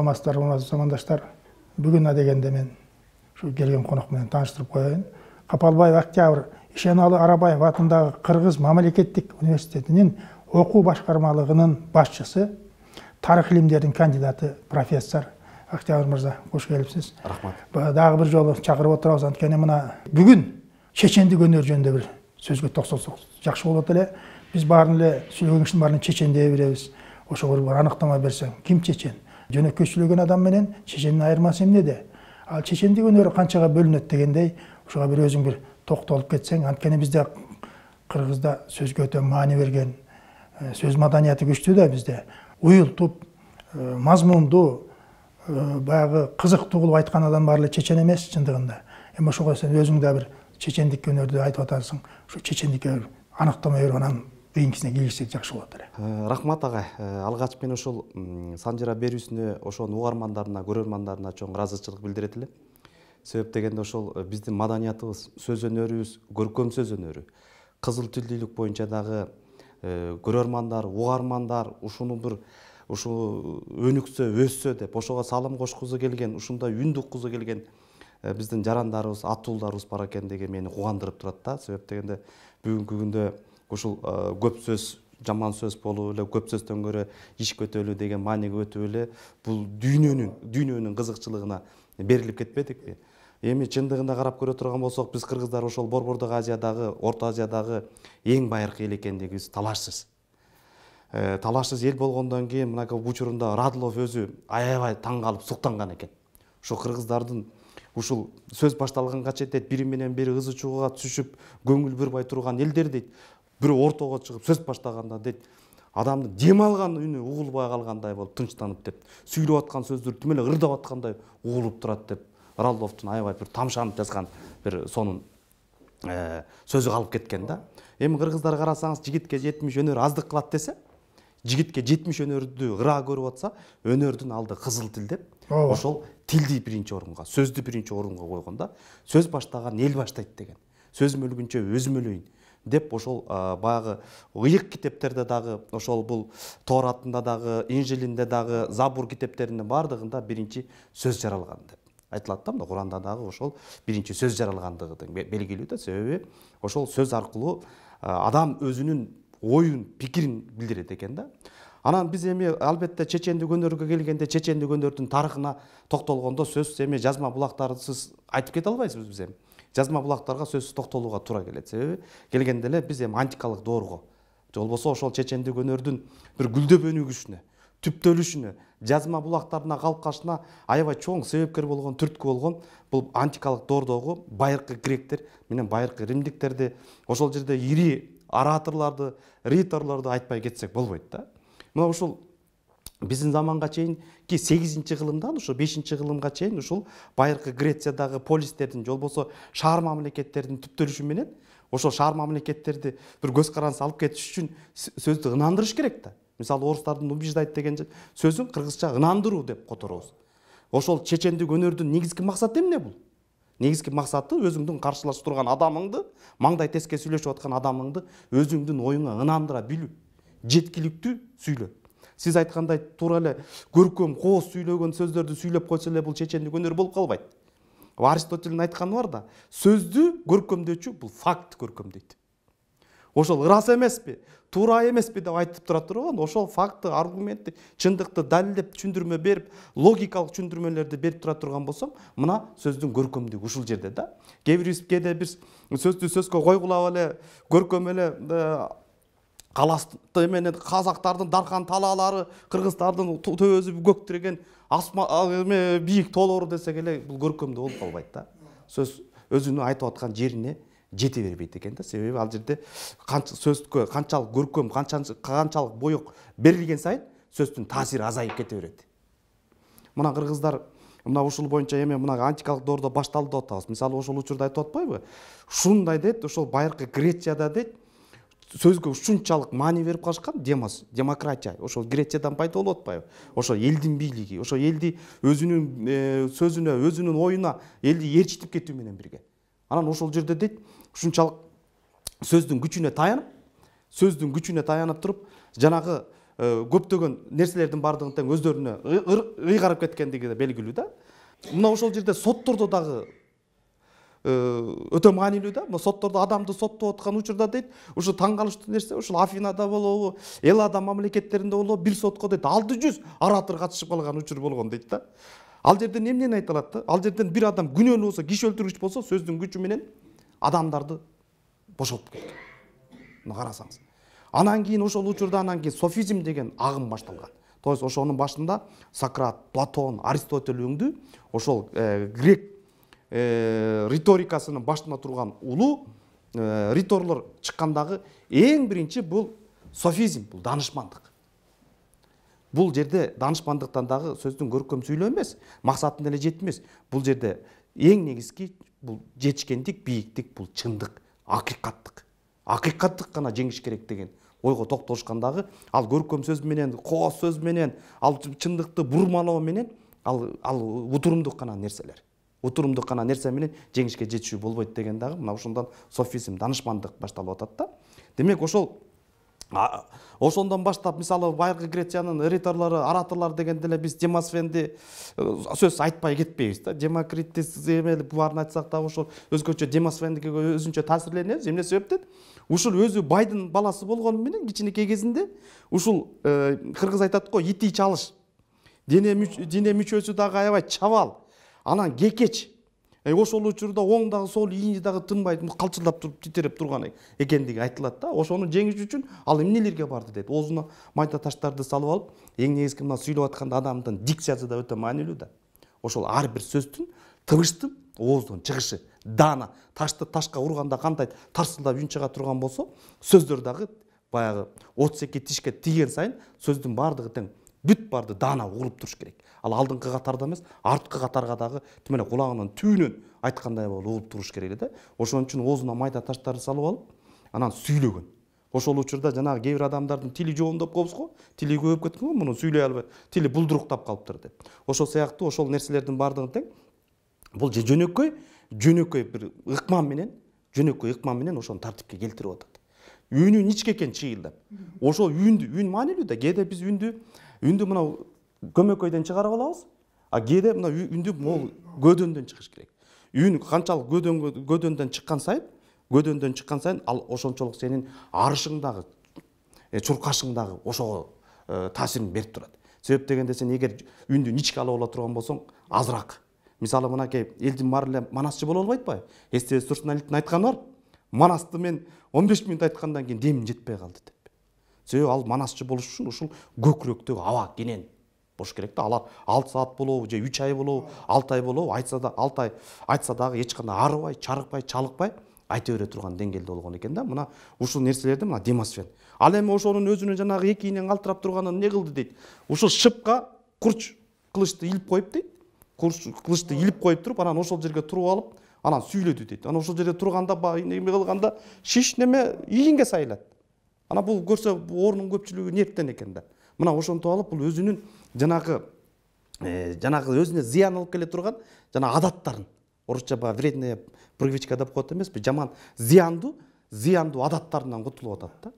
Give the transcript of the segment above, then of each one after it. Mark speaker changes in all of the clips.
Speaker 1: саламатсыздар, урматтуу замандаштар. Бүгүн дегенде мен ушу келген конок менен тааныштырып коеюн. Капалбаев Октябрь Ишеналы Арабаев атындагы Кыргыз мамлекеттик университетинин окуу башкармалыгынын башчысы, тарых илимдеринин кандидаты профессор Октябрь мырза, кош келипсиз.
Speaker 2: Рахмат.
Speaker 1: Дагы бир жолу чакырып отурабыз, анткени мына бүгүн чечендик өнөр жөнүндө бир сөзгө токсолсок жакшы болот эле. Биз баарын эле сүйлөгөн кишинин баарын чечен дей беребиз. Ошого бир аныктама берсең, ким чечен? Жөнөкөй сүйлөгөн адам менен чечендин айырмасы эмнеде? Ал чечендик өнөрү канчага бөлүнөт дегендей, ошого бир өзүң бир токтолуп кетсең, анткени бизде Кыргызда сөзгө өтө маани берген, сөз маданияты күчтүү да бизде. Уюлтуп, мазмундуу, баягы кызыктуу кылып айткан адам баары эле чечен эмес чындыгында. Эми ошого сен өзүң да бир чечендик өнөрдү айтып атасың. Ушу чечендикке аныктама берип анан кийинкисине киришсек жакшы болот эле.
Speaker 2: Рахмат агай. Алгач мен ошол Санжира берүүсүнө ошонун угармандарына, көрөрмандарына чоң ыраазычылык билдирет элем. Себеп дегенде ошол биздин маданиятыбыз, сөз өнөрүбүз, көркөм сөз өнөрү, кызыл тилдүүлүк боюнча дагы көрөрмандар, угармандар ушуну бир ушу өнүксө, өссө деп ошого салым кошкузу келген, ушундай үн уккузу келген биздин жарандарыбыз, атуулдарыбыз бар экен деген мени кубандырып турат да. Себеп дегенде бүгүнкү күндө ушул көп сөз жаман сөз болуп эле, көп сөздөн көрө иш көтөлүү деген мааниге өтүп эле бул дүйнөнүн кызыкчылыгына берилип кетпедикпи? Эми чындыгында карап көрө турган болсок, биз кыргыздар ошол Борбордук Азиядагы, Орто Азиядагы эң байыркы эл экендигибиз талашсыз. Талашсыз эл болгондон кийин мына учурунда Радлов өзү аябай таң калып суктанган экен. Ошо кыргыздардын ушул сөз башталганга чейин бири менен бири ызы чууга түшүп, көңүл бурбай турган элдер дейт, бирөө ортого чыгып сөз баштаганда дейт, адамдын дем алган үнү угулбай калгандай болуп тынчтанып деп, сүйлөп аткан сөздөр түм эле ырдап аткандай угулуп турат деп Радловдун аябай бир тамшанып жазган бир сонун сөзү калып кеткен да. Эми кыргыздар карасаңыз, жигитке 70 өнөр аздык кылат десе, жигитке 70 өнөрдү ыраа көрүп атса, өнөрдүн алды кызыл тил деп, ошол тилди биринчи орунга, сөздү биринчи орунга койгонда, сөз баштаган эл баштайт деген. Сөзүм өлгүнчө өзүм өлөйүн деп ошол баягы ыйык китептерде дагы, ошол бул Торатында дагы, Инжилинде дагы, Забур китептеринин бардыгында биринчи сөз жаралган деп айтылат да. Куранда дагы ошол биринчи сөз жаралгандыгы белгилүү да. Себеби ошол сөз аркылуу адам өзүнүн оюн, пикирин билдирет экен да. Анан биз эми албетте чечендик өнөргө келгенде, чечендик өнөрдүн тарыхына токтолгондо сөзсүз эми жазма булактарсыз айтып кете албайбыз биз эми. Жазма булактарга сөзсүз токтолууга туура келет. Себеби келгенде эле биз эми антикалык доорго, же болбосо ошол чечендик өнөрдүн бир гүлдөп өнүгүшүнө, түптөлүшүнө, жазма булактарына калкашына аябай чоң себепкер болгон, түрткү болгон бул антикалык доордогу байыркы гректер менен байыркы римдиктерди, ошол жерде ири ораторлорду, риторлорду айтпай кетсек болбойт да. Мына ушул биздин заманга чейинки 8-кылымдан ушу 5-кылымга чейин ушул байыркы Грециядагы полистердин, же болбосо шаар мамлекеттердин түптөлүшү менен ошол шаар мамлекеттерди бир көз карандысыз алып кетиш үчүн сөздү ынандырыш керек да. Мисалы орустардын убеждать деген сөзүн кыргызча ынандыруу деп которобуз. Ошол чечендик өнөрдүн негизги максаты эмне бул? Негизги максаты өзүңдүн каршылашып турган адамыңды, маңдай теске сүйлөшүп аткан адамыңды өзүңдүн оюңа ынандыра билүү, жеткиликтүү сүйлөө. Сиз айткандай туура эле көркөм, кооз сүйлөгөн сөздөрдү сүйлөп койсо эле бул чечендик өнөр болуп калбайт. Аристотелдин айтканы бар да, сөздү көркөмдөчү бул факт көркөмдөйт. Ошол ырас эмеспи, туура эмеспи деп айтып тура турган, ошол факты, аргументти, чындыкты далилдеп, түшүндүрмө берип, логикалык түшүндүрмөлөрдү берип тура турган болсом, мына сөздүн көркөмдүгү ушул жерде да. Кээде биз сөздү сөзгө койгулап эле, көркөм эле каласты менен казактардын даркан талаалары, кыргыздардын төбөсү көктүрген бийик тоолору десек эле бул көркөмдүү болуп калбайт да. Сөз өзүнүн айтып аткан жерине жете бербейт экен да. Себеби ал жерде сөзгө канчалык көркөм, канчалык боек берилген сайын сөздүн таасири азайып кете берет. Мына кыргыздар мына ушул боюнча эми мына антикалык доордо башталды деп атабыз. Мисалы ошол учурда айтып атпайбы? Ушундай дейт, ошол байыркы Грецияда дейт, сөзгө ушунчалык маани берип калышкан, демократия. Ошол Грециядан пайда болуп атпайбы? Ошо элдин бийлиги, ошо элди өзүнүн сөзүнө, өзүнүн оюна элди ээрчитип кетүү менен бирге. Анан ошол жерде дейт, ушунчалык сөздүн күчүнө таянып туруп, жанагы көптөгөн нерселердин баардыгын тең өздөрүнө ыйгарып кеткендиги белгилүү да. Мына ошол жерде соттордо дагы өтө маанилүү да. Мына соттордо адамды соттоп аткан учурда дейт, ушу таң калыштуу нерсе, ушул Афинада болобу, Эллада мамлекеттеринде болобу, бир сотко дейт 600 оратор катышып калган учур болгон дейт да. Ал жерден эмнени айтылат да? Ал жерден бир адам күнөөлүү болсо, киши өлтүргүч болсо, сөздүн күчү менен адамдарды бошотуп кеткен. Мына карасаңыз. Анан кийин ошол учурда софизм деген агым башталган. То есть ошонун башында Сократ, Платон, Аристотель өңдү ошол грек риторикасынын башында турган улуу риторлор чыккандагы эң биринчи бул софизм, бул данышмандык. Бул жерде данышмандыктан дагы сөздүн көркөм сүйлөө эмес, максатын эле жетмес. Бул жерде эң негизги бул жетишкендик, бийиктик, бул чындык, акыйкаттык. Акыйкаттык гана жеңиш керек деген ойго токтолушкандагы, ал көркөм сөз менен, кооз сөз менен, ал чындыкты бурмалоо менен, ал утурумдук гана нерселер. Утурумдук гана нерсе менен жеңишке жетишүү болбойт деген дагы мына ошондон софизм, данышмандык башталып атат да. Демек ошондон баштап мисалы байыркы Грециянын риторлору, ораторлор дегенде эле биз Демосфенди сөз айтпай кетпейбиз да. Демокритти баарын айтсак дагы ошол өзгөчө Демосфендиге өзүнчө таасирленебиз. Эмне себептен? Ушул өзү байдын баласы болгону менен кичинекей кезинде ушул кыргыз айтат го, ити чалыш. Дене мүчөсү дагы аябай чабал. Анан кекеч. Ошол учурда оң дагы сол ийини дагы тынбай калчылдап туруп титиреп турган экендиги айтылат да. Ошону жеңиш үчүн ал эмнелерге барды дейт. Оозуна майда таштарды салып алып, эң негизги мына сүйлөп атканда адамдын дикциясы да өтө маанилүү да. Ошол ар бир сөздүн, тыбыштын ооздон чыгышы, даана, ташты ташка урганда кандай тарсылдап үн чыга турган болсо, сөздөр дагы баягы 32 тишке тийген сайын сөздүн баардыгы тең бүт барды даана угулуп туруш керек. Ал алдыңкы катарда эмес, арткы катарга дагы тим эле кулагынын түбүнөн айткандай болуп угулуп туруш керек да. Ошон үчүн оозуна майда таштарды салып алып, анан сүйлөгөн. Ошол учурда жанагы кээ бир адамдардын тили жоондоп коебуз го, тили көбөйүп кеткен го, муну сүйлөй албай, тили булдуруктап калыптыр деп. Ошол сыяктуу ошол нерселердин баардыгын тең бул жөнөкөй бир ыкман менен ошону тартипке келтирип атат. Үнүн ичке экен чыйылдап. Ошол үн маанилүү да. Кээде биз үндү мына көмөкөйдөн чыгарып алабыз, а кээде мына үндү могул көдөндөн чыгыш керек. Үн канчалык көдөндөн чыккан сайын ал ошончолук сенин арышыңдагы, чуркашыңдагы ошого таасирин берип турат. Себеп дегенде сен эгер үндү ичке алып ала турган болсоң, азыраак. Мисалы мынакей элдин баары эле манасчы боло албайт ба? Эстебес Турсуналиевдин айтканы бар. Манасты мен 15 мүнөт айткандан кийин демим жетпей калды деп. Себеби ал манасчы болуш үчүн ушул көкүрөктөгү аба кенен болуш керек да. Алар 6 саат болобу же 3 ай болобу, 6 ай болобу, айтса да 6 ай айтса дагы эч кандай арыбай, чарыкпай, чалыкпай айта бере турган деңгээлде болгон экен да. Мына ушул нерселерди мына Демосфен. Ал эми ошонун өзүнүн жанагы эки ийинен калтырап турганын эмне кылды дейт. Ушул шыпка курч кылычты илип коюп дейт. Кылычты илип коюп туруп, анан ошол жерге туруп алып, анан сүйлөдү дейт. Анан ошол жерде турганда эме кылганда шиш неме ийинге сайылат. Ана бул көрсө ордун көпчүлүгү нервтен экен да. Мына ошонтип алып бул өзүнүн жанагы өзүнө зыян алып келе турган жана адаттарын, орусча вредная привычка деп коет эмеспи, жаман зыяндуу адаттарынан кутулуп атат да.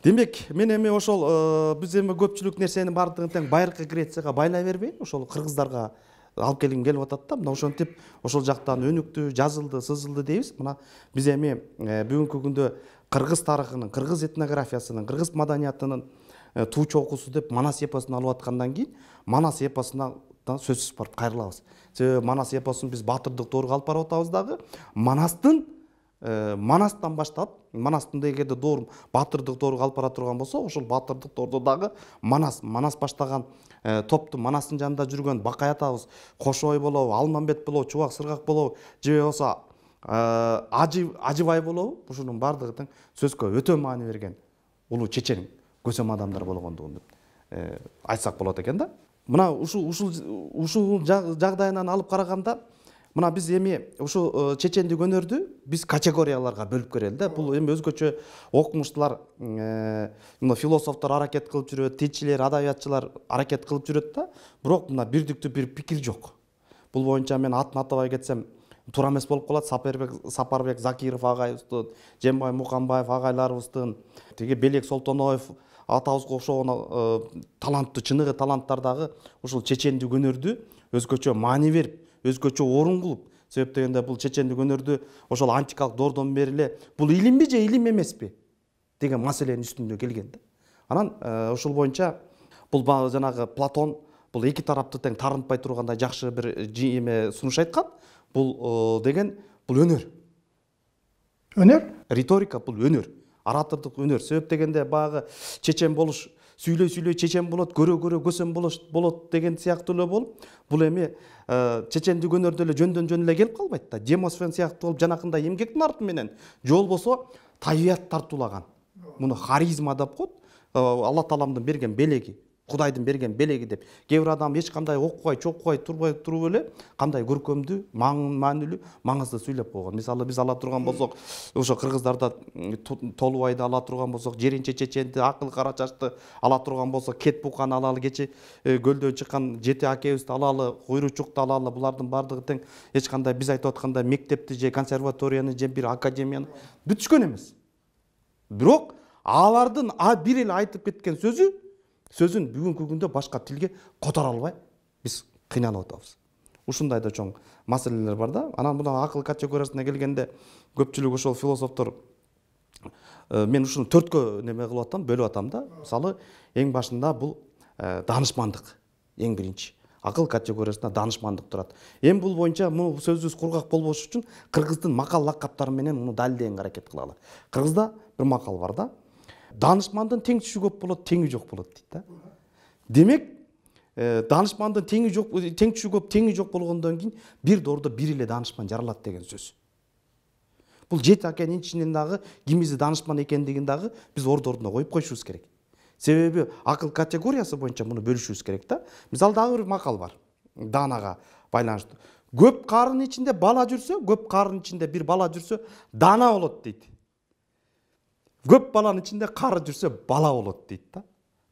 Speaker 2: Демек, мен эми ошол биз эми көпчүлүк нерсенин баардыгын тең байыркы Грецияга байлай бербейин, ошол кыргыздарга алып келгим келип атат да. Мына ошентип ошол жактан өнүктү, жазылды, сызылды дейбиз. Мына биз эми бүгүнкү күндө кыргыз тарыхынын, кыргыз этнографиясынын, кыргыз маданиятынын туу чокусу деп Манас эпосун алып аткандан кийин Манас эпосуна да сөзсүз барып кайрылабыз. Себеби Манас эпосун биз баатырдык доорго алып барып атабыз дагы. Манастан баштап, Манастын эгерде доор баатырдык доорго алып бара турган болсо, ошол баатырдык доордо дагы Манас баштаган топту, Манастын жанында жүргөн Бакай атабыз, Кошой болобу, Алмамбет болобу, Чубак Сыргак болобу, же болбосо Ажыбай болобу, ушунун баардыгы тең сөзгө өтө маани берген улуу чечен көсөм адамдар болгондугун айтсак болот экен да. Мына ушул жагдайынан алып караганда, мына биз эми ушул чечендик өнөрдү биз категорияларга бөлүп көрөлү да. Бул эми өзгөчө окумуштуулар, философтор аракет кылып жүрөт, тилчилер, адабиятчылар аракет кылып жүрөт да. Бирок мына бирдиктүү бир пикир жок. Бул боюнча мен атын атабай кетсем туура эмес болуп калат. Сапарбек Закиров агайыбыздын, Жембай Муканбаев агайларыбыздын, тиги Белек Солтоноев атабызга окшогон таланттуу чыныгы таланттар дагы ушул чечендик өнөрдү өзгөчө маани берип, өзгөчө орун кылып, себеп дегенде бул чечендик өнөрдү ошол антикалык доордон бери эле бул илимби же илим эмеспи деген маселенин үстүндө келген да. Анан ушул боюнча бул жанагы Платон бул эки тарапты тең тарынтпай тургандай жакшы бир эме сунуш айткан. Бул деген бул өнөр.
Speaker 1: Өнөр?
Speaker 2: Риторика бул өнөр. Оратордук өнөр. Себеп дегенде багы чечен болуш, сүйлөй чечен болот, көрө көсөм болот деген сыяктуу эле болуп, бул эми чечендик өнөрдө эле жөндөн жөн эле келип калбайт да. Демосфен сыяктуу болуп жанакындай эмгектин арты менен же болбосо табият тартуулаган. Муну харизма деп коет. Алла Тааланын берген белеги, Кудайдын берген белеги деп. Кээ бир адам эч кандай окубай, чокубай туруп эле кандай көркөмдүү, маанилүү, маңызды сүйлөп койгон. Мисалы биз ала турган болсок, ошо кыргыздарда Толубайды ала турган болсок, Жеринче чеченди, Акыл кара чачты ала турган болсок, Кет Буканы алалы, кече көлдөн чыккан Жети акебизди алалы, Куйручукту алалы, булардын бардыгы тең эч кандай биз айтып аткандай мектепти же консерваторияны же бир академияны бүтүшкөн эмес. Бирок алардын бир эле айтып кеткен сөзүн бүгүнкү күндө башка тилге которо албай биз кыйналып атабыз. Ушундай да чоң маселелер бар да. Анан мына акыл категориясына келгенде көпчүлүк ошол философтор мен ушуну 4кө неме кылып атам, бөлүп атам да. Мисалы эң башында бул даанышмандык, эң биринчи. Акыл категориясында даанышмандык турат. Эми бул боюнча муну сөзүбүз кургак болбош үчүн кыргыздын макал лакаптары менен муну далилдегенге аракет кылалы. Кыргызда бир макал бар да. Данышмандын тең түшү көп болот, теңи жок болот дейт да. Демек, данышмандын тең түшү көп, теңи жок болгондон кийин бир доордо бир эле данышман жаралат деген сөз. Бул Жети акенин ичинен дагы кимизи данышман экендигин дагы биз ордуна коюп койушубуз керек. Себеби акыл категориясы боюнча муну бөлүшүбүз керек да. Мисалы дагы бир макал бар. Даанага байланыштуу. Көп карын ичинде бала жүрсө, көп карын ичинде бир бала жүрсө, даана болот дейт. Көп баланын ичинде кары жүрсө бала болот дейт да.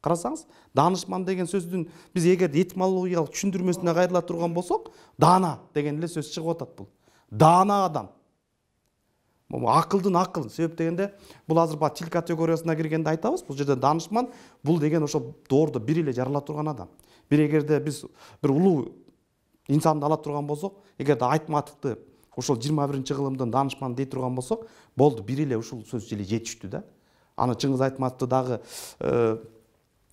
Speaker 2: Карасаңыз, данышман деген сөздүн биз эгер этимологиялык түшүндүрмөсүнө кайрыла турган болсок, даана деген эле сөз чыгып атат бул. Даана адам. Акылдын акыл. Себеп дегенде бул азыр ба тил категориясына киргенде айтабыз. Бул жерде данышман бул деген ошо доордо бир эле жарала турган адам. Бир эгерде биз бир улуу инсанды ала турган болсок, эгерде Айтматовду ошол 21-кылымдын данышманы дей турган болсок, болду, бир эле ушул сөз эле жетиштүү да. Аны Чыңгыз Айтматовду дагы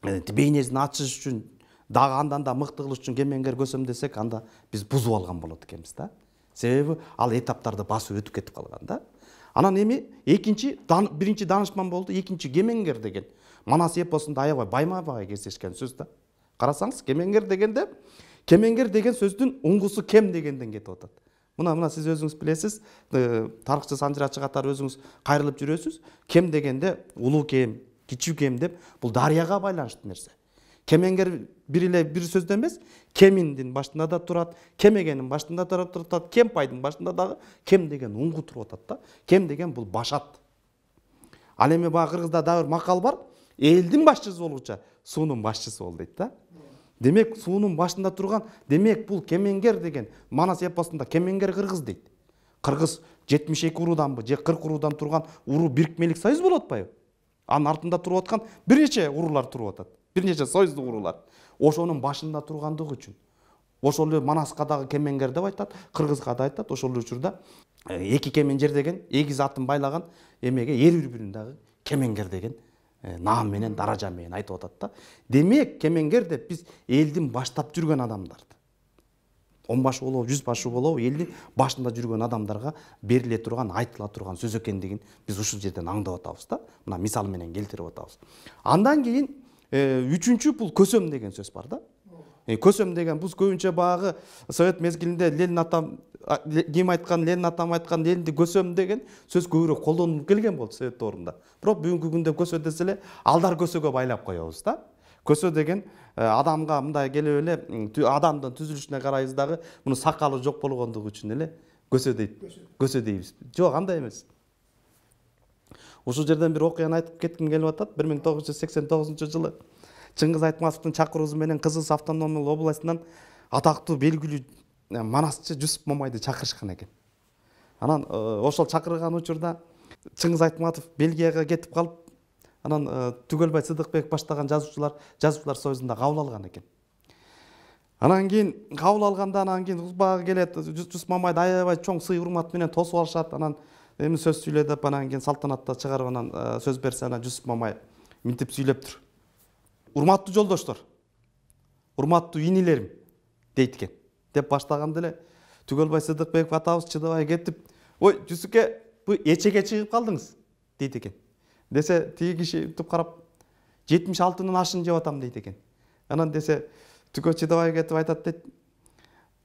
Speaker 2: бейнесин ачыш үчүн, дагы андан да мыкты кылыш үчүн кемеңгер көсөм десек, анда биз бузуп алган болот экенбиз да. Себеби ал этаптарды басып өтүп кетип калган да. Анан эми биринчи данышман болду, экинчи кемеңгер деген. Манас эпосунда аябай байма-бай кездешкен сөз да. Карасаңыз, кемеңгер деген сөздүн уңгусу кем дегенден кетип атат. Мына сиз өзүңүз билесиз, тарыхчы санжырачы катары өзүңүз кайрылып жүрөсүз. Кем дегенде улуу кем, кичүү кем деп бул дарыяга байланыштуу нерсе. Кемеңгер бир сөздө эмес, кеминдин башында да турат, кемегенин башында да турат, кемпайдын башында дагы кем деген уңгу туруп атат да. Кем деген бул башат. Ал эми баа кыргызда дагы бир макал бар. Элдин башчысы болгуча суунун башчысы бол дейт да. Демек, суунун башында турган, демек бул кемеңгер деген Манас эпосунда кемеңгер кыргыз дейт. Кыргыз 72 урууданбы же 40 уруудан турган уруу бирикмелик союз болуп атпайбы? Анын артында туруп аткан бир нече уруулар туруп атат. Бир нече союздук уруулар. Ошонун башында тургандыгы үчүн. Ошол эле Манаска дагы кемеңгер деп айтат, кыргызга да айтат. Ошол эле учурда эки кеменжер деген, эгиз атын байлаган эмеге бир-бирин дагы кемеңгер деген наам менен, даража менен айтып атат да. Демек, кемеңгер деп биз элдин баштап жүргөн адамдарды, 10 башы болобу, 100 башы болобу, элдин башында жүргөн адамдарга бериле турган, айтыла турган сөз экендигин биз ушул жерден аңдап атабыз да. Мына мисал менен келтирип атабыз. Андан кийин үчүнчү бул көсөм деген сөз бар да. Көсөм деген бул көбүнчө багы Совет мезгилинде Ленин атам ким айткан, Ленин атам айткан, Ленинди көсөм деген сөз көбүрөөк колдонулуп келген болду Совет доорунда. Бирок бүгүнкү күндө көсө десе эле алдар көсөгө байлап коебуз да. Көсө деген адамга мындай келип эле адамдын түзүлүшүнө карайбыз дагы, муну сакалы жок болгондугу үчүн эле көсө дейт. Көсө дейбиз. Жок, андай эмес. Ушул жерден бир окуяны айтып кетким келип атат. 1989 жылы Чыңгыз Айтматовдун чакыруусу менен Кызыл автономиялык областынан атактуу белгилүү манасчы Жусуп Момайды чакырышкан экен. Анан ошол чакырган учурда Чыңгыз Айтматов Бельгияга кетип калып, анан Түгөлбай Сыдыкбек баштаган жазуучулар союзунда кабыл алган экен. Анан кийин кабыл алганда анан кийин узбагы келет, Жусуп Мамайды аябай чоң сый урмат менен тосуп алышат. Анан эми сөз сүйлө деп анан кийин салтанатта чыгарып анан сөз берсе, анан Жусуп Мамай мынтип сүйлөптүр. Урматтуу жолдоштор, урматтуу инилерим дейт экен. Деп баштаганда эле Түгөлбай Сыдыкбеков атабыз чыдабай кетип, ой Жусуке, бу эчеге чыгып калдыңыз дейт экен. Десе тиги киши туп карап 76-нын ашын жеп атам дейт экен. Анан десе Түгө чыдабай кетип айтат дейт.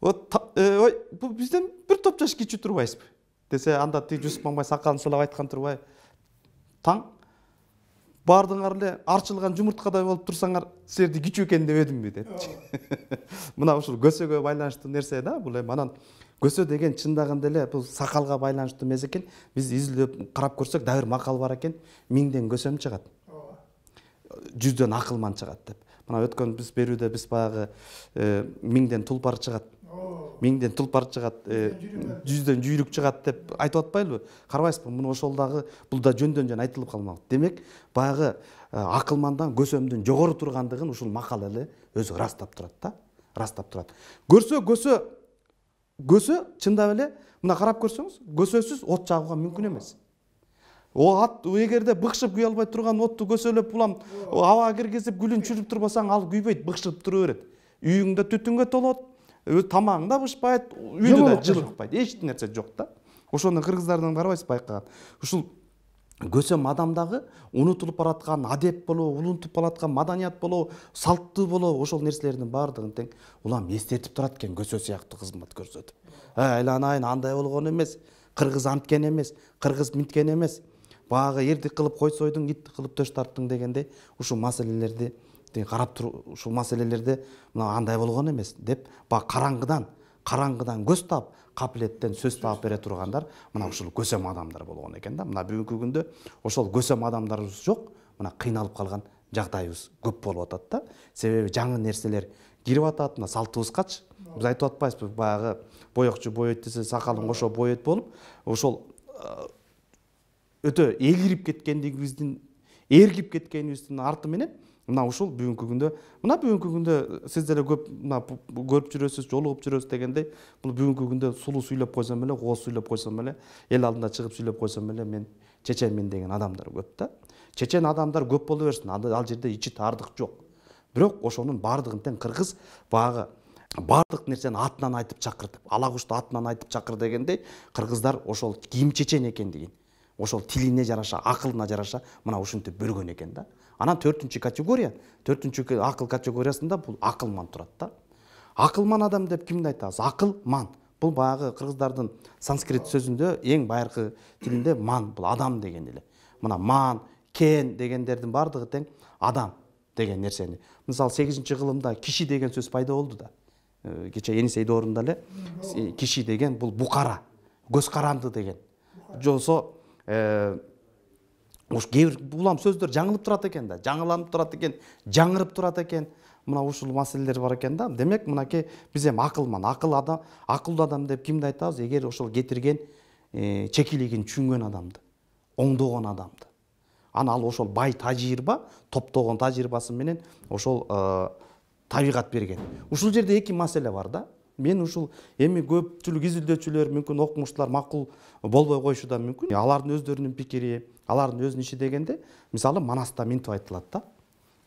Speaker 2: Ой, бу бизден бир топ жаш кичүү турбайсызбы? Десе анда тиги Жусуп Мамай сакалын сылап айткан турбай. Таң бардыңар эле арчылган жумурткадай болуп турсаңар, силерди кичүү экен деп эдимби депчи. Мына ушул көсөгө байланыштуу нерсе да, бул эми анан көсө деген чындагында эле бул сакалга байланыштуу эмес экен. Биз изилдеп карап көрсөк да бир макал бар экен. 1000ден көсөм чыгат. 100дөн акылман чыгат деп. Мына өткөн биз берүүдө биз баягы 1000ден тулпар чыгат. 1000ден тулпар чыгат, 100дөн жүйрүк чыгат деп айтып атпайлыбы? Карабайсызбы? Муну ошол дагы бул да жөндөн айтылып калмак. Демек, баягы акылмандан көсөмдүн жогору тургандыгын ушул макал эле өзү ырастап турат да. Ырастап турат. Көсө чындап эле мына карап көрсөңүз, көсөсүз от жагууга мүмкүн эмес. Эгерде быкшып күйө албай турган отту көсөлөп улам абага киргизип гүлүн чүрүп турбасаң, ал күйбөйт, быкшып тура берет. Үйүңдө түтүнгө толот, тамагың да бышпайт, үйдө да жылыкпайт, эч нерсе жок да. Ошону кыргыздардан карабайсыз байкаган. Ушул көсөм адамдагы унутулуп бараткан адеп болобу, улунтуп бараткан маданият болобу, салттуу болобу, ошол нерселердин баардыгын тең улам эстетип турат экен көсө сыяктуу кызмат көрсөтүп. Айланайын андай болгон эмес, кыргыз анткен эмес, кыргыз мынткен эмес. Баягы эрдик кылып койсойдуң, итти кылып төш тарттың дегендей, ушул маселелерди карап туруп, ушул маселелерде мына андай болгон эмес деп, баягы караңгыдан көз таап, капилеттен сөз таап бере тургандар мына ушул көсөм адамдар болгон экен да. Мына бүгүнкү күндө ошол көсөм адамдарыбыз жок, мына кыйналып калган жагдайыбыз көп болуп атат да. Себеби жаңы нерселер кирип атат, мына салтыбызгачы. Биз айтып атпайбызбы, баягы боекчу боейт десе, сакалын кошо боейт болуп, ошол өтө эгирип эргип кеткенибиздин арты менен мына ушул бүгүнкү күндө сиз деле көп көрүп жүрөсүз, жолугуп жүрөсүз дегендей, бул бүгүнкү күндө сулуу сүйлөп койсом эле, кооз сүйлөп койсом эле, эл алдында чыгып сүйлөп койсом эле, мен чеченмин деген адамдар көп да. Чечен адамдар көп боло берсин, ал жерде ичи таардык жок. Бирок ошонун баардыгын тең кыргыз баягы баардык нерсени атынан айтып чакыр деп, ала кушту атынан айтып чакыр дегендей, кыргыздар ошол ким чечен экендигин, ошол тилине жараша, акылына жараша мына ушинтип бөлгөн экен да. Анан 4-чү акыл категориясында бул акылман турат да. Акылман адам деп кимди айтабыз? Акылман. Бул баягы кыргыздардын санскрит сөзүндө эң байыркы тилинде ман бул адам деген эле. Мына ман, кен дегендердин баардыгы тең адам деген нерсени. Мисалы 8-кылымда киши деген сөз пайда болду да. Кече Енисей доорунда эле киши деген бул букара, көз каранды деген. Жолсо кээ бир улам сөздөр жаңылып турат экен да, жаңыланып турат экен, жаңырып турат экен. Мына ушул маселелер бар экен да. Демек, мынакей биз эми акылман, акылдуу адам деп кимди айтабыз? Эгер ошол кетирген чекилигин түшүнгөн адамды, оңдогон адамды. Ана ал ошол бай тажрыйба, топтогон тажрыйбасы менен ошол табигат берген. Ушул жерде эки маселе бар да. Мен ушул эми көпчүлүк изилдөөчүлөр, мүмкүн окумуштуулар макул болбой коюшу да мүмкүн. Алардын өздөрүнүн пикири, алардын өзүнүн иши дегенде, мисалы Манаста мынтип айтылат да.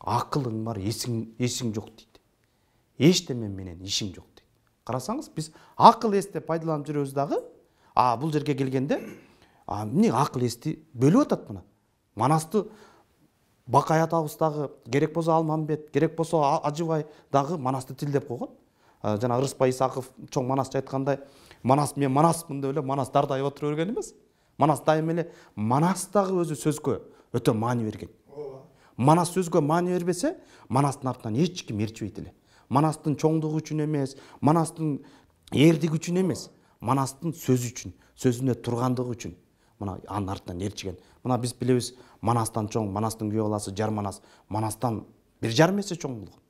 Speaker 2: Акылың бар, эсиң жок дейт. Эчтеме менен ишиң жок дейт. Карасаңыз, биз акыл эсти пайдаланып жүрөбүз дагы, бул жерге келгенде, эмне акыл эсти бөлүп атат мына. Манасты Бакай атабыз дагы, керек болсо Алмамбет, керек болсо Ажыбай дагы Манасты тилдеп койгон. Жана Ырыспай Исаков чоң Манасчы айткандай, Манас мен Манаспын деп эле Манас дардайып отура берген эмес. Манас дайым эле Манас дагы өзү сөзгө өтө маани берген. Манас сөзгө маани бербесе, Манастын артынан эч ким ээрчибейт эле. Манастын чоңдугу үчүн эмес, Манастын эрдиги үчүн эмес, Манастын сөзү үчүн, сөзүнө тургандыгы үчүн мына анын артынан ээрчиген. Мына биз билебиз, Манастан чоң, Манастын күйөө баласы Жар Манас, Манастан 1,5 эсе чоң болгон.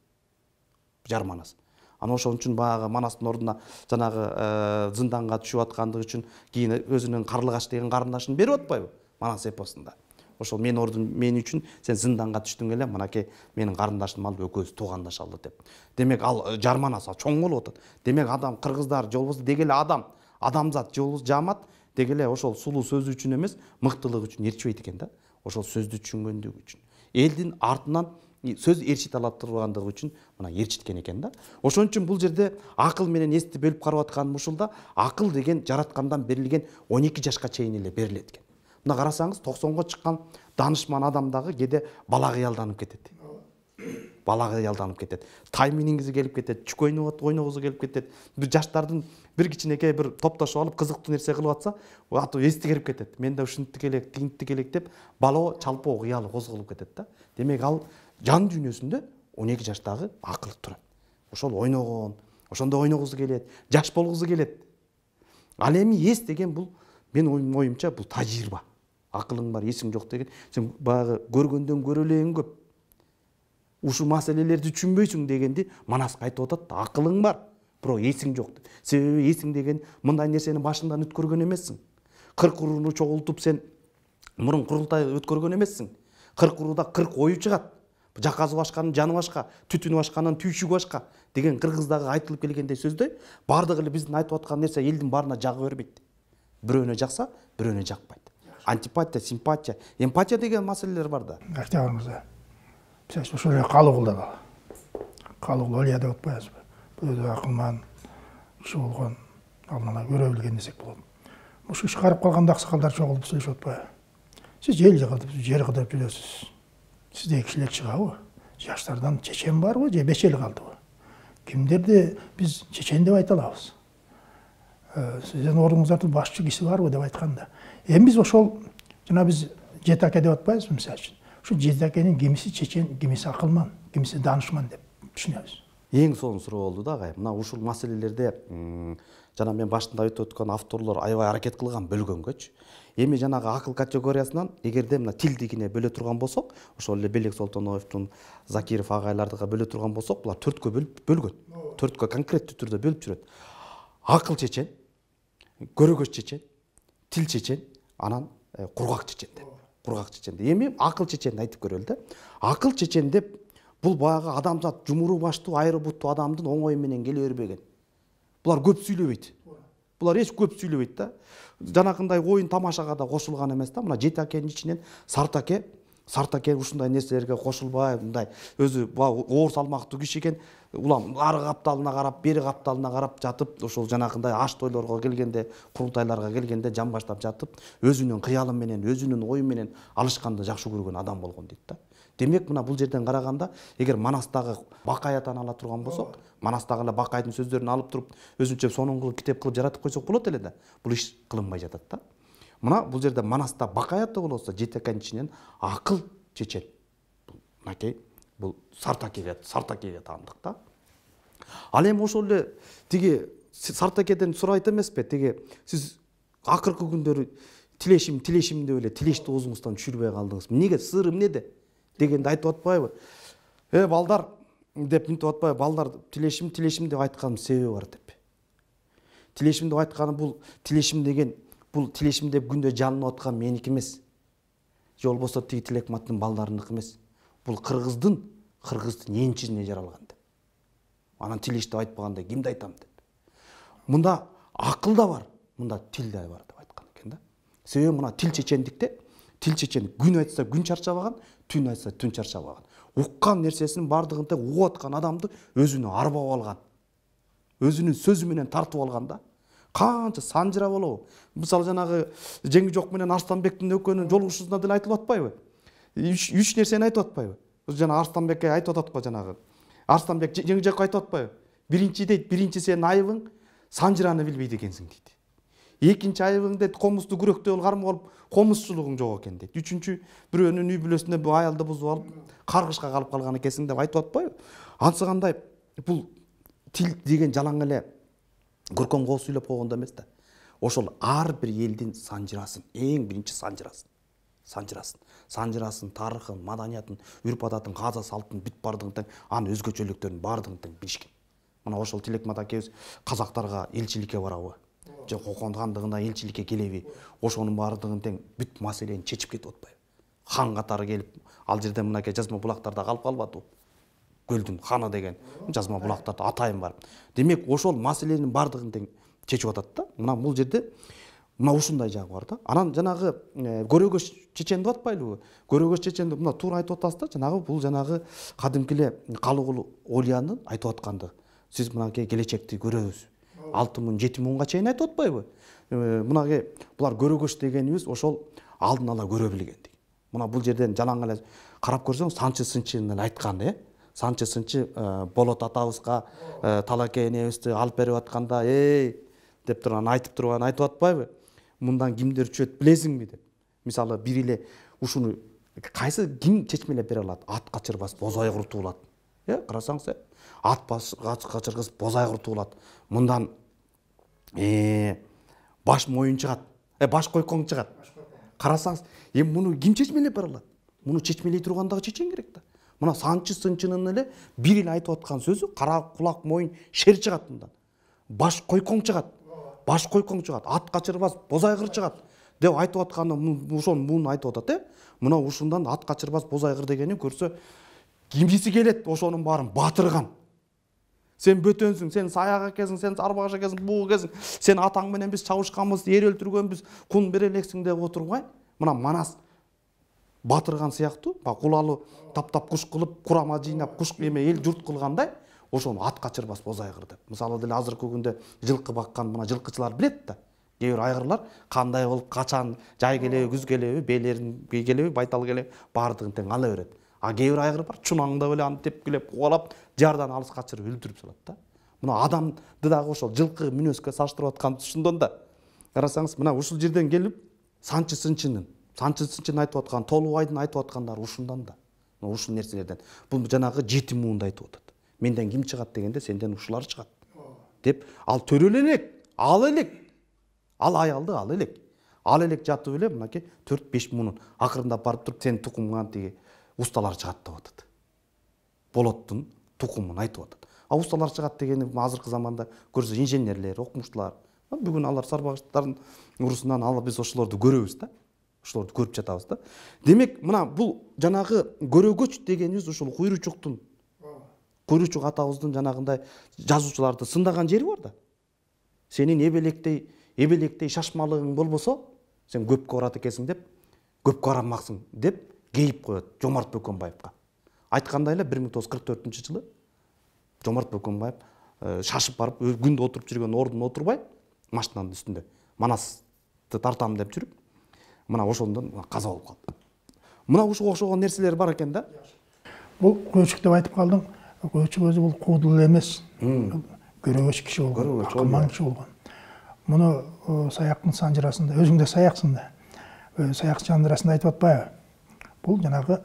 Speaker 2: Жар Манас. Ана ошон үчүн баягы Манастын ордуна жанагы зынданга түшүп аткандыгы үчүн кийин өзүнүн Карлыгач деген карындашын берип атпайбы Манас эпосунда. ошол менин ордум мен үчүн сен зынданга түштүң эле, мынакей менин карындашым алып экөөбүз туугандашалы деп. Демек ал жарманасы чоң болуп атат. Демек адам кыргыздар же болбосо деги эле адамзат же болбосо жаамат деги эле ошол сулуу сөзү үчүн эмес, мыктылыгы үчүн ээрчибейт экен да. Ошол сөздү түшүнгөндүгү үчүн. Элдин артынан сөз ээрчите ала тургандыгы үчүн мына ээрчиткен экен да. Ошон үчүн бул жерде акыл менен эсти бөлүп карап атканым ушулда, акыл деген жараткандан берилген 12 жашка чейин эле берилет экен. Мына карасаңыз 90го чыккан данышман адам дагы кээде бала кыялданып кетет. Бала кыялданып кетет. Тай миниңизи келип кетет, чүк ойногусу келип кетет. Бир жаштардын бир кичинекей бир топтошуп алып кызыктуу нерсе кылып атса, аты эсти келип кетет. Менде ушинтип элек, тигинтип элек деп бала чалпоо кыялы козголуп кетет да. Демек ал жан дүйнөсүндө 12 жаштагы акыл турат. Ошол ойногон, ошондо ойногусу келет, жаш болгусу келет. Ал эми эс деген бул менин оюмча бул тажрыйба. Акылың бар, эсиң жок деген. Сен баягы көргөндөн көрөлең көп. Ушул маселелерди түшүнбөйсүң дегенди Манаска айтып атат да, акылың бар, бирок эсиң жок. Себеби эсиң деген мындай нерсени башыңдан өткөргөн эмессиң. 40 урууну чогултуп сен мурун курултай өткөргөн эмессиң. 40 урууда 40 ою чыгат. Жаказы башканын жаны башка, түтүнү башканын түйшүгү башка деген кыргыздагы айтылып келгендей сөздөй, бардыгы эле биздин айтып аткан нерсе элдин баарына жага бербейт. Бирөөнө жакса, бирөөнө жакпайт. Антипатия, симпатия, эмпатия деген маселелер бар да.
Speaker 1: Октябрь мырза. Биз ошол эле Калыгулда бар. Калыгул Олия деп атпайбызбы? Бул да акылман киши болгон, алдына көрө билген десек болот. Ушул иш карып калганда аксакалдар чогулуп сүйлөшүп атпайбы? Сиз эл жыгылып, жер кыдырып жүрөсүз. Сизде кишилер чыгабы? Жаштардан чечен барбы же бешел калдыбы? Кимдерди биз чечен деп айта алабыз? Сиздин ордуңуздарда башчы киши барбы деп айтканда. Эми биз ошол жана биз жети аке деп атпайбызбы мисалы үчүн? Ушул жети акенин кимиси чечен, кимиси акылман, кимиси данышман деп түшүнөбүз.
Speaker 2: Эң сонун суроо болду да, агай. Мына ушул маселелерде жана мен башында айтып өткөн авторлор аябай аракет кылган бөлгөнгөчү. Эми жанагы акыл категориясынан эгерде мына тилдигине бөлө турган болсок, ошол эле Белек Солтоновдун, Закиров агайлардыга бөлө турган болсок, булар 4кө бөлгөн. 4кө конкреттүү түрдө бөлүп жүрөт. Акыл чечен, көрөгөч чечен, тил чечен, анан кургак чечен деп. Кургак чечен. Эми акыл чеченди айтып көрөлү да. Акыл чечен деп бул баягы адамзат жумуру баштуу, айры буттуу адамдын оңой менен келе бербеген. Булар көп сүйлөбөйт. Булар эч көп сүйлөбөйт да. Жанакындай оюн тамашага да кошулган эмес да. Мына жети акенин ичинен Сартаке ушундай нерселерге кошулбай, мындай өзү оор салмактуу киши экен. Улам ары капталына карап, бери капталына карап жатып, ошол жанакындай аш тойлорго келгенде, курултайларга келгенде жамбаштап жатып, өзүнүн кыялы менен, өзүнүн ою менен алышканды жакшы көргөн адам болгон дейт да. Демек мына бул жерден караганда, эгер Манастагы Бакаятан ала турган болсок, Манастагы эле Бакайдын сөздөрүн алып туруп, өзүнчө сонун кылып китеп кылып жаратып койсок болот эле да. Бул иш кылынбай жатат да. Мына бул жерде Манаста Бакаятта болсо, жети акенин ичинен акыл чечен. Мынакей бул Сартакеге таандык да. Ал эми ошол эле тиги Сартакеден сурайт эмеспи? Тиги сиз акыркы күндөрү тилешим деп эле тилешти оозуңуздан түшүрбөй калдыңыз. Эмнеге? Сыры эмнеде? Дегенди айтып атпайбы? Балдар деп мынтип атпайбы? Балдар тилешим деп айтканын себеби бар деп. Тилешим деп айтканы бул тилешим деген бул тилешим деп күндө жалынып аткан меники эмес. Же болбосо тиги Тилекматтын балдарыныкы эмес. Бул кыргыздын энчизине жаралган деп. Анан тилеш деп айтпаганда кимди айтам деп. Мында акыл да бар, мында тил да бар деп айткан экен да. Себеби мына тил чечендикте, тил чечен күн айтса күн чарчабаган, түн айтса түн чарчабаган. Уккан нерсесинин бардыгын тең угуп аткан адамды өзүнө арбап алган. Өзүнүн сөзү менен тартып алган да. Канча санжыра болобу? Мисалы жанагы Жеңижок менен Арстанбектин экөөнүн жолугушуусунда деле айтылып атпайбы? Үч нерсени айтып атпайбы? Жана Арстанбекке айтып атат го жанагы. Арстанбек Жеңижокко айтып атпайбы? Биринчи дейт, биринчи сенин айыбың санжыраны билбейт экенсиң дейт. Экинчи айыбың дейт, комузду күрөктөй кармап алып, комузчулугуң жок экен дейт. Үчүнчү бирөөнүн үй бүлөсүндө бу аялды бузуп алып, каргышка калып калган экенсиң деп айтып атпайбы? Анысы кандай бул тил деген жалаң эле көркөм коо сүйлөп койгондо эмес да. Ошол ар бир элдин санжырасын, эң биринчи санжырасын, тарыхын, маданиятын, үрп адатын, каза салтын бүт бардыгын тең, анын өзгөчөлүктөрүн бардыгын тең билишкен. Мына ошол Тилекмат акебиз казактарга элчиликке барабы? Же Кокон хандыгына элчиликке келеби? Ошонун бардыгын тең бүт маселени чечип кетип атпайбы? хан катары келип ал жерде мынакей жазма булактарда калып калбадыбы? Көлдүн ханы деген жазма булактарда атайын бар. Демек ошол маселенин бардыгын тең чечип атат да. Мына бул жерде мына ушундай жагы бар да. Анан жанагы көрөгөч чечен деп атпайлыбы? Көрөгөч чеченди мына туура айтып атасыз да. Жанагы бул жанагы кадимки эле Калыгул Олиянын айтып атканды. Сиз мынакей келечекти көрөбүз. 6000 7000га чейин айтып атпайбы? Мынакей булар көрөгөч дегенибиз ошол алдын ала көрө билгендик. Мына бул жерден жалаң эле карап көрсөң Санчы Сынчынын эле айткан, Санчы Сынчы Болот атабызга Талакей энебизди алып берип атканда, деп турган айтып атпайбы? Мындан кимдер түшөт билесиңби деп. Мисалы бир эле ушуну кайсы ким чечмелеп бере алат? Ат качырбас боз айгыр туулат. Карасаңыз, ат качыргыс боз айгыр туулат. Мындан баш моюн чыгат. Баш койкоң чыгат. Карасаңыз, эми муну ким чечмелеп бере алат? Муну чечмелей турган дагы чечен керек да. Мына Санчы Сынчынын эле бир эле айтып аткан сөзү кара кулак моюн шер чыгат мындан. Баш койкоң чыгат. Баш койкоң чыгат. Ат качырбас боз айгыр чыгат деп айтып атканы ошону муну айтып атат, Мына ушундан ат качырбас боз айгыр дегени көрсө кимиси келет ошонун баарын батырган. Сен бөтөнсүң, сен саяк экенсиң, сен сарбагаш экенсиң, буу экенсиң, сен атаң менен биз чабышканбыз, эр өлтүргөнбүз, кун бере элексиң деп отурбай, мына Манас батырган сыяктуу, кулалы таптап куш кылып, курама жыйнап, куш эл журт кылгандай, ошону ат качырбас боз айгыр деп. Мисалы деле азыркы күндө жылкы баккан мына жылкычылар билет да. Кээ бир айгырлар кандай болуп, качан, жай келеби, күз келеби, бээлерин келеби, байтал келеби, баардыгын тең ала берет. Кээ бир айгыр бар, чунаңда эле аны тепкилеп, кубалап, жардан алыс качырып өлтүрүп салат да. Мына адамды дагы ошол жылкы мүнөзгө салыштырып аткан ушундон да. Карасаңыз, мына ушул жерден келип Санчы Сынчынын айтып аткан, Толубайдын айтып аткандары ушундан да. Мына ушул нерселерден. Бул жанагы 7 муунду айтып атат. Менден ким чыгат дегенде сенден ушулар чыгат. Деп ал төрөлө элек, ал элек. Ал аялды ал элек. Ал элек жатып эле мынакей 4-5 муунун акырында барып туруп сен тукумуңан тиги усталар чыгат деп атат. Болоттун тукумун айтып атат. Усталар чыгат дегени азыркы заманда көрсө инженерлер, окумуштуулар. Бүгүн алар сарбагачтардын урусунан алып биз ошолорду көрөбүз да. Ошолорду көрүп жатабыз да. Демек, мына бул жанагы көрөгөч дегенибиз ушул Куйручуктун Куйручук атабыздын жанагындай жазуучуларды сындаган жери бар да. Сенин эбелектей шашмалыгың болбосо, сен көпкө барат экенсиң деп, көпкө барамаксың деп кейип коет Жомарт Бөкөнбаевга. Айткандай эле 1944-жылы Жомарт Бөкөнбаев шашып барып күндө отуруп жүргөн ордуна отурбай, машинанын үстүндө Манасты тартам деп жүрүп, мына ошондон каза болуп калды. Мына ушуга окшогон нерселер бар экен да.
Speaker 1: Бул Куйручук деп айтып калдың. Куйручук өзү бул куудул эмес. Көрөгөч киши болгон, акылман киши болгон. Муну Саяктын санжырасында, өзүң да саяксың да. Саяктын санжырасында айтып атпайбы? Бул жанагы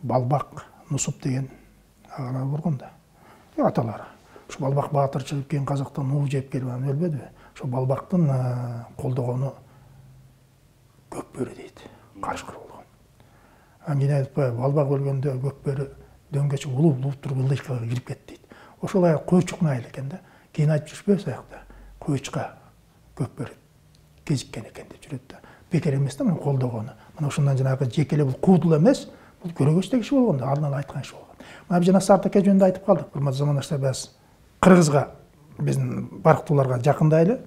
Speaker 1: Балбак Нусуп деген агалар болгон да. Аталары. Ушу Балбак баатырчылык кийин казактан уу жеп келип анан өлбөдүбү? Ошо Балбактын колдогону Көкбөрү дейт. Карышкыр болгон. Анан айтпайбы? Балбак өлгөндө Көкбөрү дөңгөчү улуп туруп ылдыйкага кирип кетти дейт. Ошол аяк Куйручуктун айылы экен да. Кийин айтып жүрүшпөйбү саякта? Куйручукка Көкбөрү кезиккен экен деп жүрөт да. Бекер эмес да муну колдогону. Мына ошондон жанагы жеке эле бул куудул эмес, бул көрөгөчтөг киши болгон да, алдын ала айткан киши болгон. Мына жана Сартаке жөнүндө айтып калдык. Урматтуу замандаштар, биз кыргызга, биздин барктууларга жакындайлы.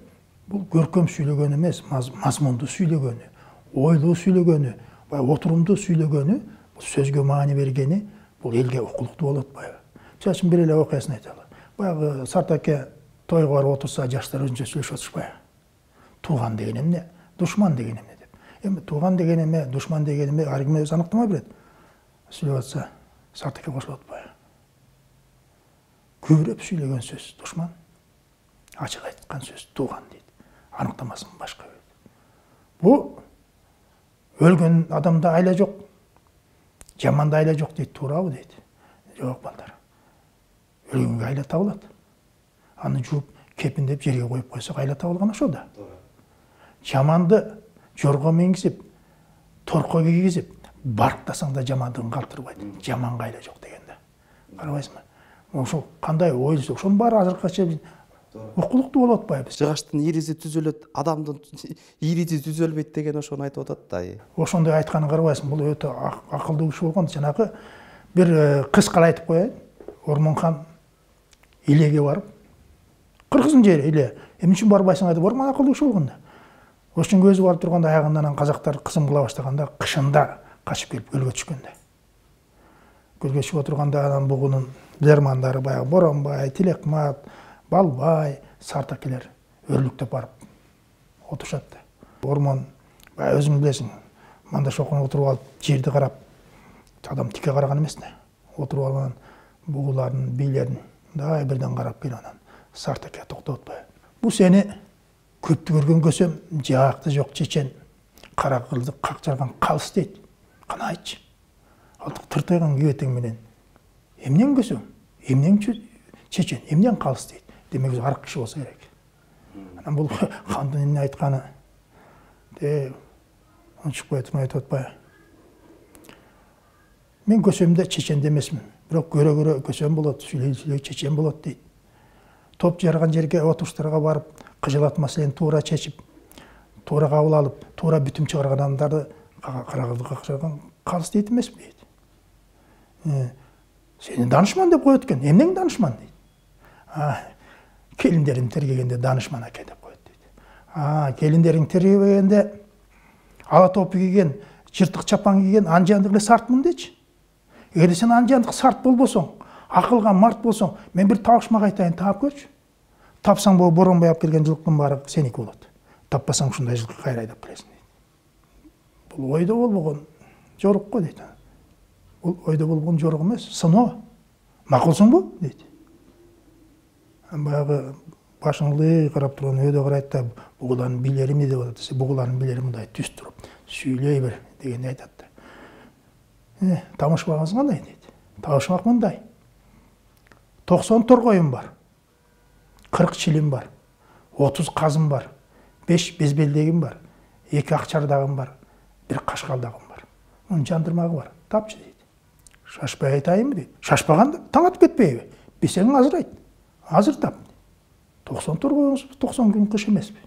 Speaker 1: Бул көркөм сүйлөгөн эмес, мазмундуу сүйлөгөнү, ойлуу сүйлөгөнү, отурумдуу сүйлөгөнү, бул сөзгө маани бергени, бул элге укулуктуу болуп атпайбы? Мисалы үчүн бир эле окуясын айталы. Баягы Сартаке тойго барып отурса, жаштар өзүнчө сүйлөшүп отурушпайбы? Тууган деген эмне, душман деген эмне деп. Эми тууган деген эме, душман деген эме ар ким өзү аныктама берет. Сүйлөп атса, Сартаке кошулуп атпайбы? Көбүрөөп сүйлөгөн сөз душман, ачык айткан сөз тууган дейт. Аныктамасын башка. Бул өлгөн адамда айла жок, жаманда айла жок дейт, туурабы дейт. Жок балдар. Өлгөнгө айла табылат. Аны жууп, кепиндеп жерге коюп койсок айла табылган ошо да. Жаманды жорго мингизип, торко кийгизип, барктасаң да жамандыгын калтырбайт. Жаманга айла жок деген да. Карабайсыңбы? Ошол кандай ойлойсуң, ошонун баары азыркыча окулуктуу болуп атпайбыз.
Speaker 2: Жыгачтын ириси түзөлөт, адамдын ириси түзөлбөйт деген ошону айтып атат да.
Speaker 1: Ошондой айтканын карабайсың, бул өтө акылдуу киши болгон. Жанагы бир кыскала айтып коеюн. Ормонхан Илеге барып, кыргыздын жери Иле. Эмне үчүн барбайсың деп Ормон акылдуу киши болгон да. Ошондо өзү барып турганда аягынан казактар кысым кыла баштаганда кышында качып келип көлгө түшкөн да. Көлгө чыгып отурганда анан бугунун жармандары баягы Боронбай, Тилекмат, Балбай, Сартакелер өрлүктөп барып отурушат да. Ормон баягы өзүң билесиң, мында шокуна отуруп алып жерди карап, адам тике караган эмес да. Отуруп алып анан бугулардын, бийлерин дай бирден карап келип анан Сартаке токтоп атпайбы. Бул сени көптү көргөн көсөм, жаакты жок чечен, кара кылды как жарган калыс дейт. Кана айтчы. Алтык тыртайган кебетең менен эмнен көсөм, эмнен чечен, эмнен калыс дейт. Демек өзү арык киши болсо керек. Анан бул кандын эмне айтканы унчукпай турмай айтып атпайбы. Мен көсөмдө чечен эмесмин, бирок көрө көсөм болот, сүйлөй чечен болот дейт. Топ жарган жерге отуруштарга барып, кыжылат маселени туура чечип, туура кабыл алып, туура бүтүм чыгарган адамдарды кара кылды какчарган калыс дейт эмеспи дейт. Сени данышман деп коет экен. Эмнең данышман дейт. Келиндерим тергегенде данышман экен деп коет дейт. Келиндериң тергебегенде ала топу кийген, жыртык чапан кийген анжандык эле сартмын дечи. Эгерде сен анжандык сарт болбосоң, акылга март болсоң, мен бир табышмак айтайын, таап көрчү. Тапсаң бул Боронбай алып келген жылкынын баары сеники болот. Таппасаң ушундай жылкы кайра айдап келесиң дейт. Бул ойдо болбогон жорук го дейт. Бул ойдо болгон жорук эмес, сыноо. Макулсуңбу дейт. Баягы башыңды карап турган өйдө карайт да, бугулардын бийлери эмне деп атат десе, бугулардын бийлери мындай түз туруп, сүйлөй бер дегенди айтат да. Табышмагыңыз кандай дейт. Табышмак мындай. 90 торгоюм бар. 40 чилим бар. 30 казым бар. 5 безбелдегим бар. 2 акчардагым бар. 1 кашкалдагым бар. Мунун жандырмагы бар. Тапчы дейт. Шашпай айтайынбы дейт. Шашпаганда таң атып кетпейби? Бесең азыр айт. Азыр тап. 90 торгоюңуз 90 күн кыш эмеспи?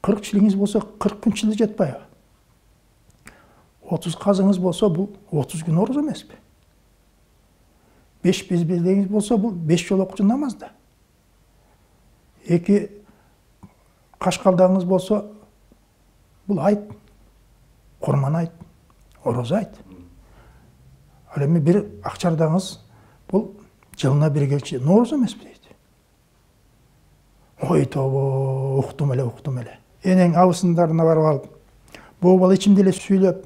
Speaker 1: 40 чилиңиз болсо 40 күн чили жетпайбы? 30 казыңыз болсо бул 30 күн ороз эмеспи? 5 безбелдегиңиз болсо бул 5 жолу окчу намаз да. 2 кашкалдагыңыз болсо бул айт. Курман айт, ороз айт. Ал эми 1 акчардагыңыз бул жылына 1 келчи нооруз эмеспи дейт. Ой тобо, уктум эле. Энең абысындарына барып алып, бул бала ичимде эле сүйлөп,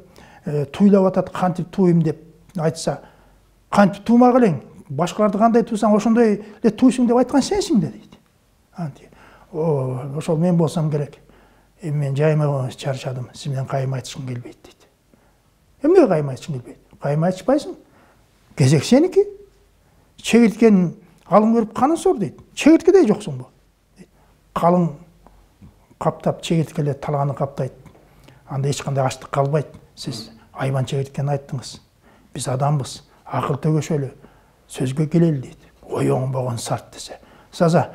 Speaker 1: туйлап атат, кантип туйм деп айтса, кантип туумак элең, башкаларды кандай туйсаң, ошондой эле туйсуң деп айткан сенсиң да дейт. Ошол мен болсом керек. Мен жайма чарчадым, сиз менен кайым айтышкым келбейт дейт. Эмне кайым айтышкың келбейт? Кайым айтышпайсың. Кезек сеники. Чегирткенин алың көрүп канын сор дейт. Чегирткедей жоксуңбу? Калың каптап чегирткелер талганы каптайт. Анда эч кандай ачлык калбайт. Сиз айбан чегирткени айттыңыз. Биз адамбыз, акыл төгөшөлү, сөзгө келели дейт. Ой оңбогон сарт десе. Саза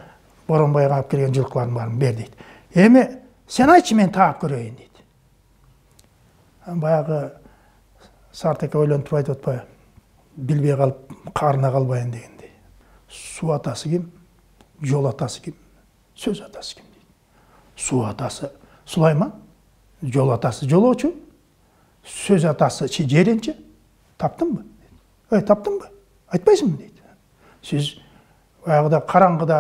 Speaker 1: Боронбайга алып келген жылкылардын баарын бер дейт. Эми сен айтчы, мен таап көрөйүн дейт. Баягы Сартаке ойлонуп туруп айтып атпайбы? Билбей калып, карына калбайын дегендей. Суу атасы ким? Жол атасы ким? Сөз атасы ким дейт. Суу атасы Сулайман, жол атасы жолоочу, сөз атасы Жеренчи. Таптыңбы? Таптыңбы? Айтпайсыңбы дейт. Сиз баягыда караңгыда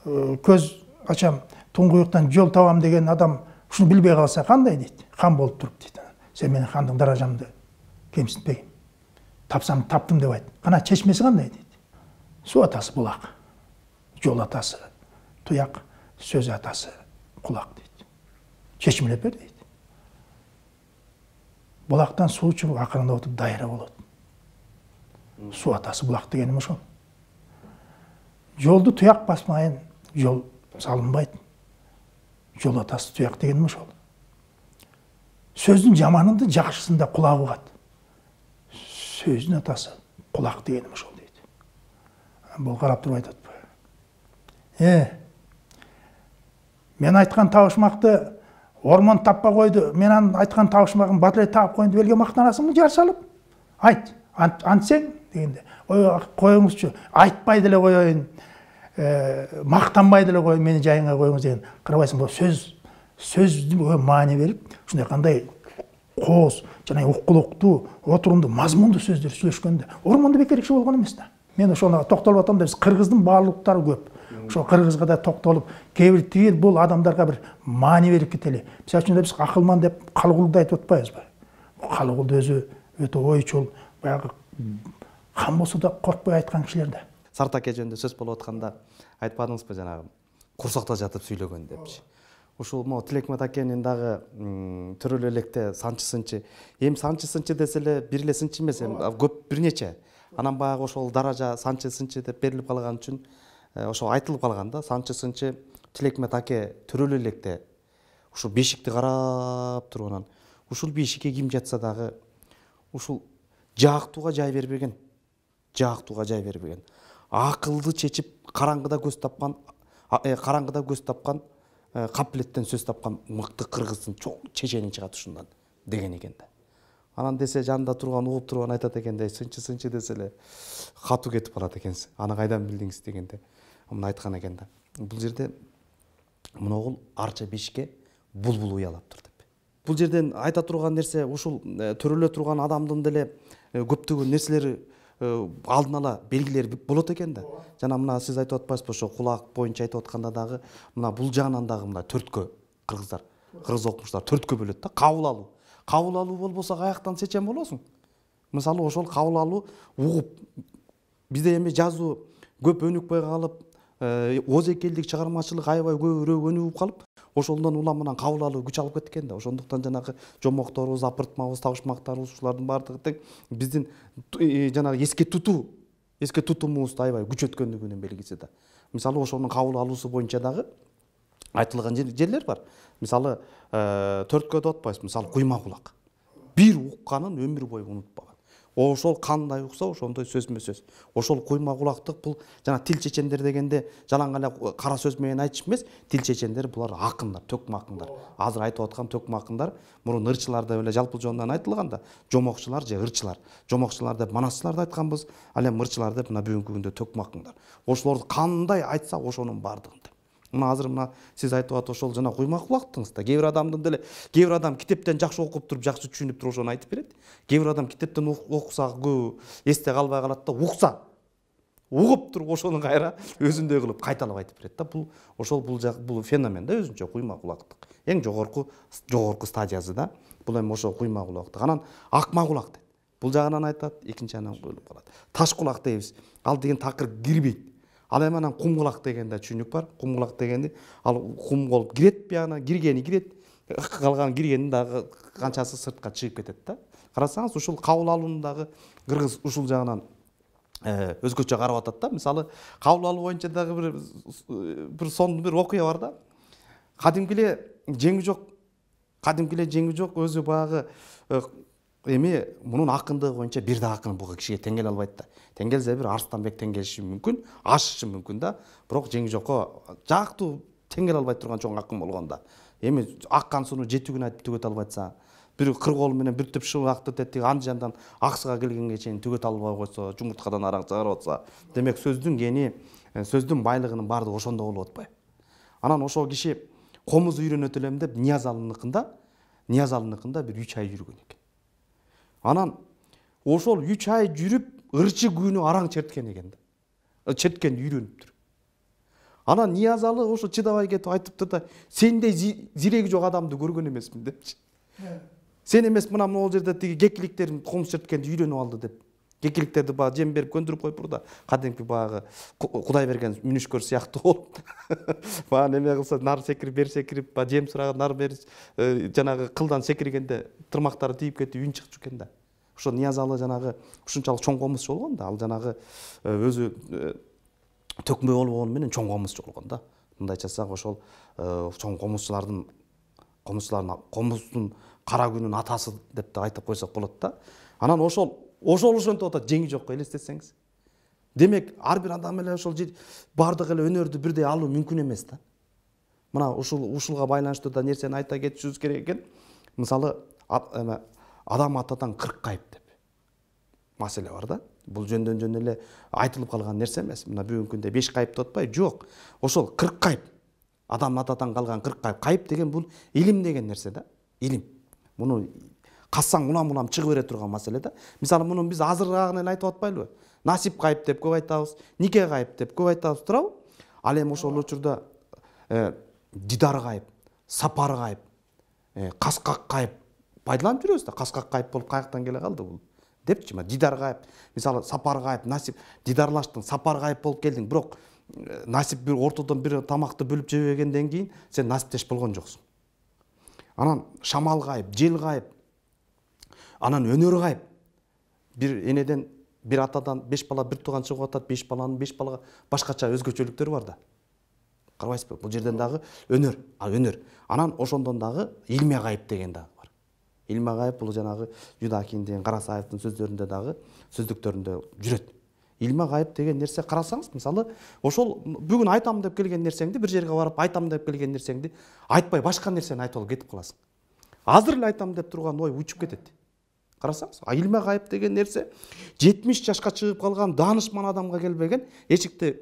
Speaker 1: көз ачам, туңгуюктан жол табам деген адам ушуну билбей калса кандай дейт. Хан болуп туруп дейт. Сен менин хандык даражамды кемсинтпегин. Тапсам таптым деп айт. Кана чечмеси кандай дейт. Суу атасы булак, жол атасы туяк, сөз атасы кулак дейт. Чечмелеп бер дейт. Булактан суу чыгып акырындап отуп дайра болот. Суу атасы булак дегеним ошол. Жолду туяк басмайын, жол салынбайт. Жол атасы туяк дегеним ошол. Сөздүн жаманында жакшысында кулагы угат. Сөздүн атасы кулак дегеним ошол дейт. Бул карап туруп айтат. Мен айткан табышмакты ормон таппай койду. Мен анын айткан табышмагын батырай таап коеюн деп элге мактанасыңбы жар салып? Айт, антсең дегенде. Ой, коюңузчу, айтпай деле коеюн, мактанбай деле коеюн, мени жайыңа коюңуз деген. Карабайсың, бул сөздү маани берип, ушундай кандай кооз жана уккулуктуу, отурумдуу, мазмундуу сөздөр сүйлөшкөндө ормондо бекер киши болгон эмес да. Мен ошону токтолуп атам да, биз кыргыздын баалуулуктары көп. Ошо кыргызга да токтолуп, кээ бир тигил бул адамдарга бир маани берип кетели. Мисалы үчүн биз акылман деп Калыгулду айтып атпайбызбы? Калыгул өзү өтө ойчул, баягы кан болсо да коркпой айткан кишилер да.
Speaker 2: Сартаке жөнүндө сөз болуп атканда айтпадыңызбы жанагы курсакта жатып сүйлөгөн депчи. Ушул могу Тилекмет акенин дагы төрөлө электе санчы сынчы. Эми санчы сынчы десе эле бир эле сынчы эмес, көп бир нече. Анан баягы ошол даража санчы сынчы деп берилип калган үчүн ошо айтылып калган да, санчы сынчы Тилекмет аке төрөлө электе ушул бешикти карап туруп анан ушул бешикке ким жатса дагы ушул жаактууга жай бербеген. Жаактууга жай бербеген. Акылды чечип караңгыда көз тапкан, капилеттен сөз тапкан мыкты кыргыздын чоң чечени чыгат ушундан деген экен да. Анан десе жанында турган угуп турган айтат экен да, сынчы десе эле катуу кетип калат экенсиз. Аны кайдан билдиңиз дегенде муну айткан экен да. Бул жерде моногул арча бешикке булбул уялаптыр деп. Бул жерден айта турган нерсе ушул төрөлө турган адамдын деле көптөгөн нерселери алдын ала белгилери болот экен да. Жана мына сиз айтып атпайсызбы, ошо кулак боюнча айтып атканда дагы мына бул жагынан дагы мына төрткө кыргыздар, кыргыз окумуштар төрткө бөлөт да. Кабыл алуу. Кабыл алуу болбосо каяктан сечен болосуң? Мисалы ошол кабыл алуу угуп, бизде эми жазуу көп өнүкпөй калып, озекелдик чыгармачылык аябай көбүрөөк өнүгүп калып, ошондон уламынан кабыл алуу күч алып кеткен да. Ошондуктан жанагы жомокторубуз, апыртмабыз, табышмактарыбыз ушулардын баардыгы тең биздин жанагы эске тутумубузду аябай күчөткөндүгүнүн белгиси да. Мисалы ошонун кабыл алуусу боюнча дагы айтылган жерлер бар. Мисалы төрткө деп атпайсызбы? Мисалы куйма кулак. Бир укканын өмүр бою унутпаган. Ошол кандай укса, ошондой сөзмө сөз. Ошол куйма кулактык бул жана тил чечендер дегенде жалаң эле кара сөз менен айтыш эмес, тил чечендер булар акындар, төкмө акындар. Азыр айтып аткан төкмө акындар мурун ырчылар деп эле жалпы жонунан айтылган да. Жомокчулар же ырчылар. Жомокчулар деп манасчыларды айтканбыз, ал эми ырчылар деп мына бүгүнкү күндө төкмө акындар. Ошолорду кандай айтса ошонун баардыгын. Мына азыр мына сиз айтып атып ошол жана куйма кулактыңыз да. Кээ бир адамдын деле, кээ бир адам китептен жакшы окуп туруп, жакшы түшүнүп туруп ошону айтып берет. Кээ бир адам китептен окуса көп эсте калбай калат да, укса, угуп туруп ошону кайра өзүндөй кылып кайталап айтып берет да. Бул феномен да өзүнчө куйма кулактык. Эң жогорку стадиясы да. Бул эми ошо куйма кулактык. Анан акма кулак дейт. Бул жагынан айтат, экинчи анан бөлүп калат. Таш кулак дейбиз. Ал деген такыр кирбейт. Ал эми анан кум кулак дегенде түшүнүк бар. Кум кулак дегенди ал кум болуп кирет, бияна киргени кирет, калган киргени дагы канчасы сыртка чыгып кетет да. Карасаңыз ушул кабыл алуунун дагы кыргыз ушул жагынан өзгөчө карап атат да. Мисалы кабыл алуу боюнча дагы бир сонун бир окуя бар да. Кадимкиле жеңи жок өзү баягы эми мунун акындыгы боюнча бир да акын буга кишиге тең келе албайт да. Тең келсе бир Арстанбек тең келиши мүмкүн, ашышы мүмкүн да. Бирок жеңи жокко жактуу тең келе албай турган чоң акын болгондо. Эми аккан сууну 7 күн айтып түгөтө албайса, бир кыр кол менен бир түп шыбакты тетиги Андижандан Аксыга келгенге чейин түгөтө албай койсо, жумурткадан араң чыгарып атса, демек сөздүн гени, сөздүн байлыгынын баардыгы ошондо болуп атпайбы? Анан ошол киши комуз үйрөнөт элем деп Ниязалыныкында бир 3 ай жүргөн экен. Анан ошол 3 ай жүрүп ырчы күнү араң черткен экен да. Четкен үйрөнүптүр. Анан Ниязалы ошо чыдабай кетип айтыптыр да, сендей зиреги жок адамды көргөн эмесмин депчи. Сен эмес мына могул жерде тиги кекиликтерим комуз черткенди үйрөнүп алды деп. Кекиликтерди баягы жем берип көндүрүп коюп турда, кадимки баягы Кудай берген мүнүшкөр сыяктуу болуп. Баягы неме кылса, нар секирип, бер секирип, жем сураган нар берип, жанагы кылдан секиргенде тырмактары тийип кетип үн чыгып жүргөн да. Ошо Ниязалы жанагы ушунчалык чоң комузчу болгон да. Ал жанагы өзү төкмө болгону менен чоң комузчу болгон да. Мындайча айтсак ошол чоң комузчулардын комуздун кара күнүн атасы деп да айтып койсок болот да. Анан ошол ошентип атат, жеңи жокко элестетсеңиз. Демек ар бир адам эле ошол баардык эле өнөрдү бирдей алуу мүмкүн эмес да. Мына ушулга байланыштуу да нерсени айта кетишибиз керек экен. Мисалы адам атадан 40 кайып деп маселе бар да. Бул жөн эле айтылып калган нерсе эмес. Мына бүгүнкү күндө 5 кайып деп атпайбы? Жок. Ошол 40 кайып. Адам атадан калган 40 кайып. Кайып деген бул илим деген нерсе да. Илим. Муну кассаң улам чыгып бере турган маселе да. Мисалы муну биз азыраагын эле айтып атпайлыбы? Насип кайып деп көп айтабыз, нике кайып деп көп айтабыз, туурабы? Ал эми ошол учурда дидар кайып, сапар кайып, каскак кайып пайдаланып жүрөбүз да. Каскак кайып болуп каяктан келе калды бул депчи. Дидар кайып, мисалы сапар кайып, насип, дидарлаштың, сапар кайып болуп келдиң, бирок насип бир ортодон бир тамакты бөлүп жебегенден кийин сен насиптеш болгон жоксуң. Анан шамал кайып, жел кайып, анан өнөр кайып. Бир энеден, бир атадан 5 бала бир тууган чыгып атат, 5 баланын 5 балага башкача өзгөчөлүктөрү бар да. Карабайсызбы? Бул жерден дагы өнөр, өнөр. Анан ошондон дагы илме кайып деген дагы бар. Илме кайып бул жанагы Юдакин деген Карасаевдин сөздөрүндө дагы, сөздүктөрүндө жүрөт. Илме кайып деген нерсе карасаңыз, мисалы, ошол бүгүн айтам деп келген нерсеңди бир жерге барып айтам деп келген нерсеңди айтпай башка нерсени айтып алып кетип каласың. Азыр эле айтам деп турган ой учуп кетет. Карасаңыз, илме кайып деген нерсе 70 жашка чыгып калган даанышман адамга келбеген, эчикте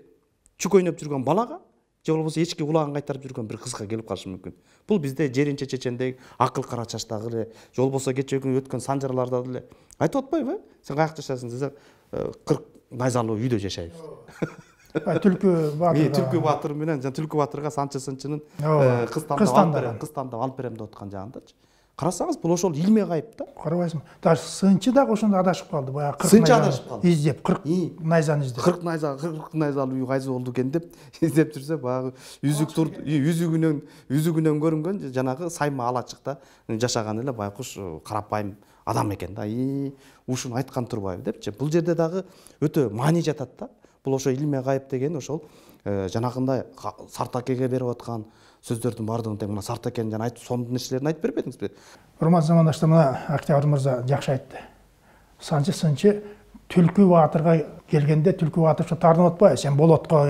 Speaker 2: чүк ойноп жүргөн балага, же болбосо эчки кулагын кайтарып жүргөн бир кызга келип калышы мүмкүн. Бул бизде Жеринче чечендеги акыл кара чачтагы эле, же болбосо кечээ күнү өткөн санжарларда деле айтып атпайбы? Сен каякта жашайсың десе, 40 найзалуу үйдө жашайбыз.
Speaker 1: Түлкү Баатыр.
Speaker 2: Түлкү Баатыр менен Түлкү Баатырга Санчы Сынчынын кыз тандап алып берем деп аткан жагындачы. Карасаңыз, бул ошол илме кайып да.
Speaker 1: Карабайсыңбы? Даже Сынчы дагы ошондо адашып калды. Баягы
Speaker 2: 40 найзаны
Speaker 1: издеп, 40 найзаны издеп.
Speaker 2: 40 найзалуу үй кайсы болду экен деп издеп жүрсө, баягы үзүгүнөн көрүнгөн жанагы сайма алачыкта жашаган эле байкуш карапайым адам экен да. Ушуну айткан турбайбы депчи. Бул жерде дагы өтө маани жатат да. Бул ошо илме кайып деген ошол жанагындай Сартакеге берип аткан сөздөрдүн баардыгын тең мына Сартакен жана айтып сонун нерселерин айтып бербедиңизби?
Speaker 1: Урматтуу замандаштар, мына Октябрь мырза жакшы айтты. Санчы Сынчы Түлкү Баатырга келгенде Түлкү Баатыр тартынып атпайбы? Сен болотко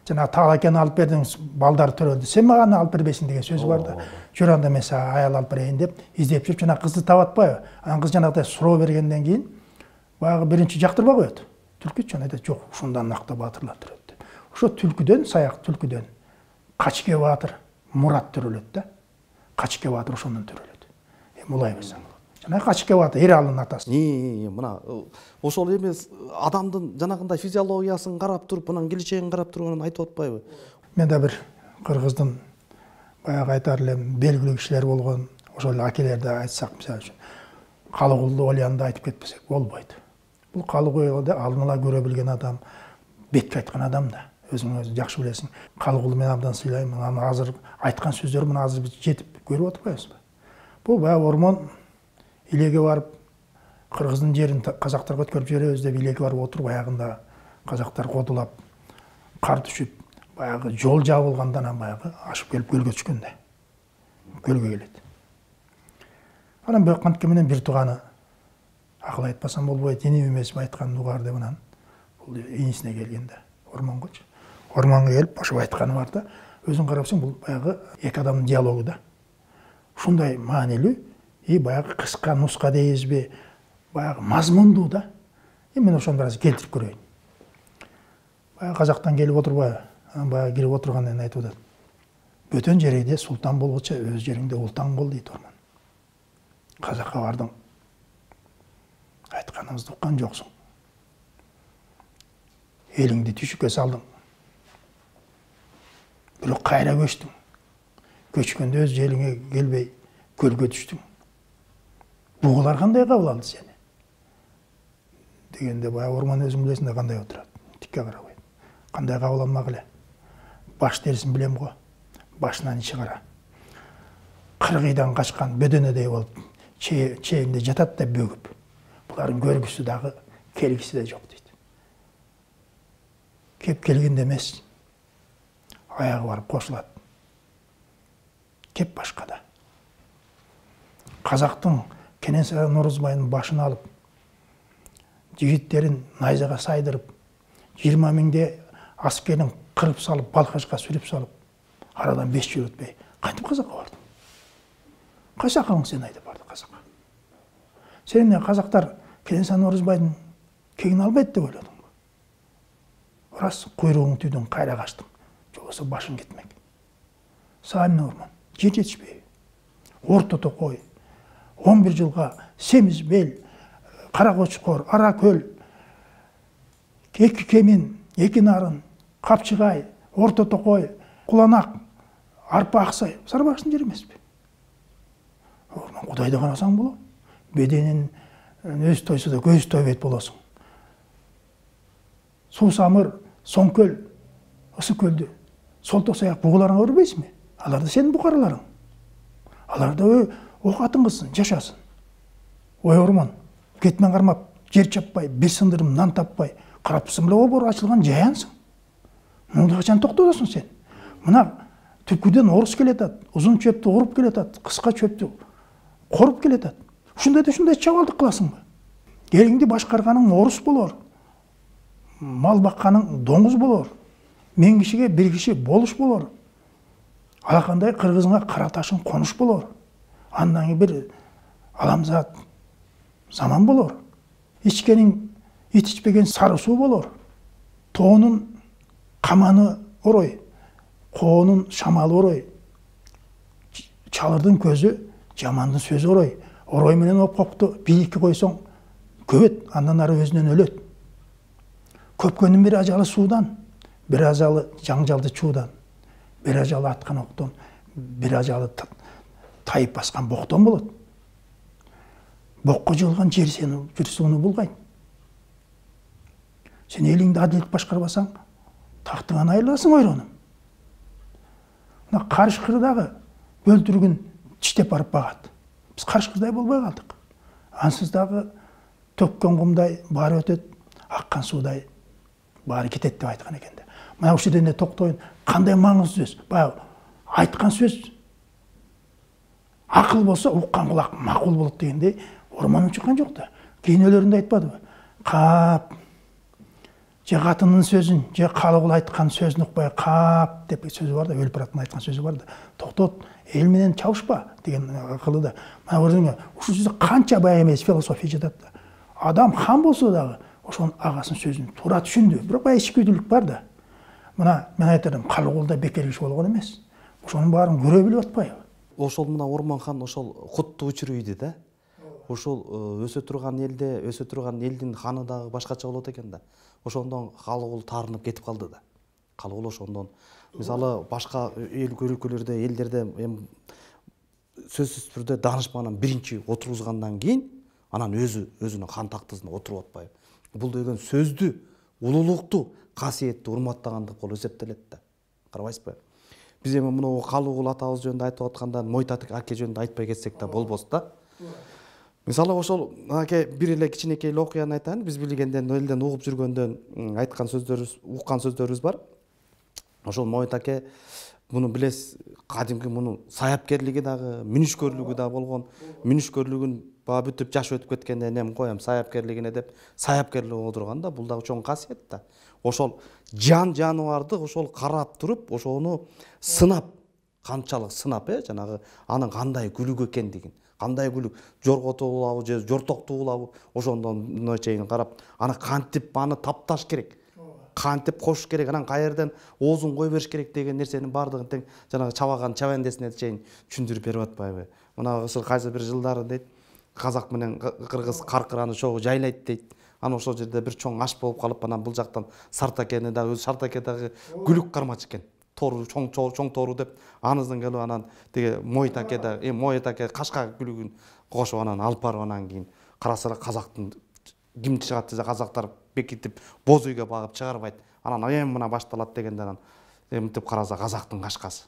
Speaker 1: жана Таалакени алып бердиң, балдар төрөлдү. Сен мага алып бербейсиң деген сөзү бар да. Жөр анда мен сага аял алып берейин деп издеп жүрүп жана кызды таап атпайбы? Анан кыз жанагыдай суроо бергенден кийин баягы биринчи жактырбай коет. Түлкүчү айтат, жок, ушундан накта баатырлар төрөт деп. Ошо түлкүдөн, саяк түлкүдөн Качке Баатыр Мурат төрөлөт да. Качке Баатыр ошондон төрөлөт. Мулай берсең. Жана Качке Баатыр Эралдын атасы.
Speaker 2: Мына ошол эмес адамдын жанагындай физиологиясын карап туруп, анан келечегин карап туруп анан айтып атпайбы?
Speaker 1: Мен да бир кыргыздын баягы айтар элем белгилүү кишилер болгон, ошол эле акелерди айтсак, мисалы үчүн Калыгулду Олянды айтып кетпесек болбойт. Бул Калыгулду алдын ала көрө билген адам, бетке айткан адам да. Өзүң жакшы билесиң. Калыгулду мен абдан сыйлайм. Анан азыр айткан сөздөр мына азыр биз жетип көрүп атпайбызбы? Бул баягы ормон илеге барып кыргыздын жерин казактарга өткөрүп жиберебиз деп илеге барып отуруп, аягында казактар кодулап, кар түшүп, баягы жол жабылганда анан баягы ашып келип көлгө түшкөндө. Көлгө келет. Анан бирок кантке менен бир тууганы акыл айтпасам болбойт, инип эмесип айткан угар деп анан бул инисине келгенде ормонгочу. Ормонго келип ошо айтканы бар да. Өзүң карасаң бул баягы эки адамдын диалогу да. Ушундай маанилүү, баягы кыска нуска дейбизби, баягы мазмундуу да. Мен ошону бир аз келтирип көрөйүн. Баягы казактан келип отурбайбы? Баягы кирип отургандан кийин айтып атат. Бөтөн жерде султан болгучу өз жериңде ултан бол дейт ормон. Казакка бардың. Айтканыңызды уккан жоксуң. Элиңди түшүккө салдың. Бирок кайра көчтүң. Көчкөндө өз жериңе келбей көлгө түштүң. Бугулар кандай кабыл алды сени? Дегенде баягы ормон өзүң билесиң да кандай отурат. Тикке карабайт. Кандай кабыл алмак эле. Баш терисин билем го. Башынан ичи кара. Кыргыйдан качкан бөдөнөдөй болуп чээинде жатат да бөгүп. Булардын көргүсү дагы келгиси да жок дейт. Кеп келгенде эмес. Аягы барып кошулат. Кеп башкада. Казактын Кенесары Норузбайдын башын алып, жигиттерин найзага сайдырып, 20 миңде аскерин кырып салып, Балкашка сүрүп салып, арадан 5 жыл өтпөй кантип Казакка барды? Кайсы акылың сен айтып барды Казакка? Сен эмне казактар Кенесары Орозбайдын кегин албайт деп ойлодуңбу? Рас, куйругуң түйдүң, кайра качтың. Жобосо башың кетмек. Сага эмне Ормон? Жер жетишпейби? Орто Токой 11 жылга Семиз Бел, Кара Кочкор, Ара Көл, Эки Кемин, Эки Нарын, Капчыгай, Орто Токой, Куланак, Арпа Аксай, Сарыбашкын жери эмеспи? Ормон, Кудайды карасаң болот. Беденин өз тойсу да көз тойбойт болосуң. Суу Самыр, Соңкөл, Ысык көлдү, Солток Саяк бугуларыңа көрбөйсүңбү? Алар да сенин букараларың. Алар да ок атыңгызсын, жашасын. Ой Ормон, кетмен кармап, жер чаппай, бир сындырым нан таппай, карапсың беле обор ачылган жаянсың. Мунда качан токтосуң сен? Мына түпкүдөн орус келетат, узун чөптү уруп келетат, кыска чөптү коруп келетат. Ушундай чабалдык кыласыңбы? Элиңди башкарганың орус болор. Мал бакканың доңуз болор. 1000 кишиге 1 киши болуш болор. Алакандай кыргызыңа кара ташың конуш болор. Андан кийин бир аламзат заман болор. Ичкенин ит ичпеген сары суу болор. Тоонун каманы орой, коонун шамалы орой. Чалырдын көзү, жамандын сөзү орой. Орой менен опкокту бийликке койсоң көбөт, андан ары өзүнөн өлөт. Көпкөнүн бир ажалы суудан, бир ажалы жаңжалды чуудан, бир ажалы аткан октон, бир ажалы тайып баскан боктон болот. Бокко жығылған жер сені жүрсүңүнү булгайт. Сен элиңди адилет башкарбасаң, тактыңан айрыласың ойронум. Мына Карышкырдагы бөлтүрүгүн тиштеп барып багат. Биз Карышкырдай болбой калдык. Ансыз дагы төккөн кумдай баары өтөт, аккан суудай баары кетет деп айткан экен да. Мына ушул жерде токтоюн, кандай маңыздуу сөз. Баягы айткан сөз акыл болсо уккан кулак макул болот дегендей Ормон учкан жок да. Кийинөлөрүндө айтпадыбы? Кап же катынын сөзүн, же калыгул айткан сөзүн укпай кап деп сөзү бар да, өлүп бараткан айткан сөзү бар да. Токтот, эл менен чабышпа деген акылы да. Мына көрдүңбү? Ушул сөздө канча бай эмес философия жатат да. Адам хан болсо дагы ошонун агасынын сөзүн туура түшүндү. Бирок баягы ичкүйдүүлүк бар да. Мына мен айтарым, калыгулда бекер киши болгон эмес. Ошонун баарын көрө билип атпайбы?
Speaker 2: Ошол мына Ормон хан ошол кутту учуруйду да. Ошол өсө турган элде, өсө турган элдин ханы дагы башкача болот экен да. Ошондон калыгул таарынып кетип калды да. Калыгул ошондон мисалы башка эл өлкөлөрдө, элдерде сөзсүз түрдө даанышмандан биринчи отургузгандан кийин анан өзүнүн хан тактысына отуруп атпайбы. Бул деген сөздү, улуулукту, касиетти урматтагандык болуп эсептелет да. Карабайсызбы? Биз эми мына Калыгул атабыз жөнүндө айтып атканда Мойтат аке жөнүндө айтпай кетсек да болбос да. Мисалы ошол аке бир эле кичинекей окуяны айтайын. Биз билгенден, элден угуп жүргөндөн айткан сөздөрүбүз, уккан сөздөрүбүз бар. Ошол Мойт аке муну билесиз, кадимки мунун саяпкерлиги дагы, мүнүшкөрлүгү да болгон. Мүнүшкөрлүгүн баа бүтүп жаш өтүп кеткенде эми коем саяпкерлигине деп саяпкерлик отурган да. Бул дагы чоң касиет да. Ошол жаныбарды ошол карап туруп, ошону сынап, канчалык сынап, жанагы анын кандай күлүк экендигин, кандай күлүк, жорготуулабы же жортоктуулабы, ошондон чейин карап, аны кантип аны тапташ керек, кантип кошуш керек, анан каерден оозун кой бериш керек деген нерсенин баардыгын тең жанагы чабаган чабандесине чейин түшүндүрүп берип атпайбы. Мына кайсы бир жылдары дейт, казак менен кыргыз каркыраны чогуу жайлайт дейт. Аны ошол жерде бир чоң аш болуп калып, анан бул жактан Сартакени дагы, Сартаке дагы күлүк кармачы экен. Тору чоң тору деп анысынан келип анан тиги Мойт аке да, Мойт аке кашка күлүгүн кошуп анан алып барып анан кийин караса казактын ким чыгат десе казактар бекитип боз үйгө багып чыгарбайт. Анан эми мына башталат дегенде анан эмтип караса казактын кашкасы.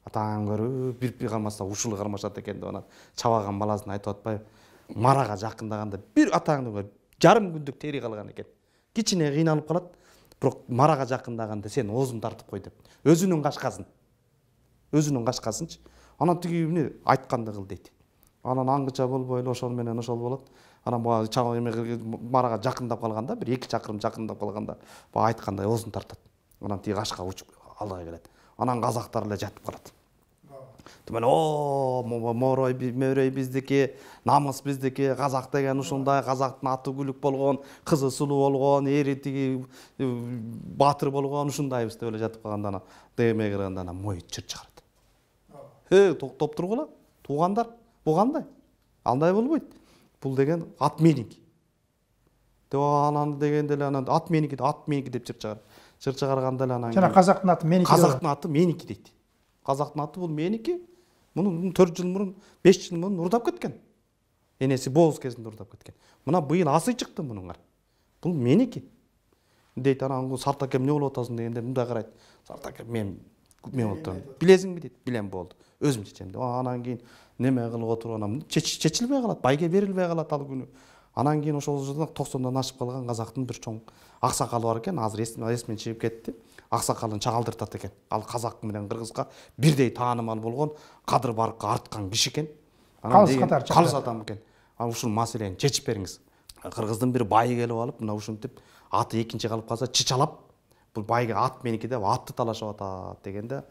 Speaker 2: Атаң көрүп бирпи кармаса ушул кармашат экен деп анан чабаган баласын айтып атпайбы? Марага жакындаганда бир атаңды көрүп жарым күндүк тери калган экен. Кичине кыйналып калат, бирок марага жакындаганда сен оозун тартып кой деп. Өзүнүн кашкасынчы. Анан тиги эмне айтканды кыл дейт. Анан аңгыча болбой эле ошол менен ошол болот. анан баягы марага жакындап калганда, бир 2 чакырым жакындап калганда, баягы айткандай оозун тартат. Анан тиги кашка учуп алдыга келет. Анан казактар эле жатып калат. Туман морой мөрөй биздики, намыс биздики, казак деген ушундай, казактын аты күлүк болгон, кызы сулуу болгон, эри тиги баатыр болгон, ушундайбыз деп эле жатып калганда анан дегеме кырганда анан мой чыр чыгарат. Токтоп тургула, туугандар, бул кандай? Андай болбойт. Бул деген ат меники. Деп анан дегенде эле анан ат меники деп чыр чыгарат. Чыр чыгарганда эле анан
Speaker 1: жана казактын аты меники.
Speaker 2: Казактын аты меники дейт. Казактын аты бул меники. Муну 4 жыл мурун, 5 жыл мурун урдап кеткен. Энеси бооз кезинде урдап кеткен. Мына быйыл асы чыкты мунуңар. Бул меники. Дейт анан Сартак эмне болуп атасың дегенде мындай карайт. Сартак мен болуп атам. Билесиңби дейт. Билем болду. Өзүм чечем. Анан кийин неме кылып отуруп анан чечилбей калат, байге берилбей калат ал күнү. Анан кийин ошол жылда 90дан ашып калган казактын бир чоң аксакалы бар экен. Азыр эсимен чыгып кетти. Аксакалын чагалтыртат экен. Ал казак менен кыргызга бирдей таанымал болгон, кадыр баркка арткан киши экен. Калыс адам экен. Анан ушул маселени чечип бериңиз. Кыргыздын бир байы келип алып, мына ушинтип аты экинчи калып калса чычалап, бул байга ат меники деп атты талашып атат дегенде,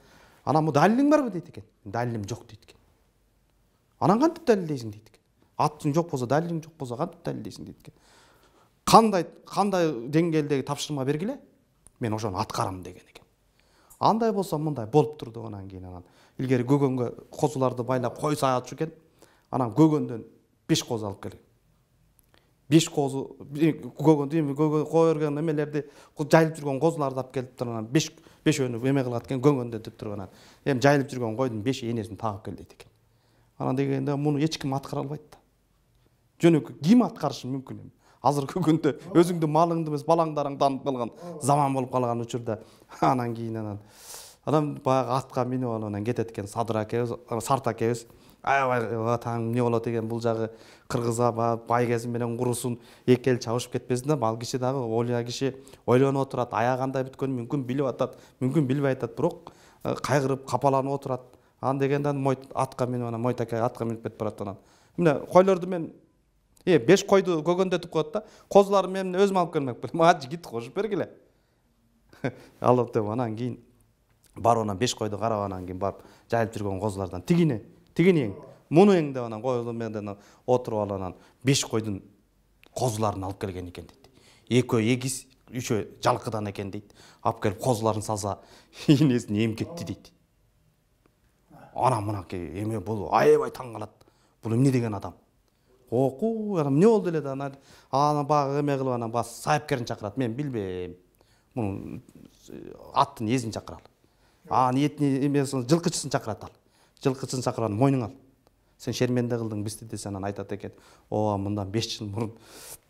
Speaker 2: анан бу далилиң барбы дейт экен. Далилим жок дейт экен. Анан кантип далилдейсиң дейт экен. Атың жок болсо, далилиң жок болсо кантип далилдейсиң дейт экен. Кандай деңгээлдеги тапшырма бергиле, мен ошону аткарам деген экен. Андай болсо мындай болуп турду. Анан кийин анан илгери көгөнгө козуларды байлап кой саатчу экен. Анан көгөндөн 5 коз алып келген. 5 козу көгөн кой өргөн эмелерди жайылып жүргөн козуларды алып келип туруп анан 5өөнү эме кылат экен, көгөндө деп туруп анан эми жайылып жүргөн койдун 5 энесин тагып кел дейт экен. Анан дегенде муну эч ким аткара албайт да. Жөнөкөй ким аткарышы мүмкүн эми? Азыркы күндө өзүңдүн малыңды эмес балаңдарың таанып калган заман болуп калган учурда анан кийин анан баягы атка минип алып анан кетет экен Садыр акебиз, Сарт акебиз. Аябай таң эмне болот экен бул жагы кыргызга байгези менен курусун эки эл чабышып кетпесин да. Ал киши дагы ойлоо киши ойлонуп отурат. Аяк кандай бүткөнүн мүмкүн билип атат, мүмкүн билбей атат, бирок кайгырып капаланып отурат. Анан дегенде атка минип анан Мойтаке атка минип кетип барат анан. Мына койлорду мен 5 койду көгөндөтүп коет да. Козуларды мен өзүм алып келмекпин. Мага жигит кошуп бергиле. Алып деп анан кийин барып анан 5 койду карап анан кийин барып жайылып жүргөн козулардан тигини эң, муну эң деп анан койлор менен отуруп алып анан 5 койдун козуларын алып келген экен дейт. Экөө эгиз, үчөө жалкыдан экен дейт. Алып келип козуларын салса, энесин эмкетти дейт. Анан мынакей эме бул аябай таң калат. Бул эмне деген адам? Оку, анан эмне болду эле да анан баягы эме кылып анан бас сайыпкерин чакырат. Мен билбейм. Муну аттын эзин чакыралы. Этини эмесин жылкычысын чакырат ал. Жылкычысын чакырып мойнуң ал. Сен шерменде кылдың бизди десе анан айтат экен. Мындан 5 жыл мурун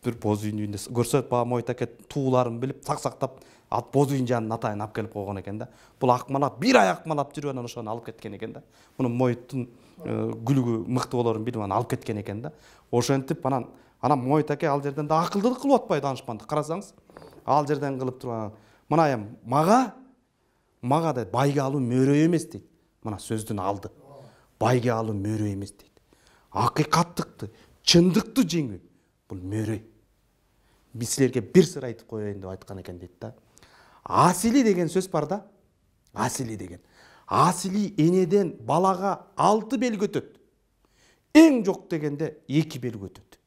Speaker 2: бир боз үйүндө көрсөт баягы Мойтаке тууларын билип, сактап, ат боз үйүн жанын атайын алып келип койгон экен да. Бул акмалап, бир ай акмалап жүрүп анан ошону алып кеткен экен да. Муну Мойттун күлүгү мыкты болорун билип анан алып кеткен экен да. Ошентип анан Мойтаке ал жерден да акылдылык кылып атпайбы данышпандык. Карасаңыз, ал жерден кылып туруп мына эми мага дейт байге алуу мөрөй эмес дейт. Мына сөздүн алды. Байге алуу мөрөй эмес дейт. Акыйкаттыкты, чындыкты жеңүү бул мөрөй. Биз силерге бир сыр айтып коеюн деп айткан экен дейт да. Асили деген сөз бар да. Асили деген. Асили энеден балага 6 белги өтөт. Эң жок дегенде 2 белги өтөт.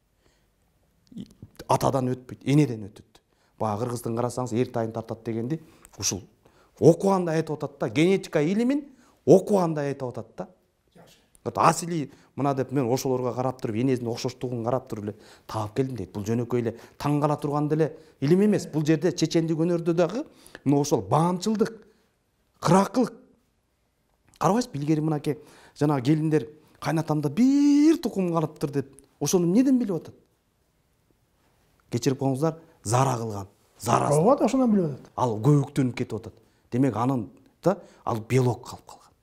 Speaker 2: Атадан өтпөйт, энеден өтөт. Баягы кыргыздын карасаңыз эртайын тартат дегенди ушул окуганда айтып атат да. Генетика илимин окуганда айтып атат да. Асили мына деп мен ошолорго карап туруп, энесинин окшоштугун карап туруп эле таап келдим дейт. Бул жөнөкөй эле таң кала турган деле илим эмес. Бул жерде чечендик өнөрдө дагы мына ошол баамчылдык, кыракылык. Карабайсызбы, илгери мынакей жана келиндер кайнатамда бир тукум калыптыр деп ошону эмнеден билип атат? Кечирип коңуздар, зара кылган. Зарасы.
Speaker 1: Ооба, ошондон билип атат.
Speaker 2: Ал көбүктөнүп кетип атат. Демек анын да ал белок калып калган.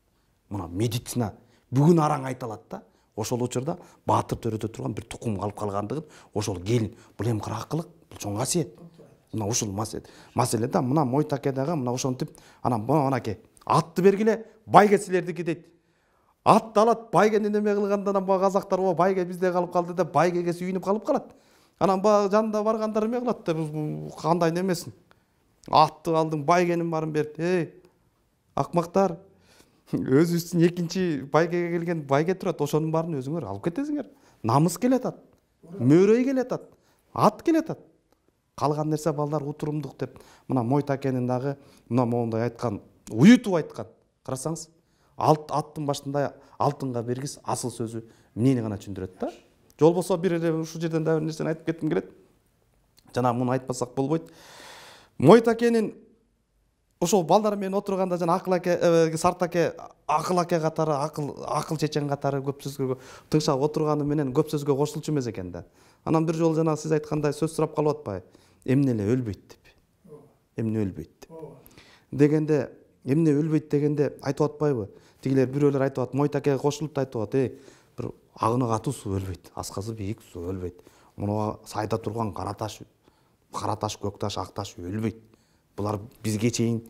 Speaker 2: Мына медицина бүгүн араң айталат да. Ошол учурда баатыр төрөдө турган бир тукум калып калгандыгын ошол келин бул эми кыракылык, бул чоң касиет. Мына ушул маселе да. Мына Мойтаке дагы мына ошентип анан мынакей атты бергиле, байге силердики дейт. Атты алат, байгени неме кылганда анан баягы казактар байге бизде калып калды деп байгеге сүйүнүп калып калат. Анан баягы жанында баргандар эме кылат деп кандай немесин. Атты алдың, байгенин барын берип, акмактар. Өзүбүздүн экинчи байгеге келген байге турат, ошонун баарын өзүңөр алып кетесиңер. Намыс келатат, мөөрөй келатат, ат келатат. Калган нерсе балдар утурумдук деп мына Мойтакенин дагы мына моундай айткан, уютуп айткан. Карасаңыз, аттын башында алтынга бергиз асыл сөзү эмнени гана түшүндүрөт да. Же болбосо бир эле ушул жерден дагы бир нерсени айтып кетким келет. Жана муну айтпасак болбойт. Мойтакенин ошол балдар менен отурганда жана Акыл аке, Сарт аке, Акыл аке катары, акыл чечен катары көп сөзгө тыңшап отурганы менен көп сөзгө кошулчу эмес экен да. Анан бир жолу жана сиз айткандай сөз сурап калып атпайбы? Эмне эле өлбөйт деп. Эмне өлбөйт деп. Дегенде, эмне өлбөйт дегенде айтып атпайбы? Тигилер бирөөлөр айтып ат, Мойтакеге кошулуп айтып ат, бир агыны катуу суу өлбөйт, асказы бийик суу өлбөйт. Муну сайда турган кара таш, көк таш, ак таш өлбөйт. Булар бизге чейин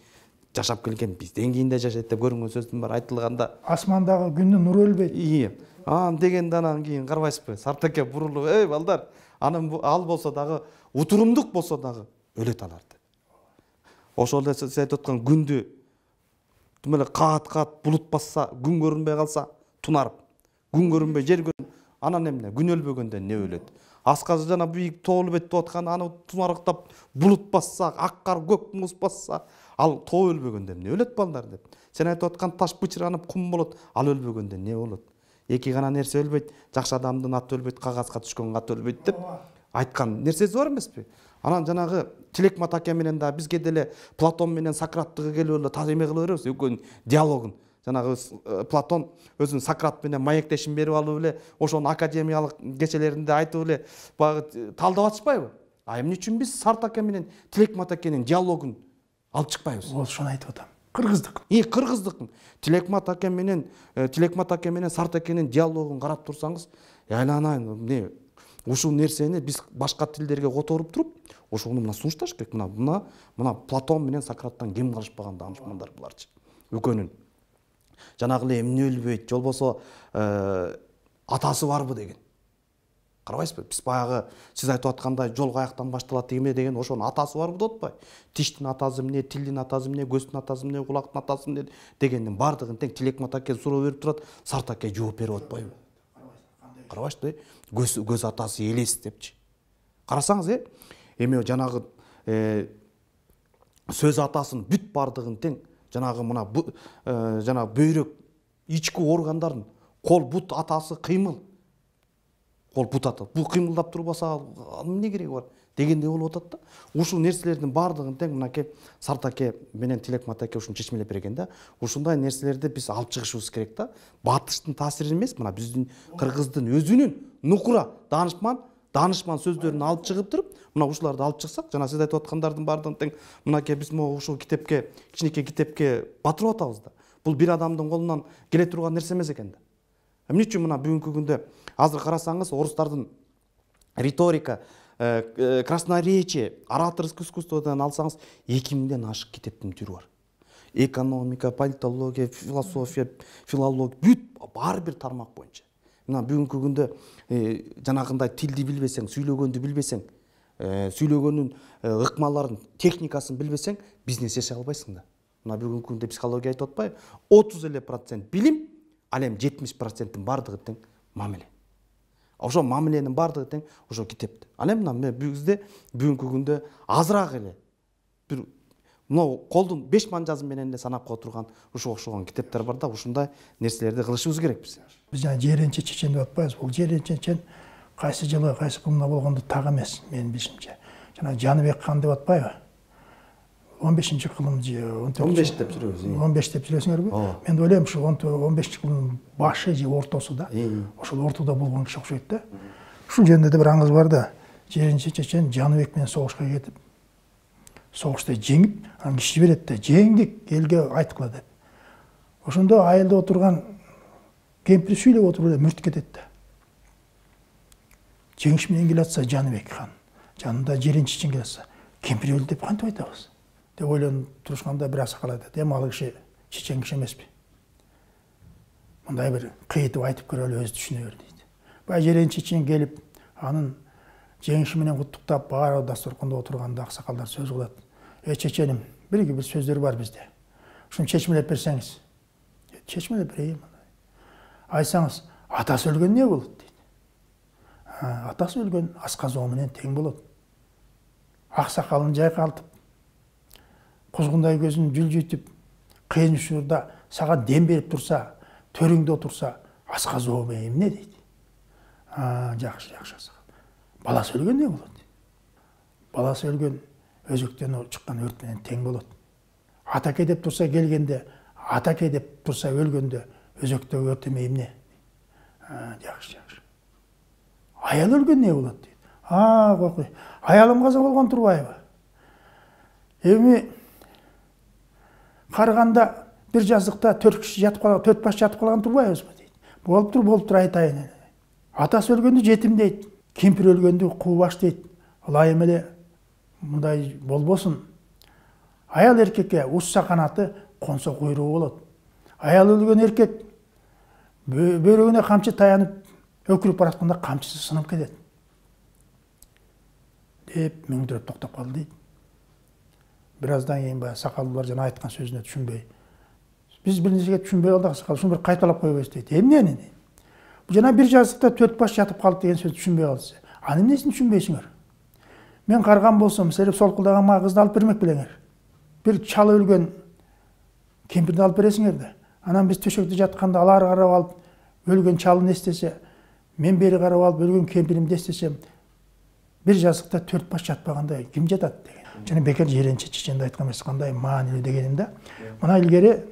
Speaker 2: жашап келген, бизден кийин да жашайт деп көрүнгөн сөздүн баары айтылганда,
Speaker 1: асмандагы күндүн нуру өлбөйт.
Speaker 2: Дегенде анан кийин карабайсызбы? Сарт аке бурулуп, балдар, анын ал болсо дагы утурумдук болсо дагы өлөт алар деп. Ошол эле сиз айтып аткан күндү тим эле каат булут басса, күн көрүнбөй калса, тунарып, күн көрүнбөй жер көрүн, анан эмне? Күн өлбөгөндө не өлөт? Асказы жана бийик тоо өлбөйт деп аткан, аны тунарыктап булут басса, ак кар көк муз басса, ал тоо өлбөгөндө эмне өлөт балдар деп. Сен айтып аткан таш бычыранып кум болот, ал өлбөгөндө не болот? Эки гана нерсе өлбөйт, жакшы адамдын аты өлбөйт, кагазга түшкөн аты өлбөйт деп айткан нерсеси бар эмеспи? Анан жанагы Тилекмат аке менен да бизге деле Платон менен Сократтыгы келип эле эме кыла беребиз, экөөнүн диалогун. Жанагы Платон өзүнүн Сократ менен маектешин берип алып эле, ошонун академиялык кечелеринде айтып эле баягы талдап атышпайбы? Эмне үчүн биз Сарт аке менен Тилекмат акенин диалогун алып чыкпайбыз?
Speaker 1: Ошону айтып атам. Кыргыздык.
Speaker 2: Кыргыздык. Тилекмат аке менен Сарт акенин диалогун карап турсаңыз, айланайын, ушул нерсени биз башка тилдерге которуп туруп, ошону мына сунушташ керек. Мына Платон менен Сократтан кем калышпаган даанышмандар буларчы. Экөөнүн жанагы эле эмне өлбөйт, же болбосо атасы барбы деген. Карабайсызбы? Биз баягы сиз айтып аткандай жол каяктан башталат эме деген, ошонун атасы барбы деп атпайбы? Тиштин атасы эмне, тилдин атасы эмне, көздүн атасы эмне, кулактын атасы эмне дегендин баардыгын тең Тилекмат аке суроо берип турат, Сарт аке жооп берип атпайбы? Карабайсызбы? Көз атасы элес депчи. Карасаңыз, эме жанагы сөз атасын бүт баардыгын тең жанагы мына жана бөйрөк ички органдарын кол бут атасы кыймыл. Кол бут ата. Бул кыймылдап турбаса эмне кереги бар дегендей болуп атат да. Ушул нерселердин баардыгын тең мынакей Сарт аке менен Тилекмат аке ушуну чечмелеп берген да. Ушундай нерселерди биз алып чыгышыбыз керек да. Батыштын таасири эмес, мына биздин кыргыздын өзүнүн нукура даанышман сөздөрүн алып чыгып туруп, мына ушуларды алып чыксак, жана сиз айтып аткандардын баардыгын тең мынакей биз ушул китепке, кичинекей китепке батырып атабыз да. Бул бир адамдын колунан келе турган нерсе эмес экен да. Эмне үчүн мына бүгүнкү күндө азыр карасаңыз, орустардын риторика, красноречие, ораторский искусстводан алсаңыз 2000ден ашык китептин түрү бар. Экономика, политология, философия, филология, бүт баары бир тармак боюнча. Мына бүгүнкү күндө жанагындай тилди билбесең, сүйлөгөндү билбесең, сүйлөгөнүн ыкмаларын, техникасын билбесең, бизнес жасай албайсың да. Мына бүгүнкү күндө психология айтып атпайбы? 30% билим, ал эми 70%-тин баардыгы тең мамиле. Ошо мамиленин баардыгы тең ошо китепте. Ал эми мына бизде бүгүнкү күндө азыраак эле бир мына колдун 5 манжазы менен эле санап кое турган ушуга окшогон китептер бар да, ушундай нерселерди кылышыбыз керек биз.
Speaker 1: Биз жана жеренче чечен деп атпайбыз. Бул жеренче чечен кайсы жылы, кайсы кылымда болгондо так эмес, менин билишимче. Жана Жаныбек хан деп атпайбы? 15-кылым же
Speaker 2: 15 деп жүрөбүз.
Speaker 1: 15 деп жүрөсүңөрбү? Мен ойлойм ушу 15-кылымдын башы же ортосу да. Ошол ортодо болгон киши окшойт да. Ушул жөнүндө да бир аңыз бар да. Жеренче чечен Жаныбек менен согушка кетип, согушта жеңип, анан киши берет да, жеңдик, элге айткыла деп. Ошондо айылда отурган кемпир сүйлөп отуруп эле мүрт кетет да. Жеңиш менен келатса Жаныбек хан, жанында жеренче чечен келатса, кемпир өлдү деп кантип айтабыз? Деп ойлонуп турушканда бир аксакал айтат, эми ал киши чечен киши эмеспи. мындай бир кыйытып айтып көрөлү, өзү түшүнө бер дейт. Баягы жерен чечен келип, анын жеңиши менен куттуктап, баары дасторкондо отурганда аксакалдар сөз кылат. Чеченим, бир сөздөр бар бизде. Ушуну чечмелеп берсеңиз. Чечмелеп берейин. Айтсаңыз, атасы өлгөн эмне болот дейт. Атасы өлгөн асказоо менен тең болот. Аксакалын жайкалтып, кузгундай көзүн жүлжүйтүп, кыйын учурда сага дем берип турса, төрүңдө отурса, асказоо менен эмне дейт. Жакшы асакал. Баласы өлгөн эмне болот? Баласы өлгөн өзөктөн чыккан өрт менен тең болот. Атаке деп турса келгенде, атаке деп турса өлгөндө өзөктөгү өрт эмне? Жакшы. Аял өлгөн эмне болот дейт. Кокуй. Аялым каза болгон турбайбы? Эми карыганда бир жазыкта 4 киши жатып калган, 4 баш жатып калган турбайбызбы дейт. Болуп тур айтайын. Атасы өлгөндү жетим дейт. Кемпир өлгөндү куу баш дейт. Ылайым эле мындай болбосун. Аял эркекке ушса канаты, консо куйругу болот. Аял өлгөн эркек бөйрөгүнө камчы таянып, өкүрүп баратканда камчысы сынып кетет. Деп мөңдүрөп токтоп калды дейт. Бир аздан кийин баягы сакалдуулар жана айткан сөзүнө түшүнбөй. Биз бир нерсеге түшүнбөй калдык, сакал, ушуну бир кайталап койбойсуз дейт. Эмнени? Бул жана бир жазыкта 4 баш жатып калды деген сөздү түшүнбөй калдыңыз. Анын эмнесин түшүнбөйсүңөр? Мен карган болсом, силер солкулдаган мага кызды алып бермек белеңер. Бир чалы өлгөн кемпирди алып бересиңер да. Анан биз төшөктө жатканда алар карап алып, өлгөн чалын эстесе, мен бери карап алып, өлгөн кемпиримди эстесем, бир жазыкта 4 баш жатпаганда ким жатат деген. Жана бекер жеренче чеченде айткан эмес, кандай маанилүү дегеним да. Мына илгери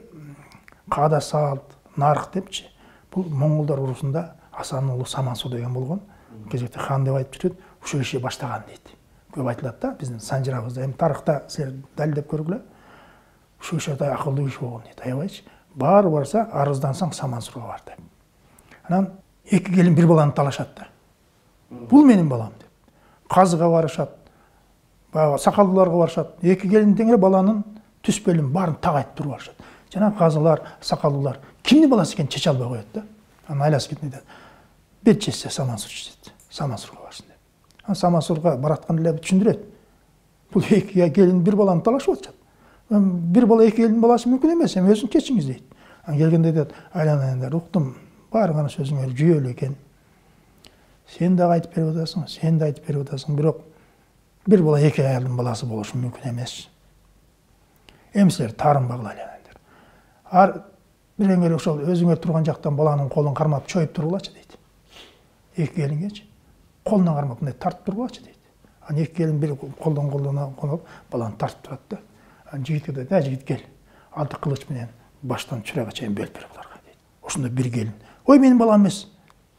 Speaker 1: каада салт, нарк депчи. Бул монголдор урусунда Асанын уулу Самансу деген болгон. Кезекте хан деп айтып жүрөт, ушул киши баштаган дейт. Көп айтылат да, биздин санжырабызда. Эми тарыхта силер далилдеп көргүлө. Ушул киши да акылдуу киши болгон дейт. Аябайчы. Баары барса, арыздансаң Самансурга бар деп. Анан эки келин бир баланы талашат да. Бул менин балам деп. Казыга барышат. Баягы сакалдууларга барышат. Эки келин теңире баланын түспөлүн баарын так айтып туруп барышат. Жана казылар, сакалдуулар кимдин баласы экенин чече албай коет да. Анан айласып кетип айтат. Бир чечсе Самансур чечет. Самансурга барсын деп. Анан Самансурга баратканда эле түшүндүрөт. Бул эки келин бир баланы талашып атышат. Бир бала эки келиндин баласы мүмкүн эмес, эми өзүн чечиңиз дейт. Анан келгенде айтат, айланайындар, уктум, баарыңар сөзүңөр жүйөлүү экен. Сен дагы айтып берип атасың, сен да айтып берип атасың, бирок бир бала эки аялдын баласы болушу мүмкүн эмес. Эми силер таарынбагыла айланайындар. Биреңер ошол өзүңөр турган жактан баланын колун кармап чоюп тургулачы дейт. Эки келингечи колунан кармап мындай тартып тургулачы дейт. Анан эки келин бир колдон колуп баланы тартып турат да. Анан жигитке дейт, жигит кел. Алты кылыч менен баштан чурайга чейин бөлүп бер буларга дейт. Ошондо бир келин, ой менин балам эмес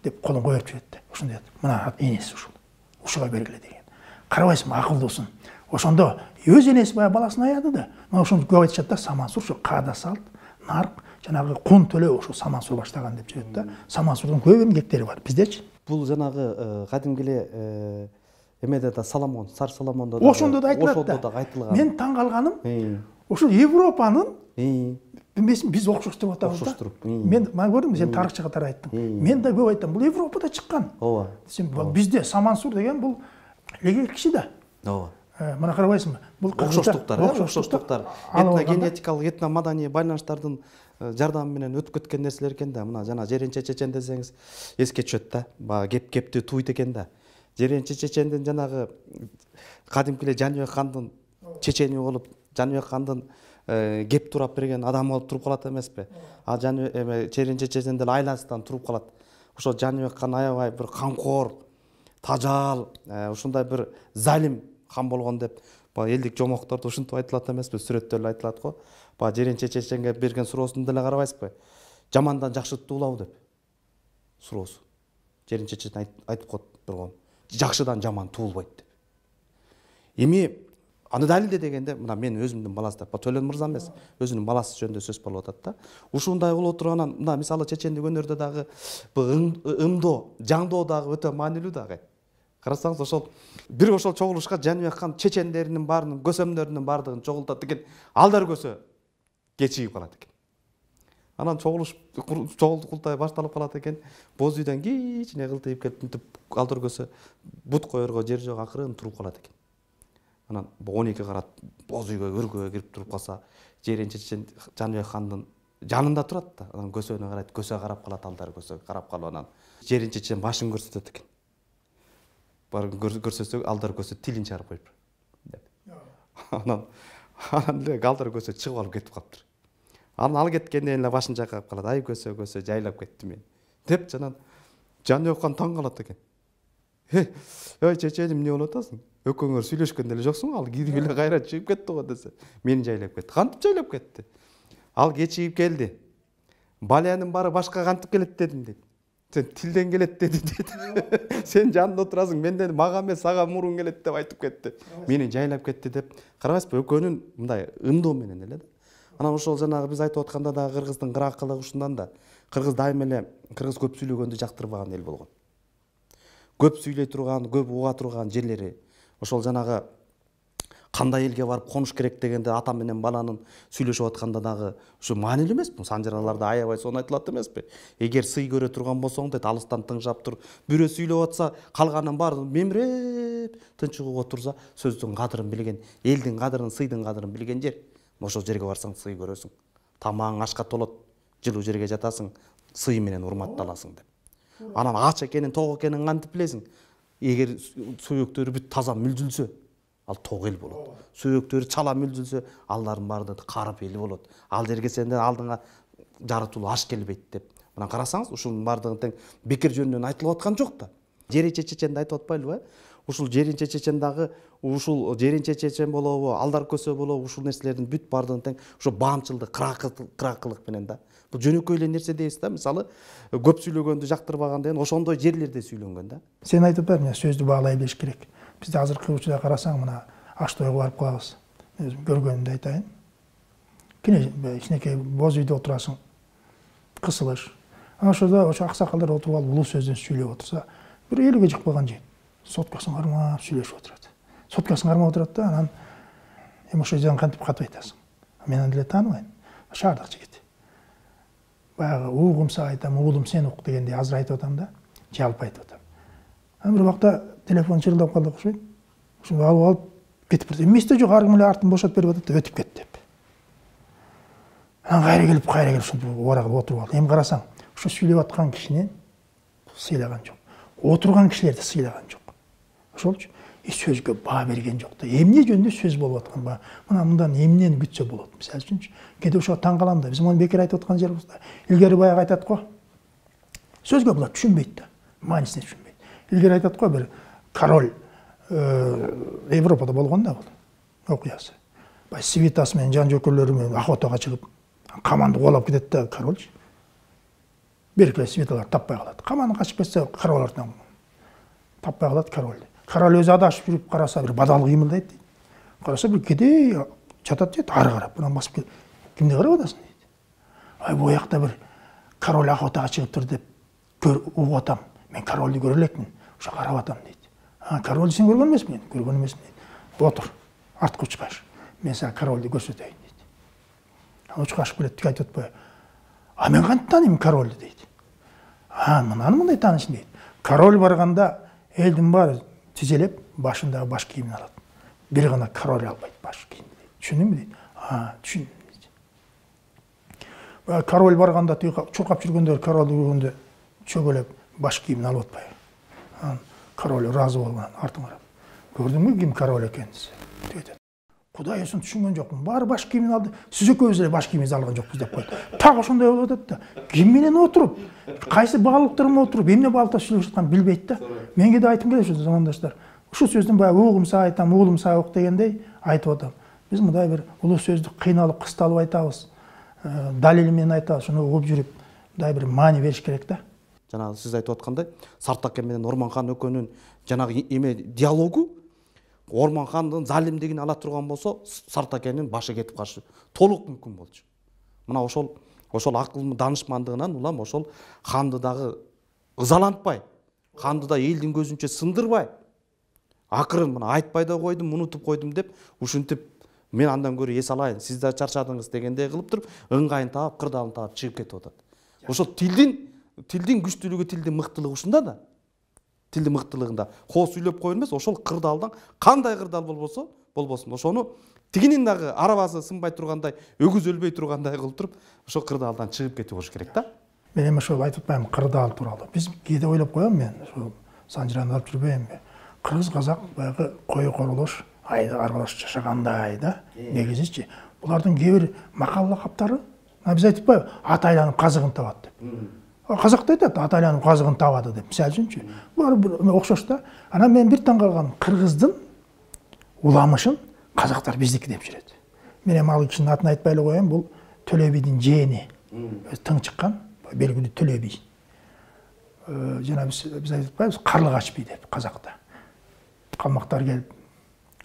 Speaker 1: деп колун коюп жиберет да. Ошондо дейт, мына энеси ушул. Ушуга бергиле деген. Карабайсыңбы, акылдуусун. Ошондо өз энеси баягы баласын аяды да. Мына ошону көп айтышат да, Самансур ушу каада салт, нарк, жанагы кун төлөө ошо Самансур баштаган деп жүрөт да. Самансурдун көп эмгектери бар биздечи.
Speaker 2: Бул жанагы кадимки эле эмеде да Соломон, Цар Соломондо да
Speaker 1: ошондо да айтылат. Мен таң калганым, ошол Европанын эмесин биз окшош деп атабыз да. Мен көрдүм, сен тарыхчыга катары айттың. Мен да көп айтам, бул Европада чыккан.
Speaker 2: Ооба.
Speaker 1: Бизде Самансур деген бул эле киши да.
Speaker 2: Ооба.
Speaker 1: Мына карабайсыңбы? Бул
Speaker 2: окшоштуктар, этногенетикалык, этномаданий байланыштардын жардамы менен өтүп кеткен нерселер экен да. Мына жана жеренче чечен десеңиз эске түшөт да. Баягы кепти туйт экен да. Жеренче чечендин жанагы кадимки эле Жаныбек хандын чечени болуп, Жаныбек хандын кеп турап берген адамы болуп туруп калат эмеспи? А жеренче чечен деле айласынан туруп калат. Ошо Жаныбек хан аябай бир камкор, тажал, ушундай бир залим хан болгон деп баягы элдик жомоктордо ушинтип айтылат эмеспи? Сүрөттөр эле айтылат го. Баягы жеренче чеченге берген суроосун деле карабайсызбы? Жамандан жакшыды туулабы деп суроосу. Жеренче чечен айтып коет болгон. Жакшыдан жаман туулбайт деп. Эми аны далилде дегенде, мына мен өзүмдүн баласы деп, Төлөн мырза эмес, өзүнүн баласы жөнүндө сөз болуп атат да. Ушундай болуп турганан, мына мисалы чечендик өнөрдө дагы ымдоо, жаңдоо дагы өтө маанилүү дагы. Карасаңыз, ошол бир ошол чогулушка Жаныбек хан чечендеринин баарынын, көсөмдөрүнүн баардыгын чогултат экен, алдар көсө кечигип калат экен. Анан чогулуш курултай башталып калат экен. Боз үйдөн кичине кылтыйып келип мынтип калтыргөсө бут коерго жер жок, акырын туруп калат экен. Анан 12 карат боз үйгө өргөбө кирип туруп калса, Жеренче чечен Жаныбек хандын жанында турат да. Анан көсөгүнө карайт, көсө карап калат, алдар көсө карап калып анан Жеренче чечен башын көрсөтөт экен. Бар көрсөтсө алдар көсө тилин чарып коюп деп. Анан эле алдар көсө чыгып алып кетип калыптыр. Анан ал кеткенден эле башын чайкап калат. Ай көсө жайлап кетти мен. Деп жанан Жаныбек хан таң калат экен. Ой чеченим, эмне болуп атасың? Экөөңөр сүйлөшкөн деле жоксуң, ал кирип эле кайра чыгып кетти го десе. Мени жайлап кетти. Кантип жайлап кетти? Ал кечигип келди. Балянын баары башка кантип келет дедим дейт. Сен тилден келет деди дейт. Сен жанында отурасың, менден мага эмес сага мурун келет деп айтып кетти. Мени жайлап кетти деп. Карабайсызбы, экөөнүн мындай ымдоо менен эле да. Анан ошол жанагы биз айтып атканда да кыргыздын кыракылыгы ушундан да. Кыргыз дайыма эле кыргыз көп сүйлөгөндү жактырбаган эл болгон. Көп сүйлөй турган, көп уга турган жерлери. Ошол жанагы кандай элге барып конуш керек дегенде ата менен баланын сүйлөшүп атканда дагы ушу маанилүү эмеспи? Санжараларда аябай сонун айтылат эмеспи? Эгер сый көрө турган болсоң дейт, алыстан тыңшап тур. Бирөө сүйлөп атса, калганын баары мемиреп тынч угуп отурса, сөздүн кадырын билген, элдин кадырын, сыйдын кадырын билген жер. Ошол жерге барсаң сый көрөсүң. Тамагың ашка толот, жылуу жерге жатасың, сый менен урматталасың деп. Анан ач экенин, ток экенин кантип билесиң? Эгер сөөктөрү бүт таза мүлдүлсө, ал ток эл болот. Сөөктөрү чала мүлдүлсө, алардын баары карып эл болот. Ал жерге сенден алдыңа жаратылуу аш келбейт деп. Мына карасаңыз, ушунун баардыгын тең бекер жөнүнөн айтылып аткан жок да. Жеренче чеченди айтып атпайлыбы? Ушул Жеренче чечен дагы ушул Жеренче чечен болобу, алдар көсө болобу, ушул нерселердин бүт баардыгын тең ошо баамчылдык, кыракылык менен да. Бул жөнөкөй эле нерсе дейбиз да. Мисалы, көп сүйлөгөндү жактырбаган деген ошондой жерлерде сүйлөнгөн да.
Speaker 1: Сен айтып атпайсың, сөздү баалай билиш керек. Бизде азыркы учурда карасаң, мына аш тойго барып калабыз. Өзүм көргөнүмдү айтайын. Кичинекей боз үйдө отурасың, кысылыш. Анан ошодо ошо аксакалдар отуруп алып улуу сөздөн сүйлөп отурса, бир элүүгө жык калган жигит соткасын кармап сүйлөшүп отурат. Соткасын кармап отурат да, анан ошол жерден кантип катып айтасың? Мен аны деле тааныбайм. Шаардык жигит. Баягы угумса айтам, уулум сен ук дегендей азыр айтып атам да, жалпы айтып атам. Анан бир убакта телефон чырылдап калды окшойт. Ошону алып кетип барды. Эместе жок, ар ким эле артын бошотуп берип атат да өтүп кетти деп. Анан кайра келип ушинтип убара кылып отуруп алды. Эми карасаң, ушу сүйлөп аткан кишини сыйлаган жок. Отурган кишилерди сыйлаган жок. Ошолчу сөзгө баа берген жок да. Эмне жөнүндө сөз болуп аткан ба? Мына мындан эмнени күтсө болот? Мисалы үчүнчү, кээде ошо таң калам да. Биз муну бекер айтып аткан жерибиз да. Илгери баягы айтат го. Сөзгө булар түшүнбөйт да. Маанисине түшүнбөйт. Илгери айтат го, бир король Европада болгон да бул окуясы. Бай свитасы менен жан жөкөрлөрү менен охотага чыгып, каманды кубалап кетет да король. Беркеле свиталар таппай калат. Каманы качып кетсе, карабалардан таппай калат король. Король өзү адашып жүрүп караса, бир бадал кыймылдайт дейт. Караса, бир кедей жатат дейт, ары карап, мына басып келип, кимди карап атасың дейт. Ай, бу жакта бир король охотага чыгыптыр деп угуп атам. Мен корольду көрө элекмин, ошо карап атам дейт. Корольду сен көргөн эмесмин? Көргөн эмесмин дейт. Отур, артка учкаш. Мен сага корольду көрсөтөйүн дейт. Учкашып келет, тиги айтып атпайбы? Мен кантип тааныйм корольду дейт. Мынаны мындай таанышым дейт. Король барганда элдин баары тизелеп, башындагы баш кийимин алат. Бир гана король албайт баш кийимди дейт. Түшүндүңбү дейт. Түшүндүм дейт. Король барганда тиги чуркап жүргөндөр королду көргөндө чөгөлөп баш кийимин алып атпайбы? Король ыраазы болуп анан артын карап. Көрдүңбү ким король экенин дейт. Кудай өсүн түшүнгөн жокмун. Баары баш кийимин алды. Сиз экөөбүз эле баш кийимибизди алган жокпуз деп койду. Так ошондой болуп атат да. Ким менен отуруп, кайсы баалыктар менен отуруп, эмне баалыкта сүйлөшүп атканын билбейт да. Менге да айтым келет ушу замандаштар. Ушул сөздүн баягы угумса айтам, уулумса ук дегендей айтып атам. Биз мындай бир улуу сөздү кыйналып, кысталып айтабыз. Далили менен айтабыз, шуну угуп жүрүп, мындай бир маани бериш керек да.
Speaker 2: Жанагы сиз айтып аткандай, Сартакен менен Орманхан экөөнүн жанагы эме диалогу Орманхандын залимдигин ала турган болсо, Сартакенин башы кетип калышы толук мүмкүн болчу. Мына ошол акыл данышмандыгынан улам ошол ханды дагы ызалантпай, ханды да элдин көзүнчө сындырбай, акырын мына айтпай да койдум, унутуп койдум деп ушинтип мен андан көрө эс алайын, сиз да чарчадыңыз дегендей кылып туруп, ыңгайын таап, кырдаалын таап чыгып кетип атат. Ошол тилдин күчтүүлүгү, тилдин мыктылыгы ушунда да. Тилдин мыктылыгында коо сүйлөп коюу эмес, ошол кырдаалдан кандай кырдаал болбосун, ошону тигинин дагы арабасы сынбай тургандай, өгүз өлбөй тургандай кылып туруп, ошол кырдаалдан чыгып кетип болуш керек да.
Speaker 1: Мен эми ошол айтып атпаймынбы кырдаал тууралуу. Биз кээде ойлоп коем мен, ошол Санжираны алып жүрбөймүнбү? Кыргыз казак баягы кою корулуш, аралаш жашагандай да. Негизичи булардын кээ бир макал лакаптары, биз айтып атпайбы, ат айланып казыгын табат деп. Казакта айтат, ат айланып казыгын табады деп. Мисалы үчүнчү, булар окшош да. Анан мен бир таң калган, кыргыздын уламышын казактар биздики деп жүрөт. Мен эми ал кишинин атын айтпай эле коеюн, бул Төлө бийдин жээни. Тың чыккан, белгилүү Төлө бий. Жана биз айтып атпайбыз, Карлыгач бий деп казакта. Калмактар келип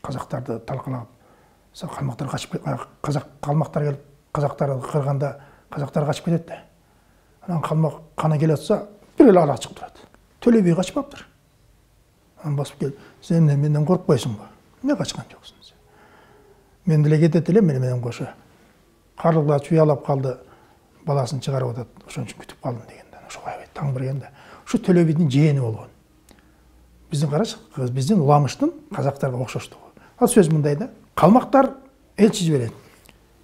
Speaker 1: казактарды талкалап, калмактар качып, калмактар келип казактарды кырганда казактар качып кетет да. Анан калмак кана келе атса, бир эле ара чыгып турат. Төлө бий качпаптыр. Анан басып келип, сен менден коркпойсуңбу? Эмне качкан жоксуң? Мен деле кетет элем менен кошо. Карлыгач уялап калды, баласын чыгарып атат, ошон үчүн күтүп калдым дегенде. Ошого аябай таң бергенде. Ушу Төлө бийдин жээни болгон. Биздин карач, биздин уламыштын казактарга окшоштугу. Ал сөз мындай да. Калмактар элчи жиберет.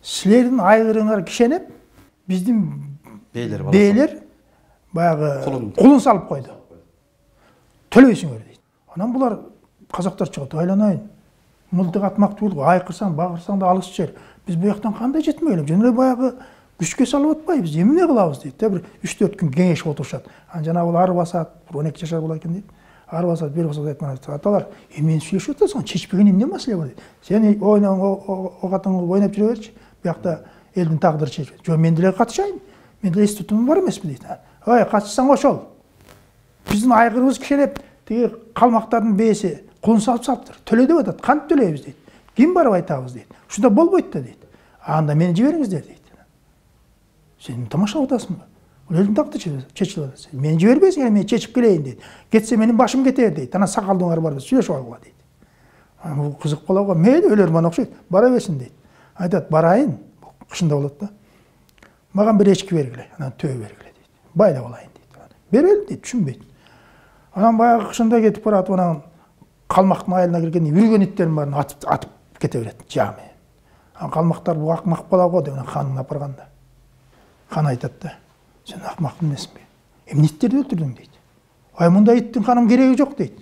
Speaker 1: Силердин айгырыңар кишенеп, биздин бейлер баягы кулун салып койду. Төлөйсүңөр дейт. Анан булар казактар чыгат, айланайын. Мылтык атмактуу болду, айкырсаң, багырсаң да алыс жер. Биз бу жактан кандай жетмей элем, жөн эле баягы күчкө салып атпайбыз, эмне кылабыз дейт. Бир 3-4 күн кеңешип отурушат. Анан жанагы ар басат, 12 жашар бола экен дейт. Ар басат, бир басат айтман. Аталар, эмне сүйлөшүп атасың? Чечпеген эмне маселе бар дейт. Сен огатыңды ойнап жүрө берчи. Бу жакта элдин тагдыры чечилет. Жок, мен деле катышайын. Мен деле институтум бар эмеспи дейт. Ой, катышсаң ошол. Биздин айгырыбыз кишенеп, тиги калмактардын бээси кулун салыптыр. Төлө деп атат. Кантип төлөйбүз дейт. Ким барып айтабыз дейт. Ушунда болбойт да дейт. Анда мени жибериңиздер дейт. Сен тамашалап атасыңбы? Бул элдин тагдыры чечилип атат. Мени жибербейсиң, мен чечип келейин дейт. Кетсе менин башым кетер дейт. Анан сакалдыңар бар, сүйлөшүп алгыла дейт. Бул кызык боло го. Мейли өлөрмөн окшойт. Бара берсин дейт. Айтат, барайын. Кышында болот да. Маған бір ешкі бергіле, анан төбе бергіле дейді. Байлап алайын дейді. Берелім дейді, түшінбейді. Анан баягы кышында кетип баратып, анан калмактын айылына киргенде үргөн иттерин баарын атып кете берет, жами. Анан калмактар бу акмак бала го деп ханын апарганда. Хан айтат да, сен акмак эмесиңби? Эмне иттерди өлтүрдүң дейт. Ай мындай иттин ханым кереги жок дейт.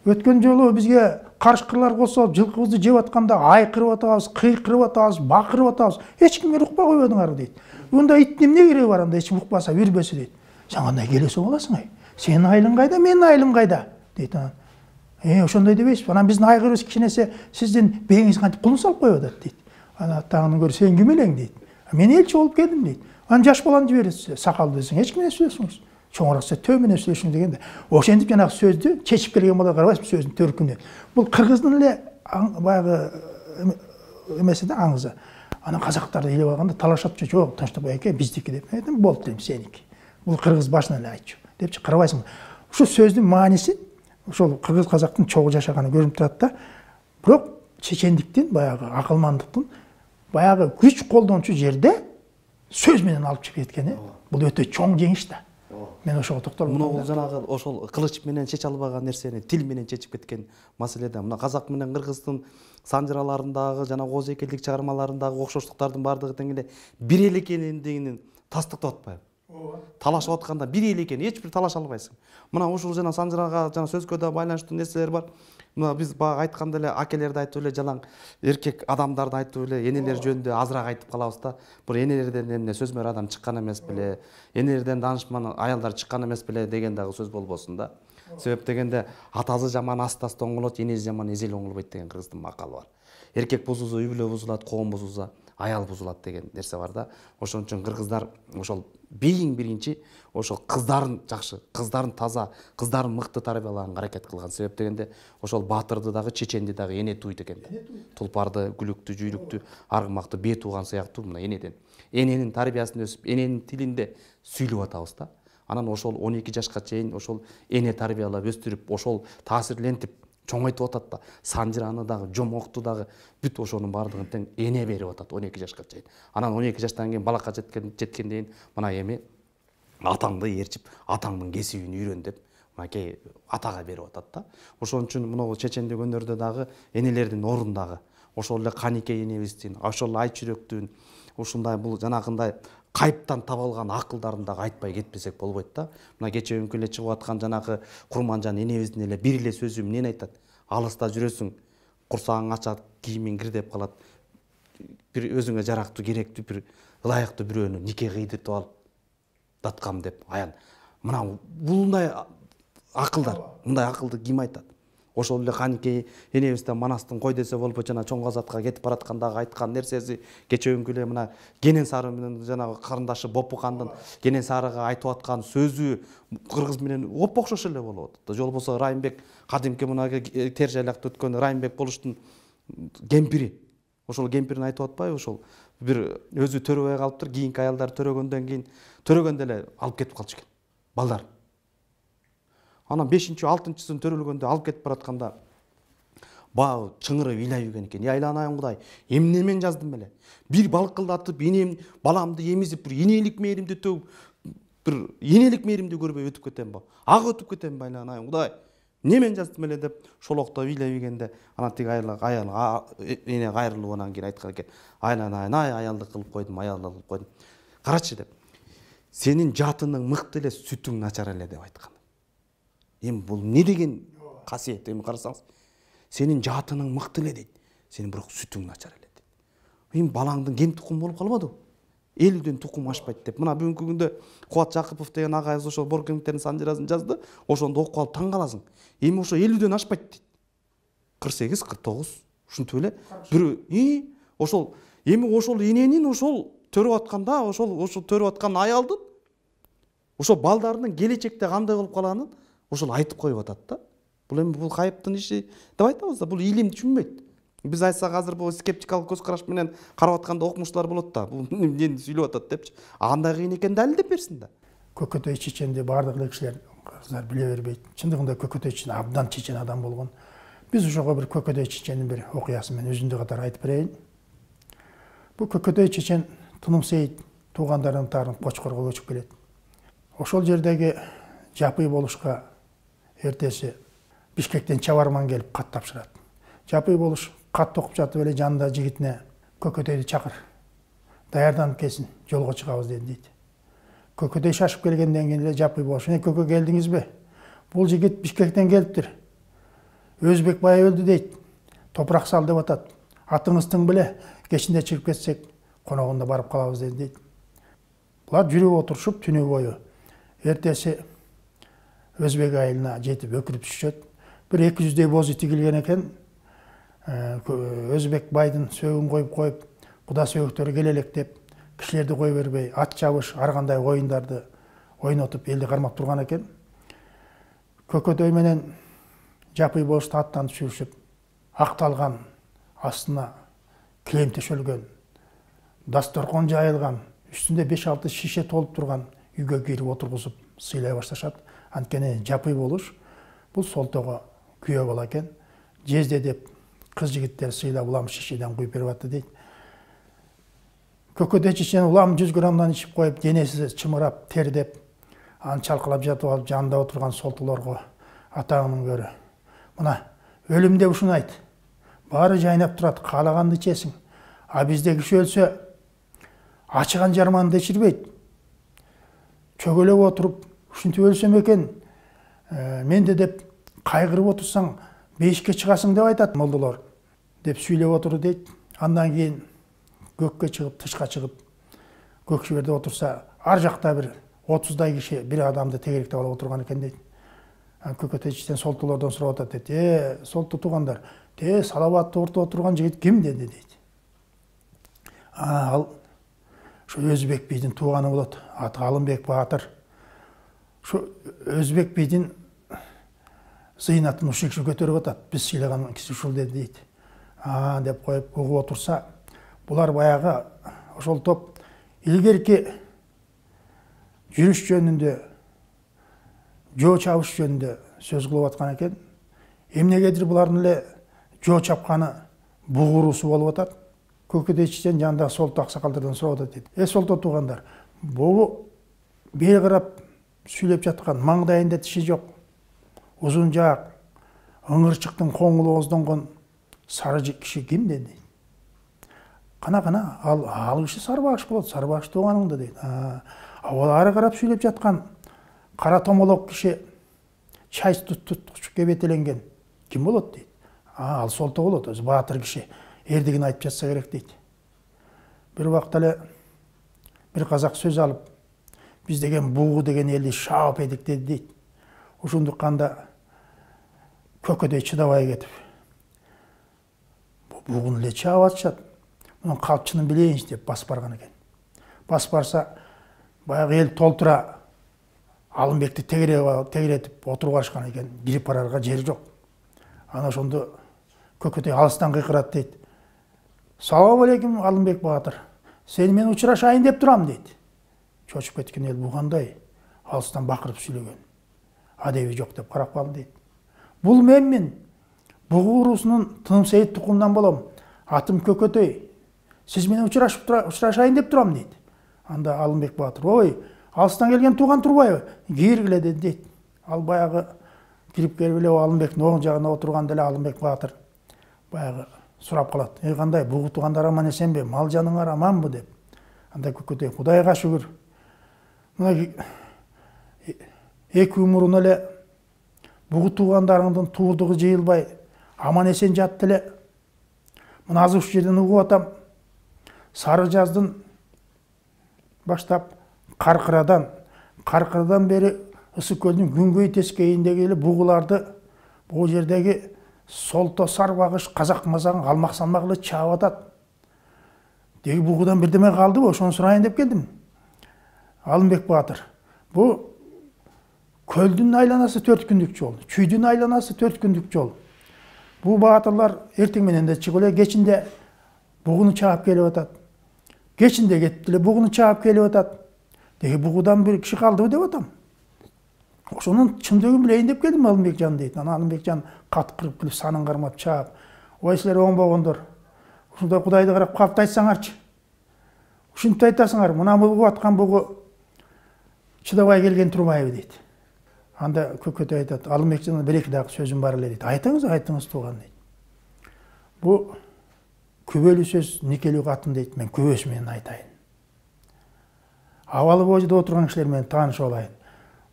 Speaker 1: Өткөн жолу бизге карышкырлар косоп, жылкыбызды жеп атканда айкырып атабыз, кыйкырып атабыз, бакырып атабыз. Эч кимге укпай койбодуңар дейт. Мындай иттин эмне кереги бар анда, эч ким укпаса, үрбөсө дейт. Сен кандай келесе боласың ай? Сенин айылың кайда, менин айылым кайда? Дейт анан. Ошондой дебейсизби? Анан биздин айгырыбыз кичинесе сиздин бээңиз кантип кулун салып коюп атат дейт. Анан тагын көрүп, сен ким элең дейт. Мен элчи болуп келдим дейт. Анан жаш баланы жибересиз, сакалды десең, эч ким менен сүйлөшүңүз. Чоңураакса төбө менен сүйлөшүң дегенде, ошентип жанагы сөздү чечип келген бала карабайсызбы сөздүн төркүнүнө. Бул кыргыздын эле баягы эмеси да, аңызы. Анан казактарды илеп алганда талашат, жок, тынчтык экен, биздики деп. Айтам, болуп дейм, сеники. Бул кыргыз башынан эле айтчу депчи, карабайсыңбы? Ушул сөздүн мааниси ошол кыргыз казактын чогуу жашаганы көрүнүп турат да. Бирок чечендиктин, баягы акылмандыктын, баягы күч колдончу жерде сөз менен алып чыгып кеткени бул өтө чоң жеңиш да. Мен ошого токтолуп
Speaker 2: атам. Мына жанагы ошол кылыч менен чече албаган нерсени тил менен чечип кеткен маселе да. Мына казак менен кыргыздын санжыраларындагы жана кооз экелдик чыгармаларындагы окшоштуктардын баардыгы тең эле бир эл экендигин тастыктап атпайбы? Талашып атканда бир эл экен, эч бир талаша албайсың. Мына ушул жана санжырага жана сөзгө да байланыштуу нерселер бар. Мына биз бага айтканда эле акелерди айтып эле жалаң эркек адамдарды айтып эле энелер жөнүндө азыраак айтып калабыз да. Бир энелерден эмне сөзмөр адам чыккан эмес беле, энелерден данышман аялдар чыккан эмес беле деген дагы сөз болбосун да. Себеп дегенде атасы жаман аста-аста оңолот, энеси жаман эзел оңолбойт деген кыргыздын макалы бар. Эркек бузулса үй бүлө бузулат, коом бузулса аял бузулат деген нерсе бар да. Ошон үчүн кыргыздар ошол бийин биринчи ошол кыздарын жакшы, кыздарын таза, кыздарын мыкты тарбиялаганга аракет кылган. Себеп дегенде ошол баатырды дагы, чеченди дагы эне туйт экен да. Тулпарды, күлүктү, жүйрүктү, аргымакты бээ тууган сыяктуу мына энеден. Эненин тарбиясында өсүп, эненин тилинде сүйлөп атабыз да. Анан ошол 12 жашка чейин ошол эне тарбиялап өстүрүп, ошол таасирлентип чоңойтуп атат да. Санжираны дагы, Жомокту дагы бүт ошонун баардыгын тең эне берип атат 12 жашка чейин. Анан 12 жаштан кийин балакка жеткенден мына эми атаңды ээрчип, атаңдын кесибин үйрөн деп мынакей атага берип атат да. Ошон үчүн мына чечендик өнөрдө дагы энелердин ордундагы ошол эле Каникей энебиздин, ошол Айчүрөктүн ушундай бул жанагындай кайыптан табылган акылдарын дагы айтпай кетпесек болбойт да. Мына кечээ үnkү эле чыгып аткан жанагы Курманжан энебиздин эле бир эле сөзү эмнени айтат? Алыста жүрөсүң, курсагың ачат, кийимиң кирдеп калат. Бир өзүңө жарактуу, керектүү, бир ылайыктуу бирөөнү нике кыйдыртып алып даткам деп аян. Мына булундай акылдар, мындай акылды ким айтат? Ошол эле Каникей энебизден Манастын кой десе болбойт жана Чоң Казатка кетип бараткандагы айткан нерсеси кечээ үnkү эле мына Кенен Сары менен жанагы карындашы Бопу хандын Кенен Сарыга айтып аткан сөзү кыргыз менен окшош эле болуп атат. Жол болсо Райымбек кадимки мына тер жайлакта өткөн Райымбек болуштун кемпири. Ошол кемпирин айтып атпайбы? Ошол бир өзү төрөбөй калыптыр, кийинки аялдар төрөгөндөн кийин төрөгөндө эле алып кетип калчу экен балдар. Анан 5-6-сын төрөлгөндө алып кетип баратканда баа чыңырып ыйлай жүргөн экен. Айланайын Кудай, эмне мен жаздым эле? Бир балкылдатып, энем баламды эмизип, бир энелик мээримди төгүп, бир энелик мээримди көрбөй өтүп кетем ба? Ак өтүп кетем ба айланайын Кудай? Эмне мен жаздым эле деп шолоктоп ыйлай жүргенде анан тиги аял эне кайрылып анан кийин айткан экен. Айланайын, аялдык кылып койдум, аялдык кылып койдум. Карачы деп. Сенин жатының мыкты эле, сүтүң начар эле деп айткан. Эми бул не деген касиет? Эми карасаңыз, сенин жатының мыкты эле дейт. Сенин бирок сүтүң начар эле дейт. Эми балаңдын кем тукум болуп калбадыбы? 50ден тукум ашпайт деп. Мына бүгүнкү күндө Кубат Жакыпов деген агайыбыз ошол Боркемиктердин санжирасын жазды. Ошондо окуп алып таң каласың. Эми ошо 50ден ашпайт дейт. 48, 49 ушинтип эле бир ошол эми ошол эненин ошол төрөп атканда, ошол төрөп аткан аялдын ошол балдарынын келечекте кандай болуп калганын ошол айтып коюп атат да. Бул эми бул кайыптын иши деп айтабыз да, бул илим түшүнбөйт. Биз айтсак азыр бул скептикалык көз караш менен карап атканда окумуштуулар болот да. Бул эмнени сүйлөп атат депчи. Андай кыйын экенин далилдеп берсин да.
Speaker 1: Көкөтөй чеченди баардык эле кишилер кыздар биле бербейт. Чындыгында Көкөтөй чечен абдан чечен адам болгон. Биз ошого бир Көкөтөй чеченин бир окуясын мен өзүндө катары айтып берейин. Бул Көкөтөй чечен Тыным Сейит туугандарынын таарынып Кочкорго көчүп келет. Ошол жердеги жапый болушка эртеси Бишкектен чабарман келип кат тапшырат. Жапый болуш кат окуп жатып эле жанында жигитине Көкөтөйдү чакыр. Даярданып келсин, жолго чыгабыз дейт. Көкөтөй шашып келгенден кийин эле жапый болуш: "Көкө келдиңизби? Бул жигит Бишкектен келиптир. Өзбек бай өлдү" дейт. "Топурак сал" деп атат. "Атыңыздын беле, кечинде чыгып кетсек, коногунда барып калабыз" дейт. Булар жүрүп отурушуп түнү бою. Эртеси Өзбек айылына жетип өкүрүп түшөт. Бир 200дей бозу тигилген экен. Өзбек байдын сөөгүн коюп, куда сөөгүктөрү келелек деп, кишилерди кой бербей, ат чабыш, ар кандай оюндарды ойнотуп элди кармап турган экен. Көкөтөй менен жапый болушту аттан түшүрүшүп, акталган, астына килем төшөлгөн, дасторкон жайылган, үстүндө 5-6 шише толуп турган үйгө кирип отургузуп сыйлай башташат. Анткени жапый болуш бул солтого күйөө бала экен. Жезде деп кыз жигиттер сыйлап улам шишеден куюп берип атты дейт. Көкөтөй чечен улам 100 граммдан ичип коюп, денеси чымырап, тердеп, аны чалкалап жатып алып жанында отурган солтолорго: "Атаңдын көрү. Мына өлүм деп ушуну айт. Баары жайнап турат, каалаганды ичесиң. А бизде киши өлсө ачыган жарманды ичирбейт. Чөгөлөп отуруп, ушинтип өлсөм экен, менде деп кайгырып отурсаң, бейишке чыгасың" деп айтат молдолор деп сүйлөп отурду дейт. Андан кийин көккө чыгып, тышка чыгып, көк шиберде отурса, ар жакта бир 30дай киши бир адамды тегеректеп алып отурган экен дейт. Көкөтөй чечен солтолордон сурап атат дейт: "Солту туугандар, салабатты ортого отурган жигит ким?" деди дейт. Ал ошо Өзбек бийдин тууганы болот. Аты Алымбек Баатыр. Ошо Өзбек бийдин зыйнатын ушул киши көтөрүп атат. Биз сыйлаган киши ушул деди дейт. Деп коюп угуп отурса, булар баягы ошол топ илгерки жүрүш жөнүндө, жөө чабыш жөнүндө сөз кылып аткан экен. эмнегедир булардын эле жоо чапканы бугуруусу болуп атат. Көкөдөй чечен жанындагы солто аксакалдардан сурап атат дейт. Солто туугандар, бугу бери карап сүйлөп жаткан, маңдайында тиши жок, узун жаак, ыңырчыктын коңулу ооздонгон сары киши ким дейт. Кана ал киши Сарбагыш болот, Сарбагыш тууганыңды дейт. Ал ары карап сүйлөп жаткан кара томолок киши, чай туткуч кебетеленген ким болот дейт. Ал солто болот, өзү баатыр киши, эрдигин айтып жатса керек дейт. Бир убакта эле бир казак сөз алып, биз деген бугу деген элди шаап эдик деди дейт. Ушундукканда көкөдөй чыдабай кетип, бугуну эле чаап атышат, мунун калпчынын билейинчи деп басып барган экен. Басып барса, баягы эл толтура Алымбекти тегеретип отуруп алышкан экен, кирип барарга жери жок. Ана ошондо көкөдөй алыстан кыйкырат дейт. Салам алейкум, Алымбек баатыр. Сени мен учурашайын деп турам дейт. Чочуп кеткен эл бугандай алыстан бакырып сүйлөгөн. Адеби жок деп карап калды дейт. Бул менмин. Бугу уруусунун Тыным Сейит тукумунан болом. Атым Көкөдөй. Сиз менен учурашайын деп турам дейт. Анда Алымбек баатыр, ой, алыстан келген тууган турбайбы? Киргиле дейт. Ал баягы кирип келип эле Алымбектин оң жагына отурганда эле Алымбек баатыр баягы сурап калат. Кандай, бугу туугандар аман эсенби? Мал жаныңар аманбы деп. Анда Көкөдөй, Кудайга шүгүр. Мына эки умурун эле бугу туугандарыңдын туурдугу жыйылбай аман эсен жатты эле. Мына азыр ушул жерден угуп атам. Сары жаздын баштап Каркырадан бери Ысык көлдүн күнгөй тескейиндеги эле бугуларды бул жердеги солто, Сарбагыш, казак мазагын калмак салмак эле чаап атат. Деги бугудан бирдеме калдыбы? Ошону сурайын деп келдим. Алымбек баатыр, бу көлдүн айланасы 4 күндүк жол, чүйдүн айланасы 4 күндүк жол. Бу баатырлар эртең менен да чыгып эле, кечинде бугуну чаап келип атат. Кечинде кетип эле бугуну чаап келип атат. Деги бугудан бир киши калдыбы деп атам. Ошонун чындыгын билейин деп келдим, Алымбекжан дейт. Ана Алымбекжан каткырып келип санын кармап чаап, ой силер оңбогондор, ушундай Кудайды карап калпты айтсаңарчы. Ушинтип айтасыңар, мына бугу аткан бугу чыдабай келген турбайбы дейт. Анда Көкөдөй айтат, Алымбекжан бир эки дагы сөзүм бар эле дейт. Айтыңыз тууган дейт. Бу күбөлүү сөз никелүү катын дейт, мен күбөсү менен айтайын. Абалы божуда отурган кишилер менен таанышып алайын.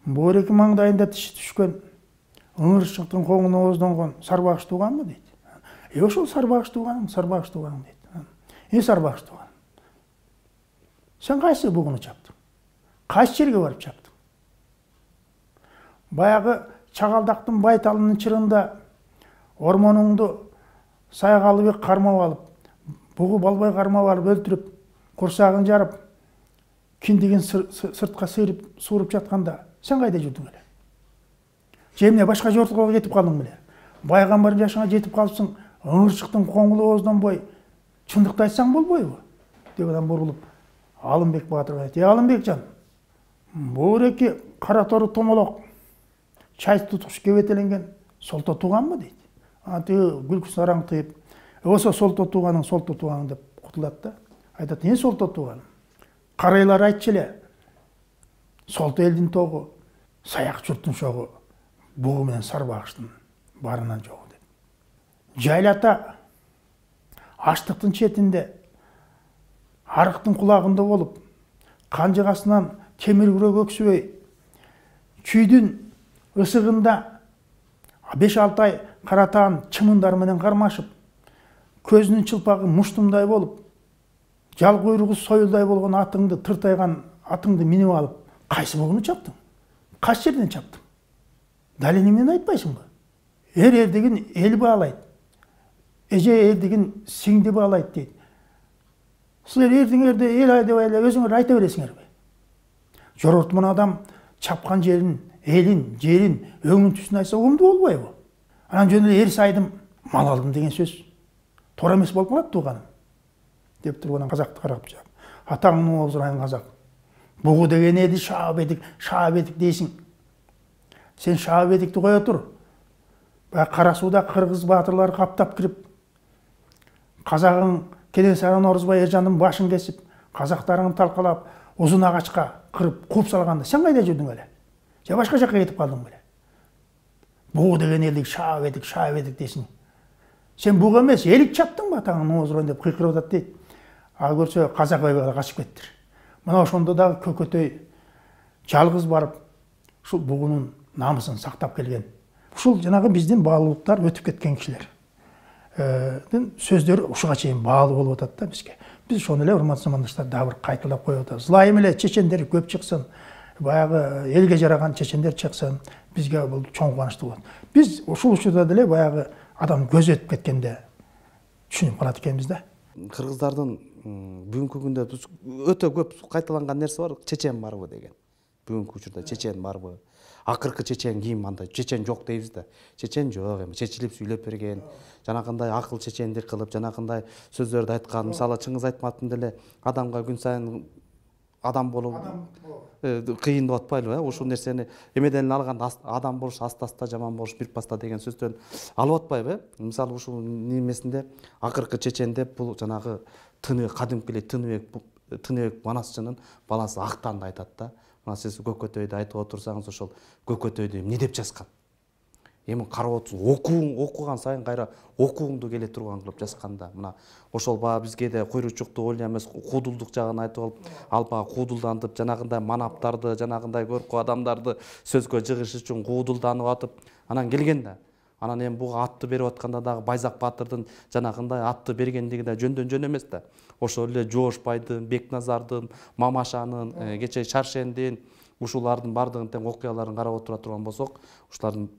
Speaker 1: Бул эки маңдайында тиши түшкөн, ыңырчыктын коңуну ооздонгон Сарбагыш тууганбы дейт. Ошол Сарбагыш тууганың дейт. Сарбагыш тууган. Сен кайсы бугуну чаптың? Кайсы жерге барып чаптың? Баягы Чагалдактын байталынын чырында ормонуңду Сайгалыбек кармап алып, бугу Балбай кармап алып өлтүрүп, курсагын жарып, киндигин сыртка сууруп жатканда сен кайда жүрдүң эле? Же эмне башка жортугага кетип калдың беле? Байгамбардын жашыңа жетип калыпсың, ыңырчыктын коңулу ооздонбой, чындыкты айтсаң болбойбу? Деп адам бурулуп, Алымбек баатырга айтты, Алымбекжан, бул эки кара тору томолок, чай туткуч кебетеленген солто тууганбы дейт. Тиги күлкүсүн араңтыйып, болсо солто тууганың деп кутулат да. Айтат, солто тууганың? Карайлар айтчу эле, солто элдин тогу, саяк журттун шогу, бугу менен Сарбагыштын барынан жогу деп. Жайлата аштыктын четинде, арыктын кулагында болуп, канжыгасынан темир күрөк өксүбөй, чүйдүн ысыгында 5-6 ай каратаан чымындар менен кармашып, көзүнүн чылпагы муштумдай болуп, жал куйругу союлдай болгон атыңды тыртайган атыңды минип алып, кайсы бугуну чаптың? Кайсы жерден чаптың? Дал эне менен айтпайсыңбы? Эрдигин эл баалайт. Эже эрдигин сиңди баалайт дейт. Силер эрдиңерде эл айдабай эле өзүңөр айта бересиңерби? Жорортмун адам чапкан жерин, элин, жерин, өңүн түсүн айтса угумдуу болбойбу? Анан жөн эле эр сайдым, мал алдым деген сөз туура эмес болуп калат тууганым. Деп туруп анан казакты карап жаап, атаңдын оозурайын казак. Бугу деген эди шаап эдик дейсиң. Сен шаап эдикти кое тур. баягы Кара сууда кыргыз баатырлары каптап кирип, казагың Кенесары Орозбай Эржандын башын кесип, казактарыңды талкалап, узун агачка кырып кууп салганда сен кайда жүрдүң эле? Же башка жакка кетип калдың беле? Бугу деген элдик шаап едик дейсиң. Сен буга эмес, элик чаптың ба атаңын оозурон деп кыйкырып атат дейт. Ал көрсө казак ойбайга качып кеттир. Мына ошондо дагы Көкөтөй жалгыз барып, ушул бугунун намысын сактап келген. Ушул жанагы биздин баалуулуктар өтүп кеткен кишилер. Сөздөрү ушуга чейин баалуу болуп атат да бизге. Биз ошону эле урматтуу замандаштар дагы бир кайталап коюп атабыз. Ылайым эле чечендер көп чыксын, баягы элге жараган чечендер чыксын, бизге бул чоң кубанычтуу болот. Биз ушул учурда деле баягы адам көзү өтүп кеткенде түшүнүп калат экенбиз да.
Speaker 2: Кыргыздардын бүгүнкү күндө өтө көп кайталанган нерсе бар, чечен барбы деген. Бүгүнкү учурда чечен барбы? Акыркы чечен ким андай? Чечен жок дейбиз да. Чечен жок, эми чечилип сүйлөп берген, жанагындай акыл чечендик кылып, жанагындай сөздөрдү айткан. Мисалы Чыңгыз Айтматовдун деле адамга күн сайын адам болуп кыйын деп атпайлыбы? Ушул нерсени эмеден эле алган, адам болуш аста-аста, жаман болуш бир паста деген сөздөн алып атпайбы? Мисалы ушул немесинде акыркы чечен деп бул жанагы кадимки эле Тыныбек Манасчынын баласы Актанды айтат да. Мына сиз Көкөтөйдү айтып отурсаңыз, ошол Көкөтөйдү эмне деп жазган? Эми карап отурсуң, окуган сайын кайра окугуңду келе турган кылып жазган да. Мына ошол баа бизге да куйручукту ойла эмес, куудулдук жагын айтып алып, ал баа куудулдантып, жанагындай манаптарды, жанагындай көркү адамдарды сөзгө жыгыш үчүн куудулданып атып, анан келген да. Анан эми буга атты берип атканда дагы Байзак Баатырдын жанагындай атты бергендиги да жөндөн жөн эмес да. Ошол эле Жоошбайдын, Бекназардын, Мамашанын, кече Шаршендин, ушулардын бардыгын тең окуяларын карап отура турган болсок, ушулардын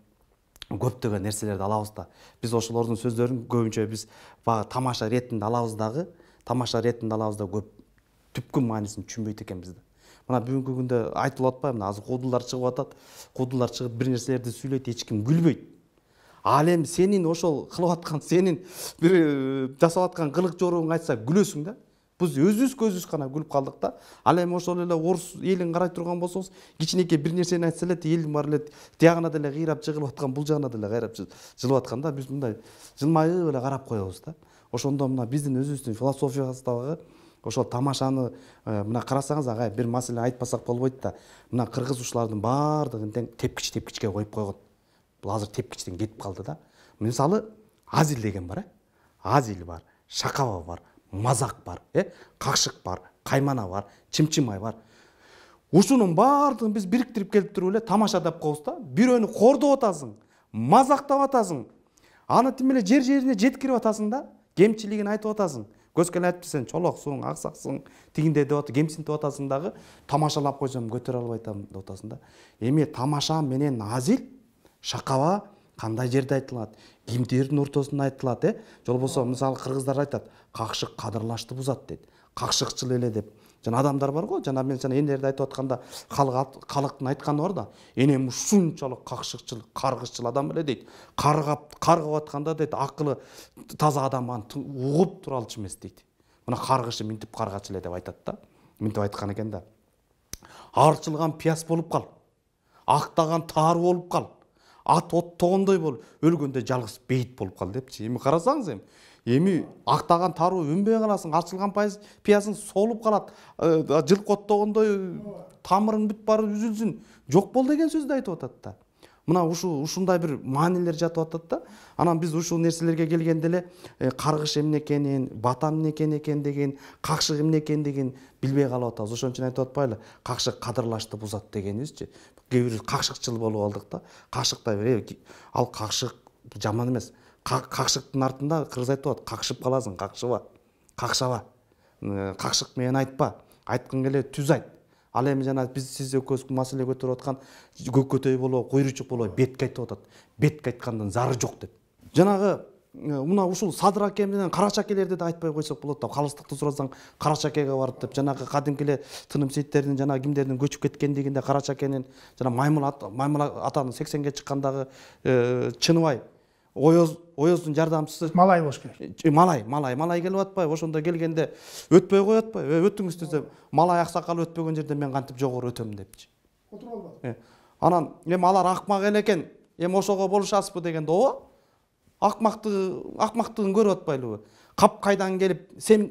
Speaker 2: көптөгөн нерселерди алабыз да. Биз ошолордун сөздөрүн көбүнчө биз баягы тамаша иретинде алабыз дагы, көп түпкү маанисин түшүнбөйт экенбиз да. Мына бүгүнкү күндө айтылып атпайбы, мына азыр куудулдар чыгып атат. Куудулдар чыгып бир нерселерди сүйлөйт, эч ким күлбөйт. Ал эми сенин ошол кылып аткан, сенин бир жасап аткан кылык жоруңду айтса күлөсүң да. Биз өзүбүз гана күлүп калдык да. Ал эми ошол эле орус элин карай турган болсоңуз, кичинекей бир нерсени айтса эле элдин баары эле тиягына деле кыйрап жыгылып аткан, бул жагына деле кайрап жылып аткан да. Биз мындай жылмайып эле карап коебуз да. Ошондо мына биздин өзүбүздүн философиябыз дагы ошол тамашаны мына карасаңыз, агай бир маселе айтпасак болбойт да. Мына кыргыз ушулардын баардыгын тең тепкичке коюп койгон. Бул азыр тепкичтен кетип калды да. Мисалы Азил деген бар, Азил бар, Шакаба бар, Мазак бар, Какшык бар, Каймана бар, Чымчымай бар. Ушунун баардыгын биз бириктирип келип туруп эле тамаша деп коебуз да. Бирөөнү кордоп атасың, мазактап атасың. Аны тим эле жерине жеткирип атасың да. Кемчилигин айтып атасың. Көзкөлө айтып сен чолоксуң, аксаксың, тигинде деп атып, кемсинтип атасың дагы, тамашалап койсом көтөрө албай атам деп атасың да. Эми тамаша менен Азил, Шакаба кандай жерде айтылат, кимдердин ортосунда айтылат, Жол болсо мисалы кыргыздар айтат, какшык кадырлашты бузат дейт. Какшыкчыл эле деп. Жана адамдар бар го, жана мен энелерди айтып атканда калктын айтканы бар да. Энем ушунчалык какшыкчыл, каргышчыл адам эле дейт. Каргап атканда дейт, акылы таза адам аны угуп тура алчу эмес дейт. Мына каргышы минтип каргач эле деп айтат да. Минтип айткан экен да. Арчылган пияз болуп кал. Актаган таар болуп кал. Ат оттогондой бол, өлгөндө жалгыз бейит болуп кал депчи. Эми карасаңыз эми актаган таруу өнбөй каласың, арчылган пиясың солуп калат, жылкы оттогондой тамырың бүт баары үзүлсүн, жок бол деген сөздү айтып атат да. Мына ушундай бир маанилер жатып атат да. Анан биз ушул нерселерге келгенде эле каргыш эмне экенин, батам эмне экен деген, какшык эмне экендигин билбей калып атабыз. Ошон үчүн айтып атпайлы, какшык кадырлашты бузат дегенибизчи. Кээ бир какшыкчыл болуп алдык да. Какшыктай бир ал какшык жаман эмес. Какшыктын артында кыргыз айтып атат, какшып каласың, какшыба, какшаба. Какшык менен айтпа, айткың келе түз айт. Ал эми жана биз сиз экөөбүз маселе көтөрүп аткан Көкөтөй болобу, Куйручук болобу бетке айтып атат. Бетке айткандын зары жок деп. Жанагы мына ушул Садыр аке менен Карачакелерди да айтпай койсок болот да. Калыстыкты сурасаң Карачакеге барып деп, жанагы кадимки эле тыным сейиттердин жана кимдердин көчүп кеткендигинде Карачакенин жана Маймыл атанын 80ге чыккандагы Чыныбай Оёздун жардамчысы
Speaker 1: Малай болуш керек.
Speaker 2: Малай келип атпайбы? Ошондо келгенде өтпөй коет атпайбы? Өтүңүз десе, Малай аксакал өтпөгөн жерде мен кантип жогору өтөм депчи.
Speaker 1: Отуруп албады.
Speaker 2: Анан эми алар акмак экен. эми ошого болушасызбы дегенде ооба акмактыгын көрүп атпайлыбы? Кап кайдан келип сен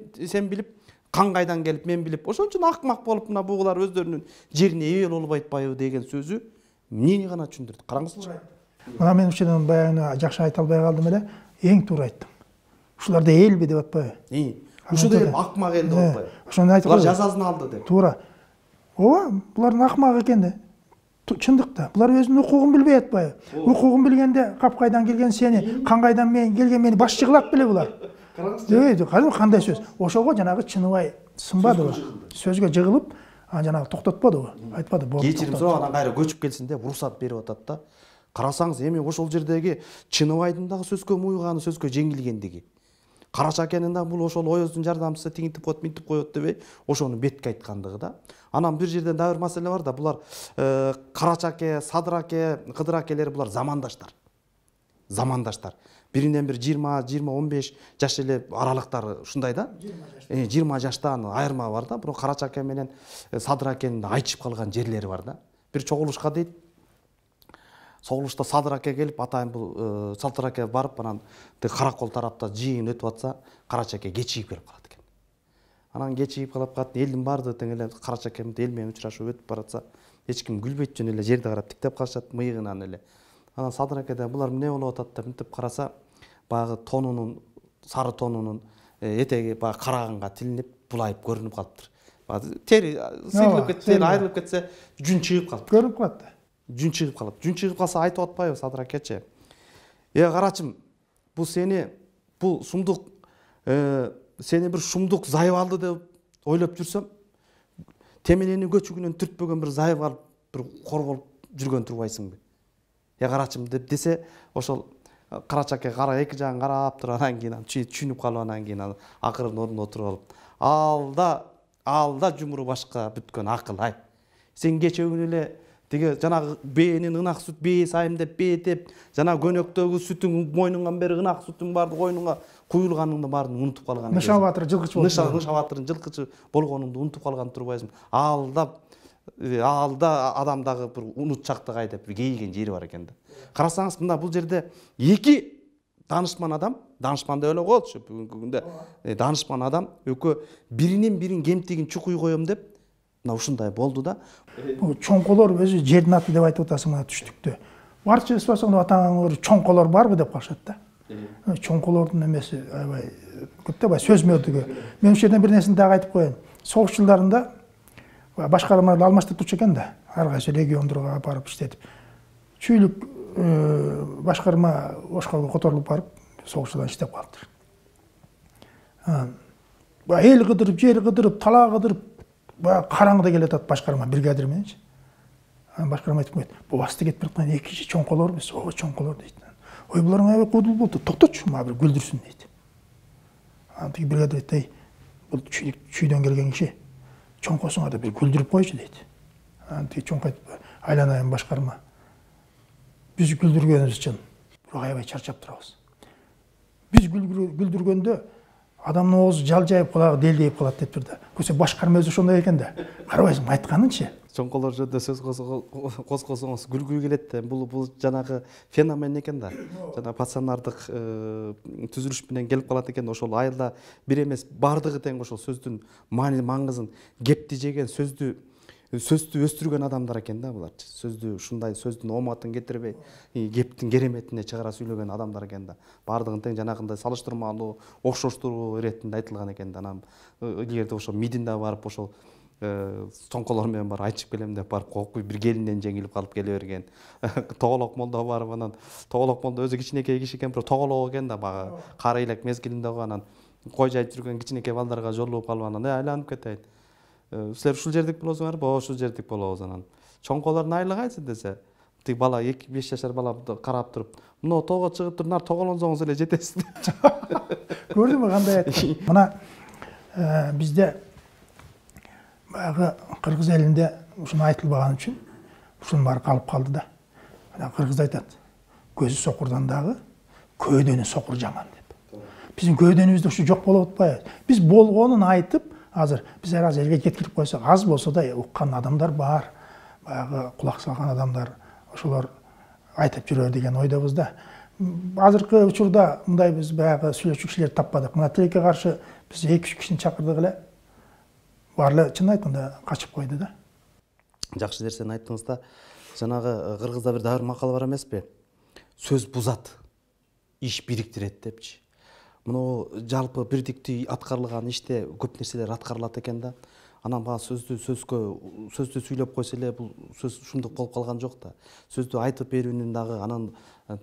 Speaker 2: билип, кан кайдан келип мен билип, ошон үчүн акмак болуп мына бугулар өздөрүнүн жерине ээ болуп атпайбы деген сөзү эмнени гана түшүндүрдү. Караңызчы.
Speaker 1: Мына мен ушундан баягы жакшы айта албай калдым эле, эң туура айттым. Ушуларда элби деп атпайбы?
Speaker 2: Ушул эл акмак эл деп атпайбы?
Speaker 1: Ошону айтып
Speaker 2: булар жазасын алды деп.
Speaker 1: Туура. Ооба, булардын акмак экен да. Чындыкта булар өзүнүн укугун билбей атпайбы? Укугун билгенде кап кайдан келген сени, кан кайдан мен келген мени баш жыгылат беле булар. Караңызчы. Кандай сөз? Ошого жанагы чыныбай сынбадыбы? Сөзгө жыгылып, жанагы токтотподубу? Айтпады.
Speaker 2: Кечирим сурагандан кайра көчүп келсин деп уруксат берип атат да. Карасаңыз эми ошол жердеги Чыныбайдын дагы сөзгө муйганы, сөзгө жеңилгендиги. Карачакенин да бул ошол Оёздун жардамчысы тиңитип коет, минтип коет дебей, ошону бетке айткандыгы да. Анан бир жерден дагы бир маселе бар да, булар Карачаке, Садыраке, Кыдыракелер булар замандаштар. Замандаштар. Биринен бир 20-15 жаш эле аралыктары ушундай да. 20 жаштан айырма бар да. Бирок Карачаке менен Садыракенин айтышып калган жерлери бар да. Бир чогулушка дейт. Соғылышта Садыраке келип, атайын бул Салтыраке барып, анан Каракол тарапта жыйын өтүп атса, Карачаке кечигип келип калат экен. Анан кечигип калып калат, элдин баардыгы тең эле Карачаке эл менен учурашып өтүп баратса, эч ким күлбөйт жөн эле жерди карап тиктеп калышат мыйыгынан эле. Анан Садыракеде булар эмне болуп атат деп мынтип караса, баягы тонунун, сары тонунун этеги баягы караганга тилинип, булайып көрүнүп калыптыр. Тери сыйрылып кетсе, айрылып кетсе, жүн чыгып калып.
Speaker 1: Көрүнүп калат да.
Speaker 2: Жүн чыгып калат. Жүн чыгып калса айтып атпайбы Садыракечи? Карачым, бул сени, бул сумдук, сени бир шумдук зайып алды деп ойлоп жүрсөм, темелени көчүгүнөн түртпөгөн бир зайып алып, бир корголуп жүргөн турбайсыңбы? Карачым деп десе, ошол Карачаке кара эки жагын карап туруп, анан кийин түшүнүп калып, анан кийин акырын ордуна отуруп алып, алда жумуру башка бүткөн акыл ай. Сен кечөгүн эле тиги жанагы бээнин ынак сүт бээ сайым деп бээдеп, жана көнөктөгү сүтүң мойнуңан бери ынак сүтүң барды койнуңа куюлганыңды баарын унутуп калган.
Speaker 1: Ныша батыр жылкычы болду.
Speaker 2: Ныша батырдын жылкычы болгонуңду унутуп калган турбайсың. Алда адамдагы бир унутчактык ай деп бир кейиген жери бар экен да. Карасаңыз, мында бул жерде эки данышман адам, данышман деп эле коелучу бүгүнкү күндө. Данышман адам экөө биринин бирин кемтигин чукуй коем деп мына ушундай болду да.
Speaker 1: Чоңколор өзү жердин аты деп айтып атасың мына түштүктө. Барча эсбасаңда атаңар чоңколор барбы деп калышат да. Чоңколордун эмеси аябай көп да, бай сөз мөдүгү. Мен ушул жерден бир нерсени дагы айтып коеюн. Согуш жылдарында башкармаларды алмаштырып турчу экен да. Ар кайсы региондорго барып иштетип. Чүйлүк башкарма Ошколго которулуп барып, согушчудан иштеп калыптыр. Эл кыдырып, жер кыдырып, талаа кыдырып, караңгыда келатат башкарма бригадир мененчи. Башкарма айтып коет. Бубасты кетип бараткан экинчи чоңколорбуз. Ооба, чоңколор дейт. Ой, буларың аябай кудул болду. Токточу, мага бир күлдүрсүн дейт. Тиги бригадир айтты, бул чүйдөн келген киши чоңкосуңа да бир күлдүрүп койчу дейт. Тиги чоңко айтып, айланайын башкарма. Биз күлдүргөнүбүз үчүн бирок аябай чарчап турабыз. Биз күлдүргөндө адамдын оозу жалжайып, кулагы делдейип калат деп турду. Көсө башкарма өзү ошондой экен да. Карабайсың, айтканынчы.
Speaker 2: Чоңколор жөнүндө сөз козгосоңуз күлгү келет да. Бул жанагы феномен экен да. Жана пацанардык түзүлүш менен келип калат экен. Ошол айылда бир эмес бардыгы тең ошол сөздүн маңызын, кепти жеген, сөздү өстүргөн адамдар экен да булар. Сөздү ушундай сөздүн оматын кетирбей, кептин кереметине чыгара сүйлөгөн адамдар экен да. Бардыгын тең жанагындай салыштырмалуу, окшоштуруу иретинде айтылган экен да. Анан илгерде ошол мидинде барып ошол чоңколор менен бар айтышып келем деп барып кокуй бир келинден жеңилип калып келе берген. Тоголок молдо барып, анан Тоголок молдо өзү кичинекей киши экен, бирок тоголок экен да, бага кары элек мезгилинде анан кой жайып жүргөн кичинекей балдарга жолугуп калып, анан айланып кетейин. Силер ушул жердик болосуңарбы? Ооба, ушул жердик болобуз. Анан чоңколордун айылы кайсы десе, тиги бала 2-5 жашар бала карап туруп, мына тоого чыгып туруп, нар тоголонсоңуз эле жетесиз.
Speaker 1: Көрдүңбү кандай айтты? Мына бизде баягы кыргыз элинде ушуну айтылбаган үчүн ушунун баары калып калды да. Мына кыргыз айтат, көзү сокурдан дагы көөдөнү сокур жаман деп. Биздин көөдөнүбүздө ушу жок болуп атпайбы? Биз болгонун айтып, азыр биз элге жеткирип койсок, аз болсо да уккан адамдар бар. Баягы кулак салган адамдар, ошолор айтып жүрөр деген ойдобуз да. Азыркы учурда мындай биз баягы сүйлөчү кишилерди таппадык. Мына тилекке каршы биз 2-3 кишини чакырдык эле. Баары эле чын айтканда качып койду да.
Speaker 2: Жакшы нерсени айттыңыз да. Жанагы кыргызда бир дагы макал бар эмеспи? Сөз бузат, иш бириктирет депчи. Мына жалпы бирдиктүү аткарылган иште көп нерселер аткарылат экен да. Анан баа сөздү сүйлөп койсо эле бул сөз ушундук болуп калган жок да. Сөздү айтып берүүнүн дагы анан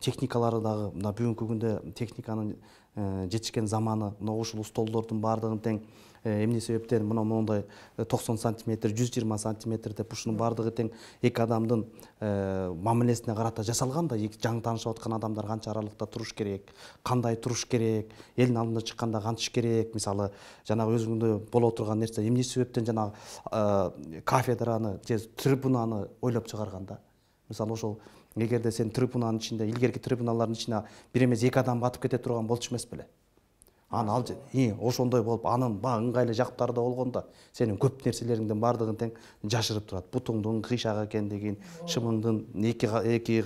Speaker 2: техникалары дагы мына бүгүнкү күндө техниканын жетишкен заманы, мына ушул столдордун баардыгын тең эмне себептен мына мондай 90 сантиметр, 120 сантиметр деп ушунун баардыгы тең эки адамдын мамилесине карата жасалган да. Жаңы таанышып аткан адамдар канча аралыкта туруш керек, кандай туруш керек, элдин алдына чыкканда кантиш керек. Мисалы, жанагы өзүңдө боло турган нерсе эмне себептен жанагы кафедраны же трибунаны ойлоп чыгарганда. Мисалы, ошол эгерде сен трибунанын ичинде, илгерки трибуналардын ичине бир эмес эки адам батып кете турган болчу эмес беле? Аны ошондой болуп, анын ыңгайлуу жактары да болгондо сенин көп нерселериңдин баардыгын тең жашырып турат. Бутуңдун кыйшак экендигин, шымыңдын эки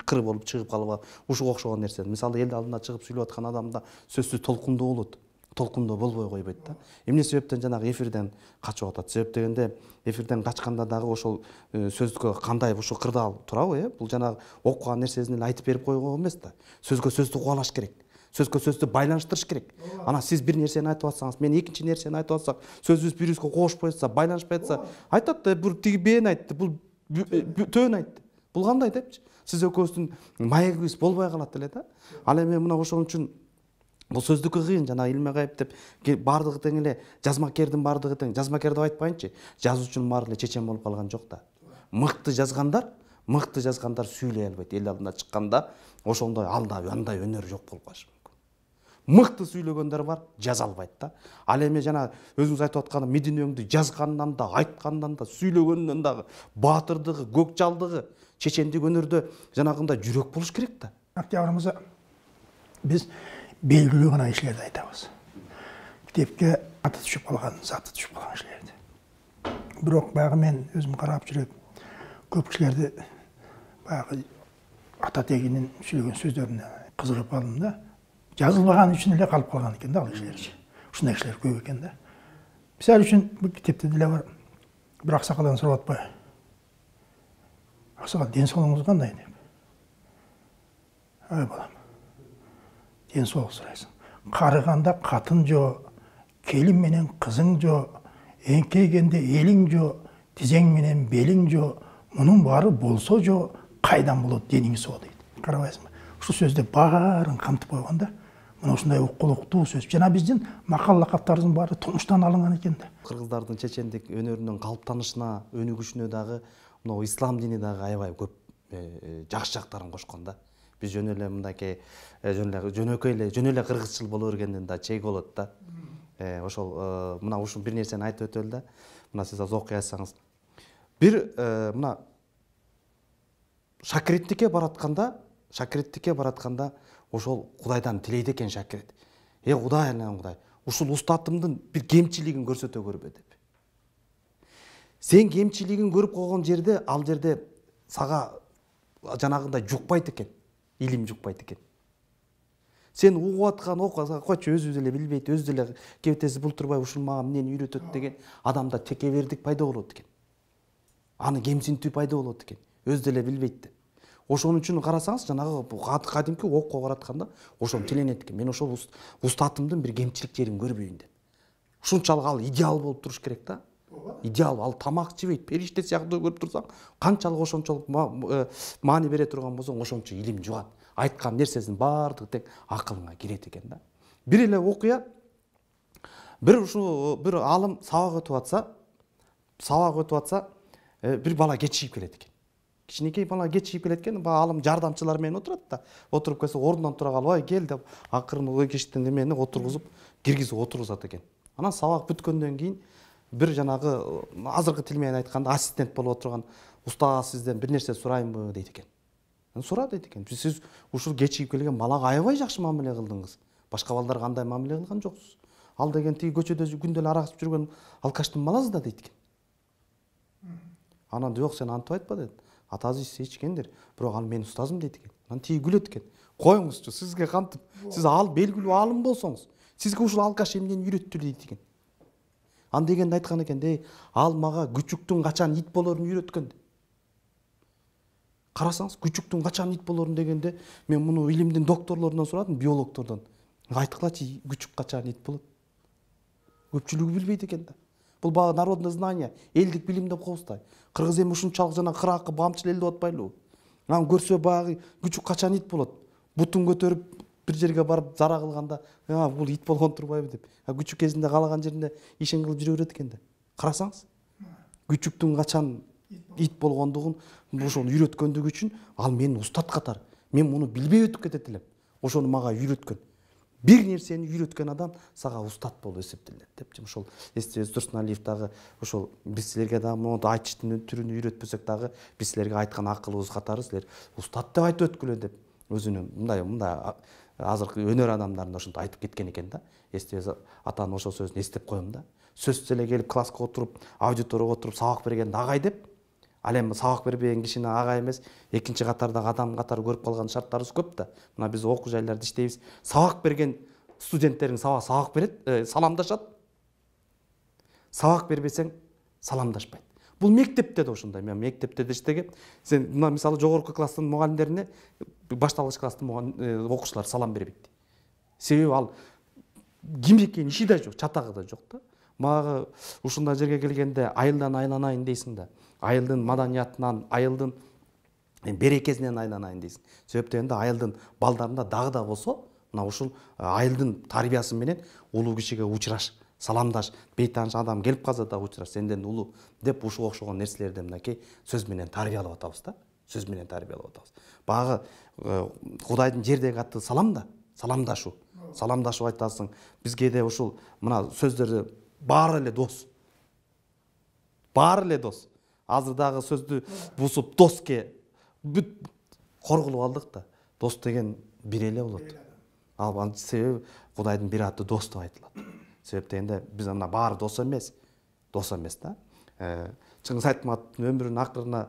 Speaker 2: кыры болуп чыгып калып, ушуга окшогон нерсе. Мисалы, эл алдына чыгып сүйлөп аткан адамда сөзсүз толкундуу болот. Толкундуу болбой койбойт да. Эмне себептен жанагы эфирден качып атат? Себеп дегенде эфирден качканда дагы ошол сөзгө кандай ушул кырдаал турабы, бул жанагы окуган нерсесин эле айтып берип койгон эмес да. Сөзгө сөздү кубалаш керек. Сөзгө сөздү байланыштырыш керек. Анан сиз бир нерсени айтып атсаңыз, мен экинчи нерсени айтып атсак, сөзүбүз бири-бирибизге кошпой атса, байланышпай атса, айтат да, бул тиги бен айтты, бул төөн айтты. Бул кандай депчи? Сиз экөөбүздүн маегибиз болбой калат эле да. Ал эми мына ошон үчүн бул сөздүккө кыйын, жана Илмегайып деп баардыгы тең эле жазмакердин баардыгы тең. Жазмакер деп айтпайынчы, жазуучунун баары эле чечен болуп калган жок да. Мыкты жазгандар сүйлөй албайт. Эл алдына чыкканда ошондой андай өнөр жок болуп калышы мүмкүн. Мыкты сүйлөгөндөр бар, жаза албайт да. Ал эми жана өзүңүз айтып аткан Мединөңдү жазгандан да, айткандан да, сүйлөгөндөн дагы баатырдыгы, көкжалдыгы, чечендик өнөрдө жанагындай жүрөк болуш керек да.
Speaker 1: Октябрымызда биз белгилүү гана кишилерди айтабыз. Китепке аты түшүп калган, заты түшүп калган кишилерди. Бирок баягы мен өзүм карап жүрөп, көп кишилерди баягы ата тегинин сүйлөгөн сөздөрүнө кызыгып калдым да. Жазылбаган үчүн эле калып калган экен да ал кишилерчи. Ушундай кишилер көп экен да. Мисалы үчүн бул китепте деле бар. Бир аксакалдан сурап атпайбы? Аксакал, ден соолугуңуз кандай деп. Ой балам, ден соолук сурайсың. Карыганда катын жо, келин менен кызың жо, эңкейгенде элиң жо, тизең менен белиң жо, мунун баары болсо жо, кайдан болот дениң соо дейт. Карабайсыңбы? Ушул сөздө баарын камтып койгон да. Мына ушундай укулуктуу сөз. Жана биздин макал лакаптарыбыздын баары тумуштан алынган экен да.
Speaker 2: Кыргыздардын чечендик өнөрүнүн калыптанышына, өнүгүшүнө дагы мына ислам дини дагы аябай көп жакшы жактарын кошкон да. Биз жөн эле мындайкей жөнөкөй эле кыргызчыл боло бергенден да чек болот да. Ошол мына ушул бир нерсени айтып өтөлү да. Мына сиз азыр окуй айтсаңыз. Бир мына шакиреттикке баратканда ошол Кудайдан тилейт экен шакирет. Кудай, Кудай, ушул устатымдын бир кемчилигин көрсөтө көрбө деп. Сен кемчилигин көрүп койгон жерде, ал жерде сага жанагындай жукпайт экен, илим жукпайт экен. Сен угуп аткан койчу өзүбүз эле билбейт, өзү эле кебетеси бултурбай ушул мага эмнени үйрөтөт деген адамда текебердик пайда болот экен. Аны кемсинтүү пайда болот экен, өзү эле билбейт деп. Ошон үчүн карасаңыз, жанагы кадимки окко баратканда ошон тиленет экен. Мен ошол устатымдын бир кемчилик жерин көрбөйүн деп. Ушунчалык ал идеал болуп туруш керек да. Идеал, ал тамак жебейт, периште сыяктуу көрүп турсаң, канчалык ошончолук маани бере турган болсоң, ошончо илим жугат. Айткан нерсесинин баардыгы тең акылыңа кирет экен да. Бир эле окуя, бир алым сабак өтүп атса, бир бала кечигип келет экен. Кичинекей бала кечигип келет экен, алым жардамчылар менен отурат да. Отуруп келсе, ордунан тура калып, "Ой, кел" деп акырын кештен эмени отургузуп, киргизип отургузат экен. Анан сабак бүткөндөн кийин бир жанагы азыркы тил менен айтканда ассистент болуп отурган устаз сизден бир нерсе сурайынбы дейт экен. Сура дейт экен. Сиз ушул кечигип келген балага аябай жакшы мамиле кылдыңыз. Башка балдарга кандай мамиле кылган жоксуз. Ал деген тиги көчөдө күндө эле арак ичип жүргөн алкаштын баласы да дейт экен. Анан жок, сен антип айтпа дейт. атасы ичкендир, бирок ал менин устазым дейт экен. Анан тиги күлөт экен. Коюңузчу, сизге кантип, сиз ал белгилүү аалым болсоңуз, сизге ушул алкаш эмнени үйрөттү дейт экен. Ан дегенде айткан экен, ал мага күчүктүн качан ит болорун үйрөткөн. Карасаңыз, күчүктүн качан ит болорун дегенде, мен муну илимдин докторлорунан сурадым, биологтордон. Айткылачы, күчүк качан ит болот? Көпчүлүгү билбейт экен да. Бул багы народное знание, элдик билим деп коебузда. Кыргыз эми ушунчалык жана кыракы бамчыл эл деп атпайлыбы? Анан көрсө багы күчүк качан ит болот? Бутун көтөрүп бир жерге барып зара кылганда, бул ит болгон турбайбы деп. Күчүк кезинде каалаган жеринде ишин кылып жүрө берет экен да. Карасаңыз, күчүктүн качан ит болгондугун ошону үйрөткөндүгү үчүн ал менин устат катары. Мен муну билбей өтүп кетет элем. Ошону мага үйрөткөн. Бир нерсени үйрөткөн адам сага устат болуп эсептелет депчи. Ошол эстебиз Турсуналиев дагы ошол биз силерге дагы мону айтыштын түрүн үйрөтпөсөк дагы биз силерге айткан акылыбыз катары силер устат деп айтып өткүлө деп өзүнүн мындай азыркы өнөр адамдарында ошентип айтып кеткен экен да. Эстебиз атанын ошол сөзүн эстеп коем да. Сөзсүз эле келип класска отуруп, аудиторияга отуруп сабак бергенди агай деп, ал эми сабак бербеген кишини агай эмес, экинчи катардагы адам катары көрүп калган шарттарыбыз көп да. Мына биз окуу жайларда иштейбиз. Сабак берген студенттериң сабак берет, саламдашат. Сабак бербесең саламдашпайт. Бул мектепте да ошондой. Мен мектепте да иштегем. Сен мына мисалы жогорку класстын мугалимдерине башталгыч класстын окуучулар салам бербейт. Себеби ал ким экени иши да жок, чатагы да жок да. Мага ушундай жерге келгенде айылдан айланайын дейсиң да. Айылдын маданиятынан, айылдын берекесинен айланайын дейсиң. Себеп дегенде айылдын балдарында дагы да болсо, мына ушул айылдын тарбиясы менен улуу кишиге учураш, саламдаш, бейтааныш адам келип калса да учураш, сенден улуу деп ушуга окшогон нерселерди мынакей сөз менен тарбиялап атабыз да. Сөз менен тарбиялап атабыз. Багы Кудайдын жердеги аты салам да, саламдашуу. Саламдашып айтасың. Бизге де ушул мына сөздөрдү баары эле дос. Баары эле дос. Азыр дагы сөздү бусуп доске бүт коргулуп алдык да. Дос деген бир эле болот. Ал себеби Кудайдын бир аты дос деп айтылат. Себеп дегенде биз ана баары дос эмес да. Чыңгыз Айтматовдун өмүрүнүн акырына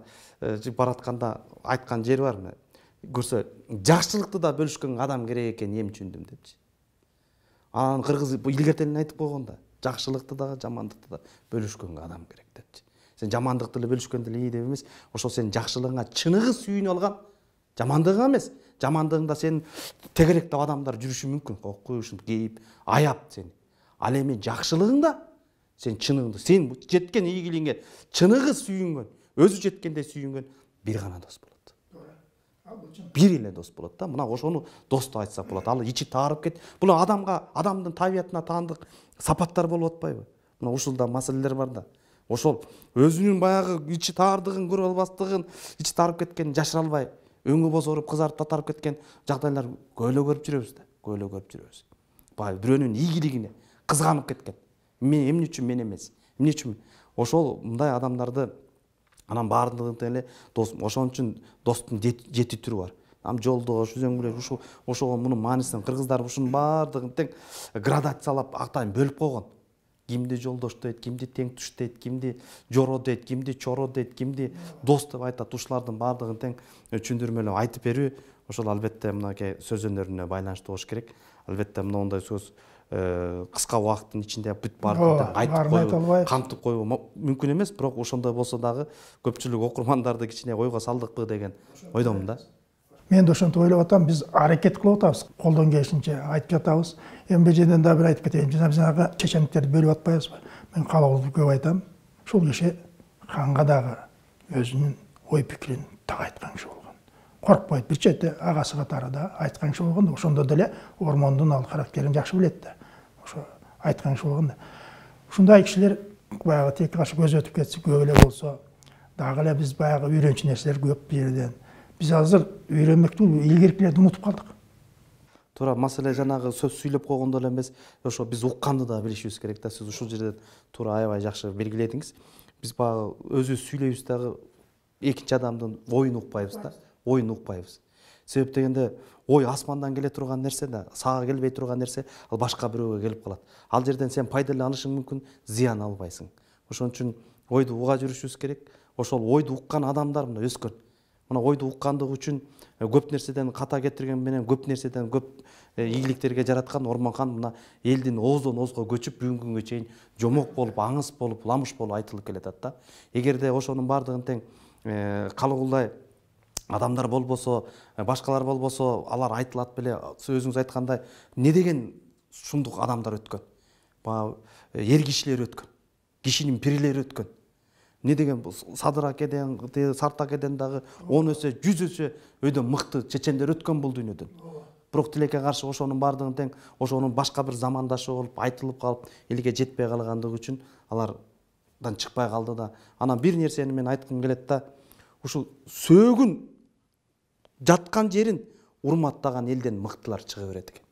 Speaker 2: баратканда айткан жери бар. Көрсө, жакшылыкты да бөлүшкөн адам керек экен эми түшүндүм депчи. Анан кыргыз илгертелин айтып койгон да. Жакшылыкты да, жамандыкты да бөлүшкөнгө адам керек депчи. Сен жамандыкты эле бөлүшкөндө эле деп эмес, ошол сенин жакшылыгыңа чыныгы сүйүнүп алган, жамандыгыңа эмес, жамандыгыңда сен тегеректеп адамдар жүрүшү мүмкүн. Кой ушинтип кейип, аяп сени. Ал эми жакшылыгыңда сен чыныңды, сен жеткен ийгилигиңе чыныгы сүйүнгөн, өзү жеткендей сүйүнгөн бир гана дос болот. Бир эле дос болот да. Мына ошону дос деп айтсак болот. Ал ичи таарып кет. Бул адамдын табиятына таандык сапаттар болуп атпайбы? Мына ушулда маселелер бар да. Ошол өзүнүн баягы ичи таардыгын көрө албастыгын, ичи таарып кеткенин жашыра албай, өңү бозоруп, кызарып татарып кеткен жагдайлар көөлө көрүп жүрөбүз да. Көөлө көрүп жүрөбүз. Баягы бирөөнүн ийгилигине кызганып кеткен. Мен эмне үчүн мен эмес? Эмне үчүн? Ошол мындай адамдарды анан баардыгын эле дос. Ошон үчүн достун жети түрү бар. Жолдош, үзөңгүлөш, ошого мунун маанисин кыргыздар ушунун баардыгын тең градациялап атайын бөлүп койгон. Кимди жолдош дейт, кимди тең туш дейт, кимди жоро дейт, кимди чоро дейт, кимди дос деп айтат. Ушулардын баардыгын тең түшүндүрмөлөп айтып берүү ошол албетте мынакей сөз өнөрүнө байланыштуу болуш керек. Албетте моундай сөз кыска убакыттын ичинде бүт баардыгын айтып коюу, камтып коюу мүмкүн эмес, бирок ошондой болсо дагы көпчүлүк окурмандарды кичине ойго салдыкпы деген ойдомун да.
Speaker 1: Мен да ошентип ойлоп атам, биз аракет кылып атабыз, колдон келишинче айтып жатабыз. Эми бул жерден да бир айтып кетейин. Жанагы чечендиктерди бөлүп атпайбызбы? Мен калыбыбызды көп айтам. Ушул киши ханга дагы өзүнүн ой пикирин так айткан киши болгон. Коркпойт, бир чети агасы катары да айткан киши болгон да. Ошондо деле Ормондун ал характерин жакшы билет да. Ошо айткан киши болгон да. Ушундай кишилер баягы тек кашы көз өтүп кетсе, көп эле болсо, дагы эле биз баягы үйрөнчү нерселер көп бул жерден. Биз азыр үйрөнмөктү илгеркилерди унутуп калдык.
Speaker 2: Туура, маселе жанагы сөз сүйлөп койгондо эле эмес, ошо биз укканды да билишибиз керек да. Сиз ушул жерден туура аябай жакшы белгиледиңиз. Биз баягы өзүбүз сүйлөйбүз дагы экинчи адамдын оюн укпайбыз да. Оюн укпайбыз. Себеп дегенде ой асмандан келе турган нерсе да, сага келбей турган нерсе ал башка бирөөгө келип калат. Ал жерден сен пайда эле алышың мүмкүн, зыян албайсың. Ошон үчүн ойду уга жүрүшүбүз керек. Ошол ойду уккан адамдар мына өскөн. мына ойду уккандыгы үчүн көп нерседен ката кетирген менен көп нерседен көп ийгиликтерге жараткан Ормонхан мына элдин ооздон оозго көчүп бүгүнкү күнгө чейин жомок болуп, аңыз болуп, ламыш болуп айтылып келатат да. Эгерде ошонун баардыгын тең калыгулдай адамдар болбосо, башкалар болбосо, алар айтылат беле, өзүңүз айткандай, не деген шундук адамдар өткөн. Баягы эр кишилер өткөн. Кишинин пирлери өткөн. Не деген Садыр акеден, Сарт акеден дагы 10 өсө, 100 өсө өйдөн мыкты чечендер өткөн бул дүйнөдөн. Бирок тилекке каршы ошонун баардыгын тең ошонун башка бир замандашы болуп айтылып калып, элге жетпей калгандыгы үчүн алардан чыкпай калды да. Анан бир нерсени мен айткым келет да, ушул сөөгүн жаткан жерин урматтаган элден мыктылар чыга берет экен.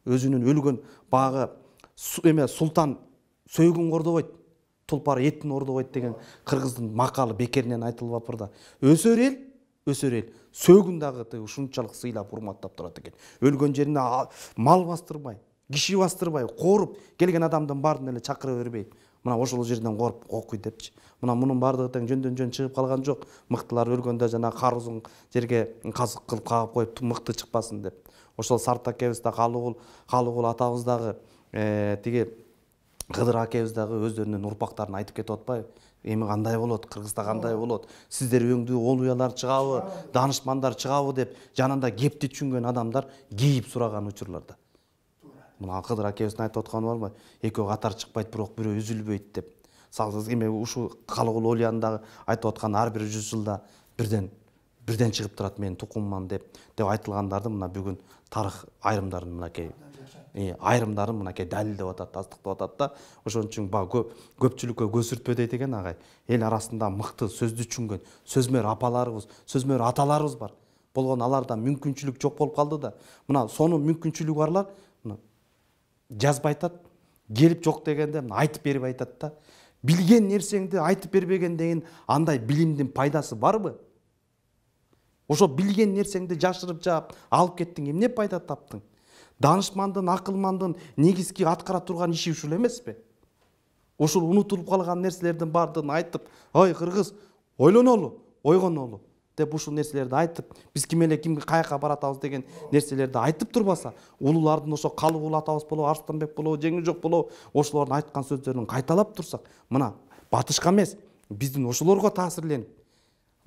Speaker 2: Өзүнүн өлгөн багы султан сөөгүн кордобойт, тулпар этин ордобойт деген кыргыздын макалы бекеринен айтылып апырда. Өсөр эл сөөгүн дагы ушунчалык сыйлап урматтап турат экен. Өлгөн жерине мал бастырбай, киши бастырбай, кооруп келген адамдын баарын эле чакыра бербей, мына ошол жерден кооруп окуй депчи. Мына мунун баардыгы тең жөндөн жөн чыгып калган жок. Мыктылар өлгөндө жана карузун жерге казык кылып кагып коюп мыкты чыкпасын деп. Ошол Сарт акебиз да Калыгул атабыз дагы тиги Кыдыр акебиз дагы өздөрүнүн урпактарын айтып кетип атпайбы? Эми кандай болот, Кыргызда кандай болот? Сиздер өңдүү олуялар чыгабы, данышмандар чыгабы деп жанында кепти түшүнгөн адамдар кейип сураган учурларда. Мына Кыдыр акебиздин айтып атканы барбы? Экөө катар чыкпайт, бирок бирөө үзүлбөйт деп. Эми ушу Калыгул олуянын дагы айтып аткан ар бир 100 жылда бирден чыгып турат, мен тукумман деп айтылгандарды мына бүгүн тарых айрымдарын мынакей далилдеп атат, тастыктап атат да. Ошон үчүн көпчүлүккө көсүртпө дейт экен агай. Эл арасында мыкты сөздү түшүнгөн сөзмөр апаларыбыз, сөзмөр аталарыбыз бар. Болгон аларда мүмкүнчүлүк жок болуп калды да. Мына сонун мүмкүнчүлүгү барлар жазбай айтат, келип жок дегенде айтып берип айтат да. Билген нерсеңди айтып бербегенден андай билимдин пайдасы барбы? Ошо билген нерсеңди жашырып жаап алып кеттиң, эмне пайда таптың? Данышмандын, акылмандын негизги аткара турган иши ушул эмеспи? Ушул унутулуп калган нерселердин баардыгын айтып, ой кыргыз, ойлонолу, ойгонолу деп ушул нерселерди айтып, биз ким эле кимге каяка баратабыз деген нерселерди айтып турбаса, улуулардын ошо Калыгул атабыз болобу, Арыстанбек болобу, Жеңилжок болобу, ошолордун айткан сөздөрүн кайталап турсак, мына батышка эмес, биздин ошолорго таасирленип,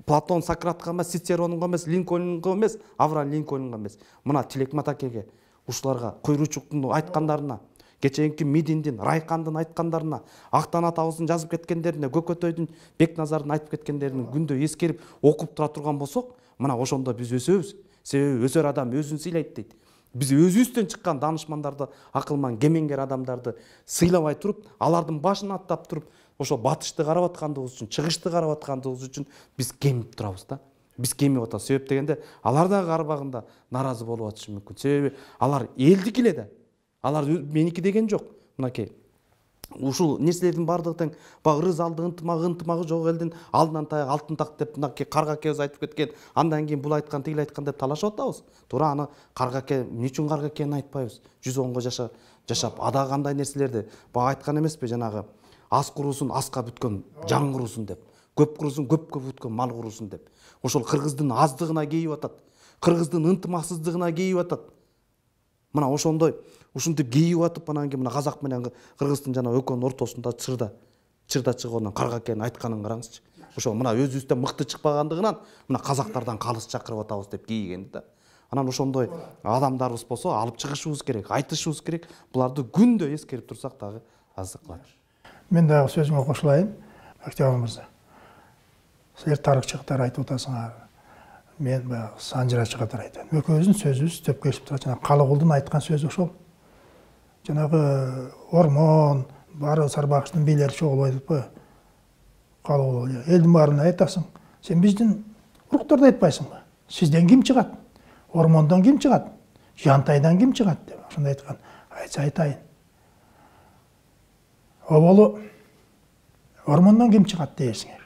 Speaker 2: Платон, Сократка эмес, Цицеронго эмес, Линкольнго эмес, Авраам Линкольнго эмес, мына Тилек Матакеге, ушуларга, Куйручуктун айткандарына, кечээки Мидиндин, Райкандын айткандарына, Актан атабыздын жазып кеткендерине, Көкөтөйдүн, Бекназардын айтып кеткендерин күндө эскерип окуп тура турган болсок, мына ошондо биз өсөбүз. Себеби өсөр адам өзүн сыйлайт дейт. Биз өзүбүздөн чыккан данышмандарды, акылман, кемеңгер адамдарды сыйлабай туруп, алардын башын аттап туруп, ошо батышты карап аткандыгыбыз үчүн, чыгышты карап аткандыгыбыз үчүн биз кемип турабыз да. Биз кемип атабыз. Себеп дегенде алар да карабагында наразы болуп атышы мүмкүн. Себеби алар элдики эле да. Алар меники деген жок. Мынакей ушул нерселердин баардыгы тең баягы ырыс алды ынтымагы жок элдин алдынан таяк алтын так деп мынакей Карга акебиз айтып кеткен. Андан кийин бул айткан, тигил айткан деп талашып атабыз. Туура аны Карга аке эмне үчүн Карга акени айтпайбыз? 110го жашап ада кандай нерселерди баягы айткан эмеспи, жанагы аз куруусун аска бүткөн жан куруусун деп. Көп куруусун көпкө бүткөн мал куруусун деп. Ошол кыргыздын аздыгына кейип атат. Кыргыздын ынтымаксыздыгына кейип атат. Мына ошондой ушинтип кейип атып, анан кийин мына казак менен кыргыздын жана экөөнүн ортосунда чырда чыгып Карга акенин айтканын караңызчы. Ошо мына өзүбүздөн мыкты чыкпагандыгынан мына казактардан калыс чакырып атабыз деп кейигенди да. Анан ошондой адамдарыбыз болсо алып чыгышыбыз керек, айтышыбыз керек. Буларды күндө эскерип турсак дагы аздык кылат.
Speaker 1: Мен дагы сөзүмө кошулайын, Октябрь мырза. Силер тарыхчылыктар айтып атасыңар. Мен баягы санжырачы катары айтам. Экөөбүздүн сөзүбүз төп келип турат. Жана Калыгулдун айткан сөзү ошол. Жанагы Ормон, баары Сарбагычтын бийлери чогулуп айтпайбы? Калыгул элдин баарына айтасың. Сен биздин уруктарды айтпайсыңбы? Сизден ким чыгат? Ормондон ким чыгат? Жантайдан ким чыгат деп ошондой айткан. Айтса айтайын. Оболу Ормондон ким чыгат дейсиңер?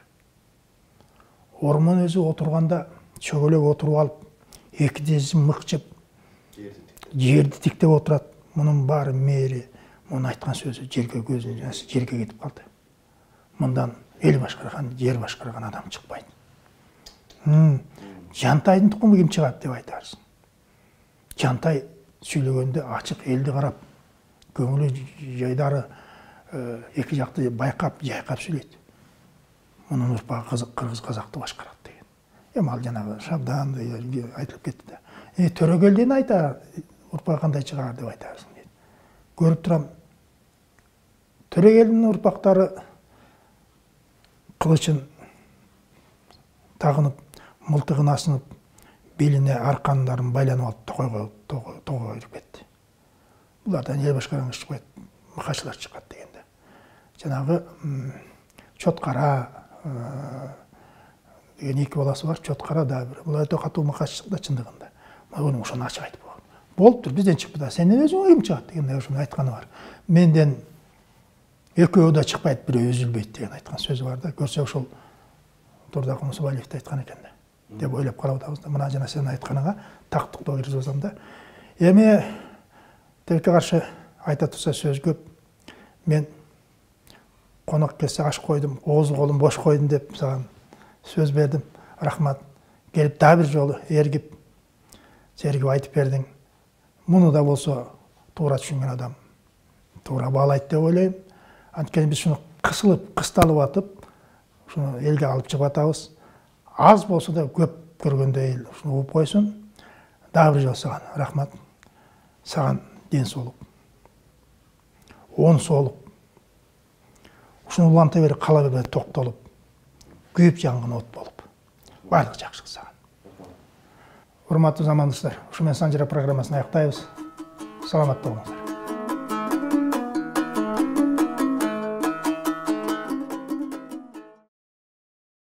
Speaker 1: Ормон өзү отурганда чөгөлөп отуруп алып, эки тизин мыкчып, жерди тиктеп отурат. Мунун баары мэри, мунун айткан сөзү жерге көзүн жасы жерге кетип калды. Мындан эл башкарган, жер башкарган адам чыкпайт. Жантайдын тукуму ким чыгат деп айтарсың. Жантай сүйлөгөндө ачык, элди карап, көңүлү жайдары эки жакты байкап, жайкап сүйлөйт. Мунун урпагы кыргыз казакты башкарат деген. Эми ал жанагы Шабдан айтылып кетти да. Төрөгелден айта урпагы кандай чыгаар деп айтарсың дейт. Көрүп турам. Төрөгелдин урпактары кылычын тагынып, мылтыгын асынып, белине аркандарын байланып алып тоого кирип кетти. Булардан эл башкарган иш чыкпайт, мыкачылар чыкат дегенде. Жанагы Чоткара деген эки баласы бар, Чоткара да бир. Булар өтө катуу мыкач да чындыгында. Мына ошону ачык айтып койгон. Болуптур, бизден чыкпы да, сенден өзүң ким чыгат дегенде ошону айтканы бар. Менден экөө да чыкпайт, бирөө үзүлбөйт деген айткан сөзү бар да. Көрсө ошол Турдакул Мусабалиев айткан экен да. Деп ойлоп карап атабыз да. Мына жана сен айтканыңа тактыктоо киргизип атам да. Эми тилекке каршы айта турса сөз көп. Мен конок келсе аш койдум, оозу колум бош койдум деп сага сөз бердим. Рахмат. Келип дагы бир жолу эргип айтып бердиң. Муну да болсо туура түшүнгөн адам туура баалайт деп ойлойм. Анткени биз шуну кысталып атып, шуну элге алып чыгып атабыз. Аз болсо да көп көргөндө эл ушуну угуп койсун. Дагы бир жолу сага рахмат. Сага ден соолук. Оң соолук. Ушуну уланта берип кала бербей токтолуп, күйүп жанган от болуп. Баардык жакшылык сага. Урматтуу замандаштар, ушу менен Санжара программасын аяктайбыз. Саламатта болуңуздар.